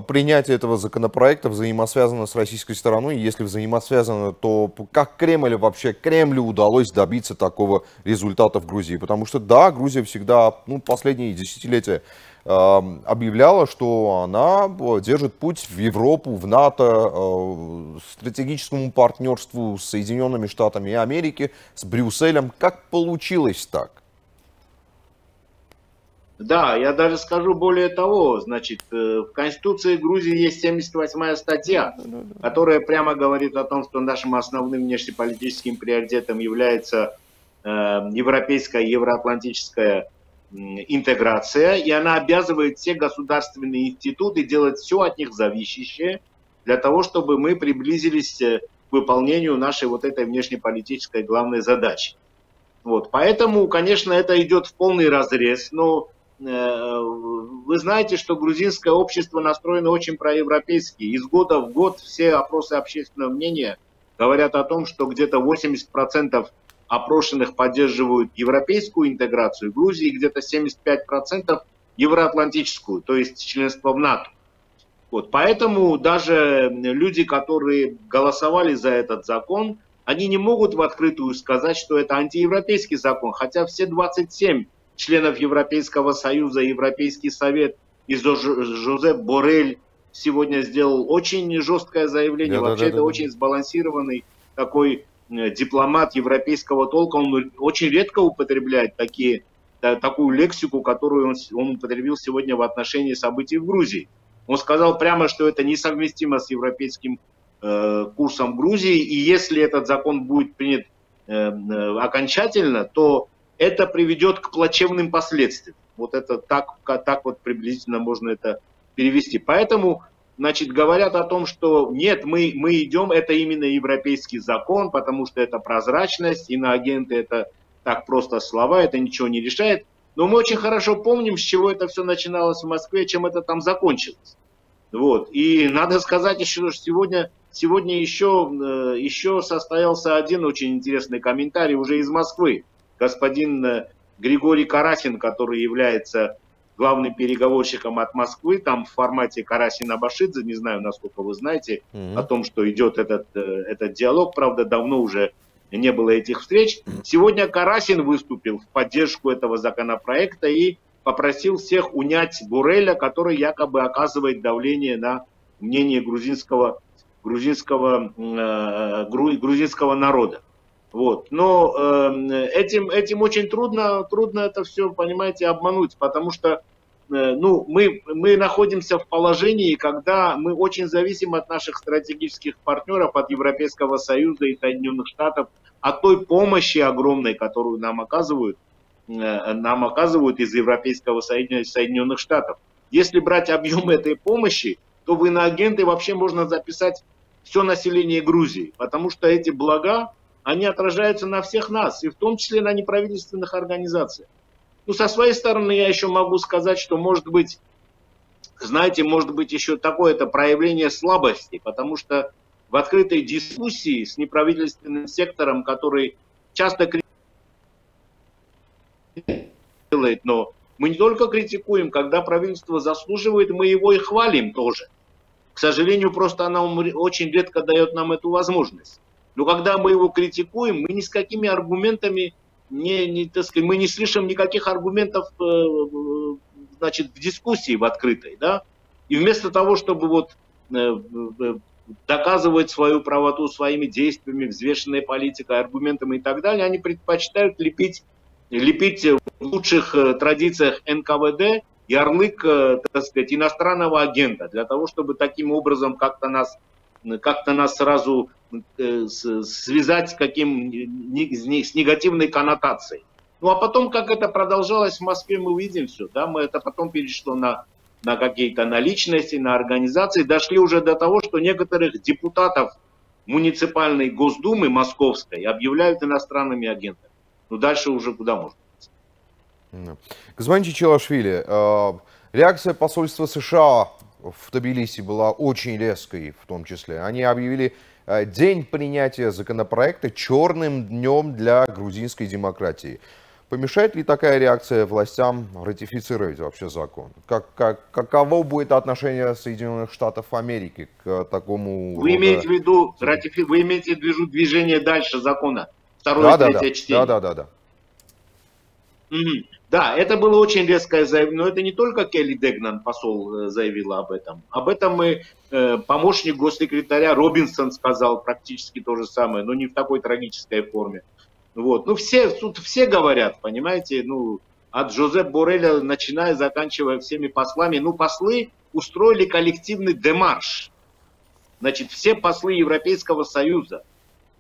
принятие этого законопроекта взаимосвязано с российской стороной? Если взаимосвязано, то как Кремлю удалось добиться такого результата в Грузии? Потому что, да, Грузия всегда, последние десятилетия объявляла, что она держит путь в Европу, в НАТО, стратегическому партнерству с Соединенными Штатами Америки, с Брюсселем. Как получилось так? Да, я даже скажу более того, значит, в Конституции Грузии есть 78-я статья, которая прямо говорит о том, что нашим основным внешнеполитическим приоритетом является европейская, евроатлантическая интеграция, и она обязывает все государственные институты делать все от них зависящее для того, чтобы мы приблизились к выполнению нашей вот этой внешнеполитической главной задачи. Вот, поэтому, конечно, это идет в полный разрез, но вы знаете, что грузинское общество настроено очень проевропейски. Из года в год все опросы общественного мнения говорят о том, что где-то 80% опрошенных поддерживают европейскую интеграцию Грузии, где-то 75% евроатлантическую, то есть членство в НАТО. Вот, поэтому даже люди, которые голосовали за этот закон, они не могут в открытую сказать, что это антиевропейский закон, хотя все 27 членов Европейского Союза, Европейский Совет и Жозеп Боррель сегодня сделал очень жесткое заявление. Вообще это очень сбалансированный такой дипломат европейского толка. Он очень редко употребляет такую лексику, которую он употребил сегодня в отношении событий в Грузии. Он сказал прямо, что это несовместимо с европейским курсом Грузии, и если этот закон будет принят окончательно, то это приведет к плачевным последствиям. Вот это так вот приблизительно можно это перевести. Поэтому, значит, говорят о том, что нет, мы идем, это именно европейский закон, потому что это прозрачность, иноагенты это так просто слова, это ничего не решает. Но мы очень хорошо помним, с чего это все начиналось в Москве, чем это там закончилось. Вот. И надо сказать еще, что сегодня еще состоялся один очень интересный комментарий уже из Москвы. Господин Григорий Карасин, который является главным переговорщиком от Москвы, там в формате Карасин-Абашидзе, не знаю, насколько вы знаете, о том, что идет этот диалог, правда, давно уже не было этих встреч. Сегодня Карасин выступил в поддержку этого законопроекта и попросил всех унять Борреля, который якобы оказывает давление на мнение грузинского народа. Вот. Но этим очень трудно это все, понимаете, обмануть, потому что мы находимся в положении, когда мы очень зависим от наших стратегических партнеров, от Европейского Союза и Соединенных Штатов, от той помощи огромной, которую нам оказывают из Европейского Союза и Соединенных Штатов. Если брать объем этой помощи, то в иноагенты вообще можно записать все население Грузии, потому что эти блага, они отражаются на всех нас, и в том числе на неправительственных организациях. Ну, со своей стороны я еще могу сказать, что может быть еще такое-то проявление слабости, потому что в открытой дискуссии с неправительственным сектором, который часто критикует, но мы не только критикуем, когда правительство заслуживает, мы его и хвалим тоже. К сожалению, просто оно очень редко дает нам эту возможность. Но когда мы его критикуем, мы ни с какими аргументами, так сказать, мы не слышим никаких аргументов значит, в дискуссии, в открытой. Да? И вместо того, чтобы вот, доказывать свою правоту своими действиями, взвешенной политикой, аргументами и так далее, они предпочитают лепить в лучших традициях НКВД ярлык, так сказать, иностранного агента, для того, чтобы таким образом как-то нас сразу связать с негативной коннотацией. Ну а потом, как это продолжалось в Москве, мы увидим все. Да? Это потом перешло на какие-то личности, на организации. Дошли уже до того, что некоторых депутатов муниципальной Госдумы московской объявляют иностранными агентами. Ну дальше уже куда можно? Господин Чичилашвили, реакция посольства США в Тбилиси была очень резкой в том числе. Они объявили день принятия законопроекта черным днем для грузинской демократии. Помешает ли такая реакция властям ратифицировать вообще закон? Каково будет отношение Соединенных Штатов Америки к такому... Вы имеете в виду движение дальше закона? Второе и третье чтение? Да. Да, это было очень резкое заявление, но это не только Келли Дегнан, посол, заявила об этом. Об этом и помощник госсекретаря Робинсон сказал практически то же самое, но не в такой трагической форме. Вот. Ну, тут все говорят, понимаете, ну, от Жозеп Борреля, начиная, заканчивая всеми послами. Ну, послы устроили коллективный демарш. Значит, все послы Европейского Союза,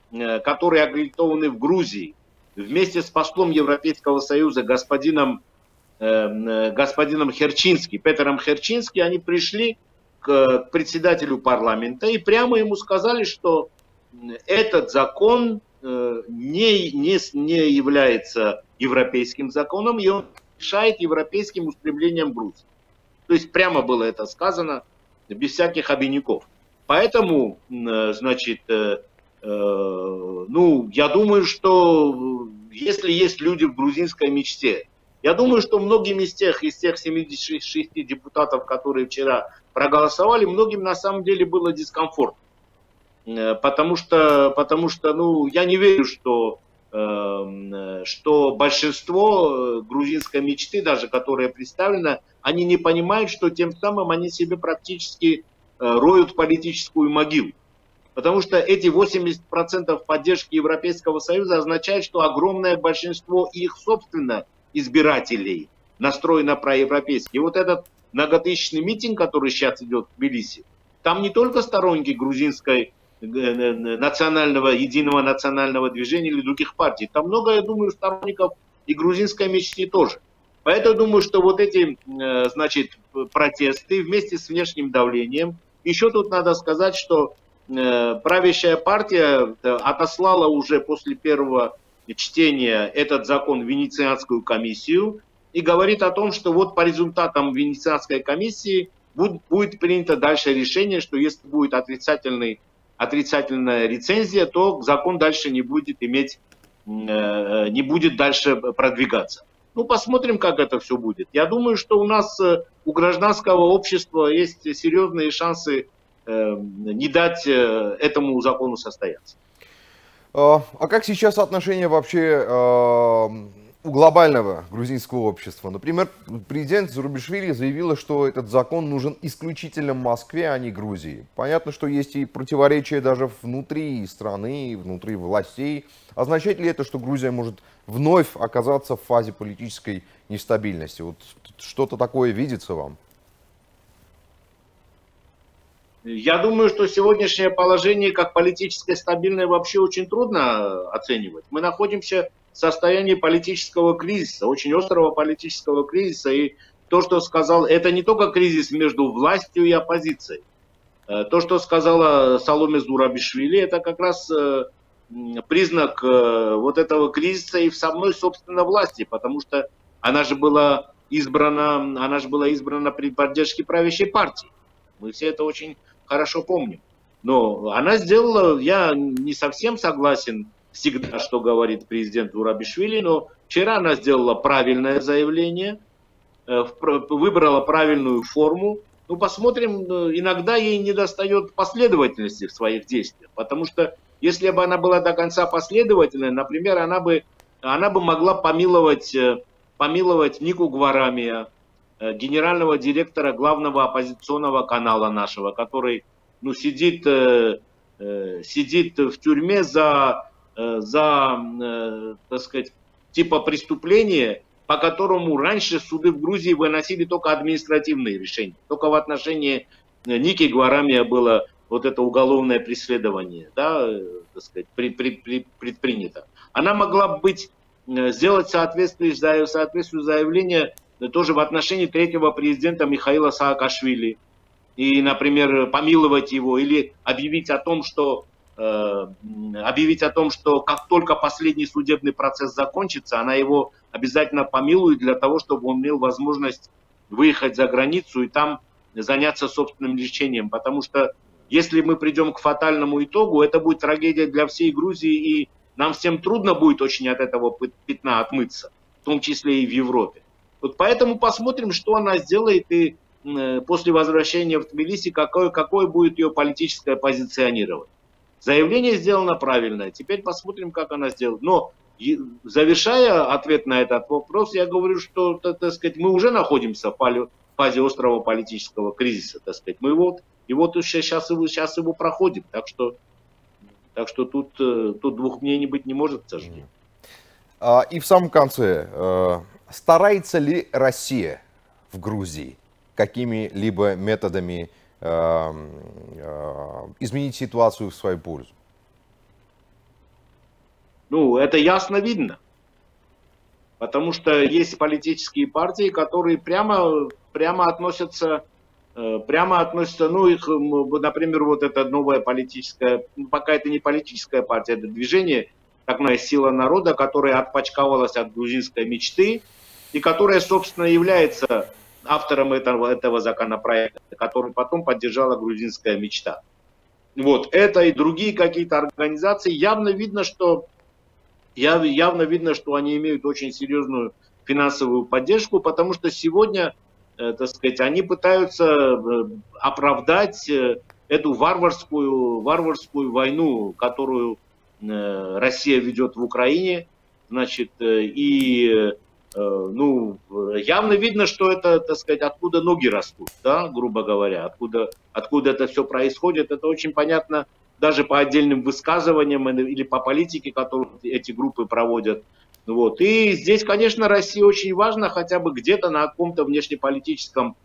которые аккредитованы в Грузии, вместе с послом Европейского Союза господином Херчински, Петером Херчински, они пришли к председателю парламента и прямо ему сказали, что этот закон не является европейским законом, и он мешает европейским устремлениям Грузии. То есть прямо было это сказано, без всяких обиняков. Поэтому, значит, ну, я думаю, что если есть люди в грузинской мечте, я думаю, что многим из тех 76 депутатов, которые вчера проголосовали, многим на самом деле было дискомфортно. Потому что, ну, я не верю, что большинство грузинской мечты, даже которая представлена, они не понимают, что тем самым они себе практически роют политическую могилу. Потому что эти 80% поддержки Европейского Союза означает, что огромное большинство их, собственно, избирателей настроено проевропейски. И вот этот многотысячный митинг, который сейчас идет в Тбилиси, там не только сторонники грузинской единого национального движения или других партий. Там много, я думаю, сторонников и грузинской мечты тоже. Поэтому я думаю, что вот эти, значит, протесты вместе с внешним давлением. Еще тут надо сказать, что правящая партия отослала уже после первого чтения этот закон в Венецианскую комиссию и говорит о том, что вот по результатам Венецианской комиссии будет принято дальше решение, что если будет отрицательная рецензия, то закон дальше не будет дальше продвигаться. Ну, посмотрим, как это все будет. Я думаю, что у гражданского общества есть серьезные шансы не дать этому закону состояться. А как сейчас отношение вообще у глобального грузинского общества? Например, президент Зурабишвили заявила, что этот закон нужен исключительно Москве, а не Грузии. Понятно, что есть и противоречия даже внутри страны, внутри властей. Означает ли это, что Грузия может вновь оказаться в фазе политической нестабильности? Вот что-то такое видится вам? Я думаю, что сегодняшнее положение как политическое стабильное вообще очень трудно оценивать. Мы находимся в состоянии политического кризиса, очень острого политического кризиса. И то, что сказал, это не только кризис между властью и оппозицией. То, что сказала Саломе Зурабишвили, это как раз признак вот этого кризиса и в самой, собственно, власти, потому что она же была избрана при поддержке правящей партии. Мы все это очень хорошо помним. Но она сделала, я не совсем согласен всегда, что говорит президент Зурабишвили, но вчера она сделала правильное заявление, выбрала правильную форму. Ну, посмотрим, иногда ей недостает последовательности в своих действиях, потому что если бы она была до конца последовательной, например, она бы могла помиловать Нику Гварамия, генерального директора главного оппозиционного канала нашего, который сидит в тюрьме за так сказать, типа преступления, по которому раньше суды в Грузии выносили только административные решения. Только в отношении Ники Гварамия было вот это уголовное преследование, да, так сказать, предпринято. Она могла сделать соответствующее заявление тоже в отношении третьего президента Михаила Саакашвили. И, например, помиловать его или объявить о том, что как только последний судебный процесс закончится, она его обязательно помилует для того, чтобы он имел возможность выехать за границу и там заняться собственным лечением. Потому что если мы придем к фатальному итогу, это будет трагедия для всей Грузии, и нам всем трудно будет очень от этого пятна отмыться, в том числе и в Европе. Вот поэтому посмотрим, что она сделает, и после возвращения в Тбилиси, какое будет ее политическое позиционирование. Заявление сделано правильное, теперь посмотрим, как она сделает. Но, завершая ответ на этот вопрос, я говорю, что, так сказать, мы уже находимся в фазе острого политического кризиса, так сказать. Мы его сейчас его проходим, так что тут двух мнений быть не может, к сожалению. И в самом конце, старается ли Россия в Грузии какими-либо методами изменить ситуацию в свою пользу? Это ясно видно. Потому что есть политические партии, которые прямо относятся, например, вот эта новая политическая, пока это не политическая партия, это движение, такая сила народа, которая отпочковалась от грузинской мечты и которая, собственно, является автором этого законопроекта, который потом поддержала грузинская мечта. Вот это и другие какие-то организации, явно видно, что они имеют очень серьезную финансовую поддержку, потому что сегодня, так сказать, они пытаются оправдать эту варварскую войну, которую Россия ведет в Украине, значит, и явно видно, что это, так сказать, откуда ноги растут, да, грубо говоря, откуда это все происходит, это очень понятно даже по отдельным высказываниям или по политике, которую эти группы проводят. Вот. И здесь, конечно, России очень важно хотя бы где-то на каком-то внешнеполитическом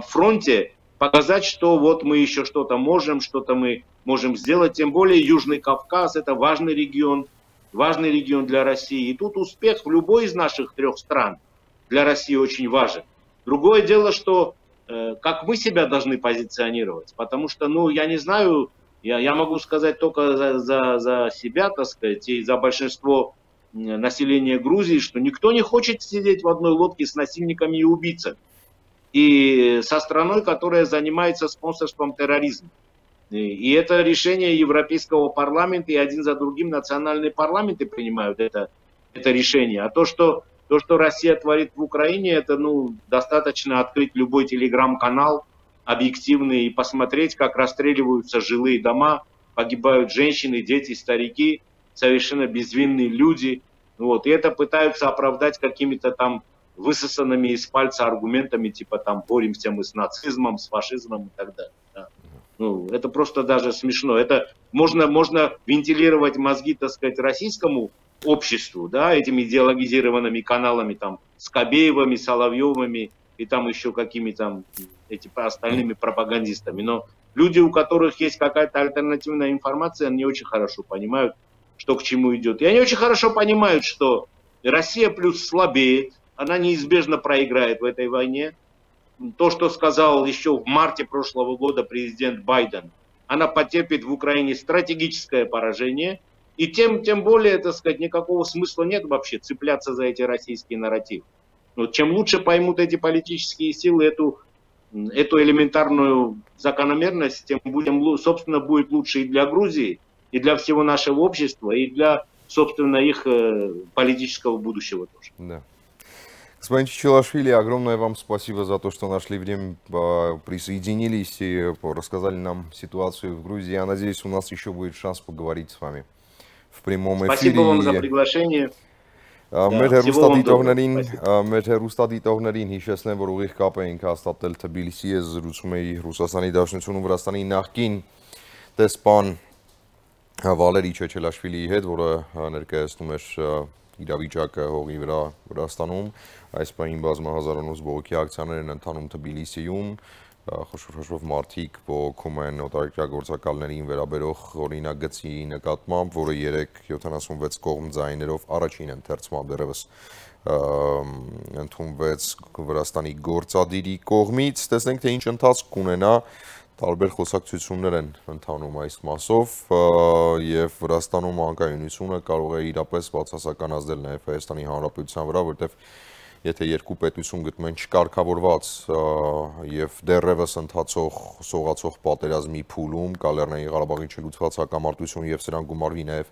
фронте показать, что вот мы еще что-то можем сделать, тем более Южный Кавказ, это важный регион для России. И тут успех в любой из наших трех стран для России очень важен. Другое дело, что как мы себя должны позиционировать, потому что, я не знаю, я могу сказать только за себя, так сказать, и за большинство населения Грузии, что никто не хочет сидеть в одной лодке с насильниками и убийцами. И со страной, которая занимается спонсорством терроризма. И это решение Европейского парламента, и один за другим национальные парламенты принимают это решение. А то, что Россия творит в Украине, это достаточно открыть любой телеграм-канал объективный и посмотреть, как расстреливаются жилые дома, погибают женщины, дети, старики, совершенно безвинные люди. Вот. И это пытаются оправдать какими-то там высосанными из пальца аргументами, типа боремся мы с нацизмом, с фашизмом и так далее. Да. Это просто даже смешно. Это можно вентилировать мозги, так сказать, российскому обществу, да, этими идеологизированными каналами, Скобеевыми, Соловьевыми и еще какими-то остальными пропагандистами. Но люди, у которых есть какая-то альтернативная информация, они очень хорошо понимают, что к чему идет. И они очень хорошо понимают, что Россия плюс слабеет, она неизбежно проиграет в этой войне. То, что сказал еще в марте прошлого года президент Байден, она потерпит в Украине стратегическое поражение. И тем более, так сказать, никакого смысла нет вообще цепляться за эти российские нарративы. Чем лучше поймут эти политические силы эту элементарную закономерность, тем, собственно, будет лучше и для Грузии, и для всего нашего общества, и для, собственно, их политического будущего тоже. Да. Господин Чичилашвили, огромное вам спасибо за то, что нашли время, присоединились и рассказали нам ситуацию в Грузии. Я надеюсь, у нас еще будет шанс поговорить с вами в прямом эфире. Спасибо вам за приглашение. Մեր հեռուստադիտողներին հիշեցնեմ, որ ուղիղ կապ էինք հաստատել Թբիլիսի, ես զրուցում էի Ռուսաստանի Դաշնությունում Վրաստանի նախկին դեսպան Վալերի Չեչելաշվիլիի հետ, որը ներկայացնում էր իրավիճակը հողի վրա Վրաստանում, այս պահին բազմահազարանոց բողոքի ակցիաներ են ընթանում Թբիլիսիում, խոշոր մարդիկ բողոքում են օտարերկրագործակալներին վերաբերող օրինագծի նկատմամբ, որը 76 կողմ ձայներով առաջին ընթերցման դեռևս ընդունվեց Վրաստանի գործադիրի կողմից, տեսնենք թե ինչ ընթացք կունենա, տարբեր խոսակցություններ են ընթանում այս մասով եւ Վրաստանում անկայունությունը կարող է իրապես բացասականացնել նաեւ Հայաստանի Հանրապետության վրա, որտեղ եթե երկու պետություն գտնում են չկարգավորված եւ դեռևս ընթացող սողացող պատերազմի փուլում կա Լեռնային Ղարաբաղի չլուծված հակամարտություն եւ սրան գումարվի նաեւ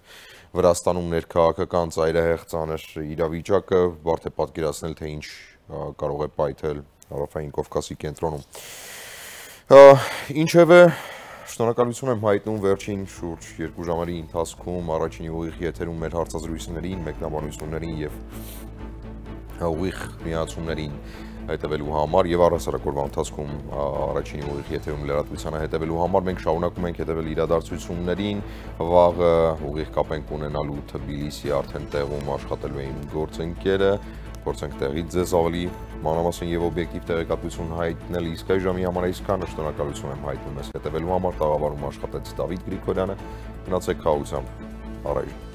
Վրաստանում ներքաղաքական ծայրահեղ ծանր իրավիճակը, բարդ է պատկերացնել թե ինչ կարող է պայթել Հարավային Կովկասի կենտրոնում։ Ինչևէ, շնորհակալություն եմ հայտնում վերջին շուրջ 2 ժամերի ընթացքում առաջինի ուղիղ եթերում մեր հարցազրույցներին, մեկնաբանություններին եւ ուղիղ միացումներին հետևելու համար եւ առհասարակ օրվա ընթացքում առաջինի ուղիղ եթերում լրատվությանը հետևելու համար մենք շարունակում ենք հետևել իրադարձություններին, վաղը ուղիղ կապ ենք ունենալու Թբիլիսի արդեն տեղում աշխատելու իմ գործընկերը, փորձենք տեղից ձեզ ավելի մանրամասն եւ օբյեկտիվ տեղեկատվություն հայտնել, իսկ այժմի համար այսքանը, շնորհակալություն եմ հայտնում ես հետևելու համար, տաղավարում աշխատեց Դավիթ Գրիգորյանը, գնացեք քաջությամբ, առայժմ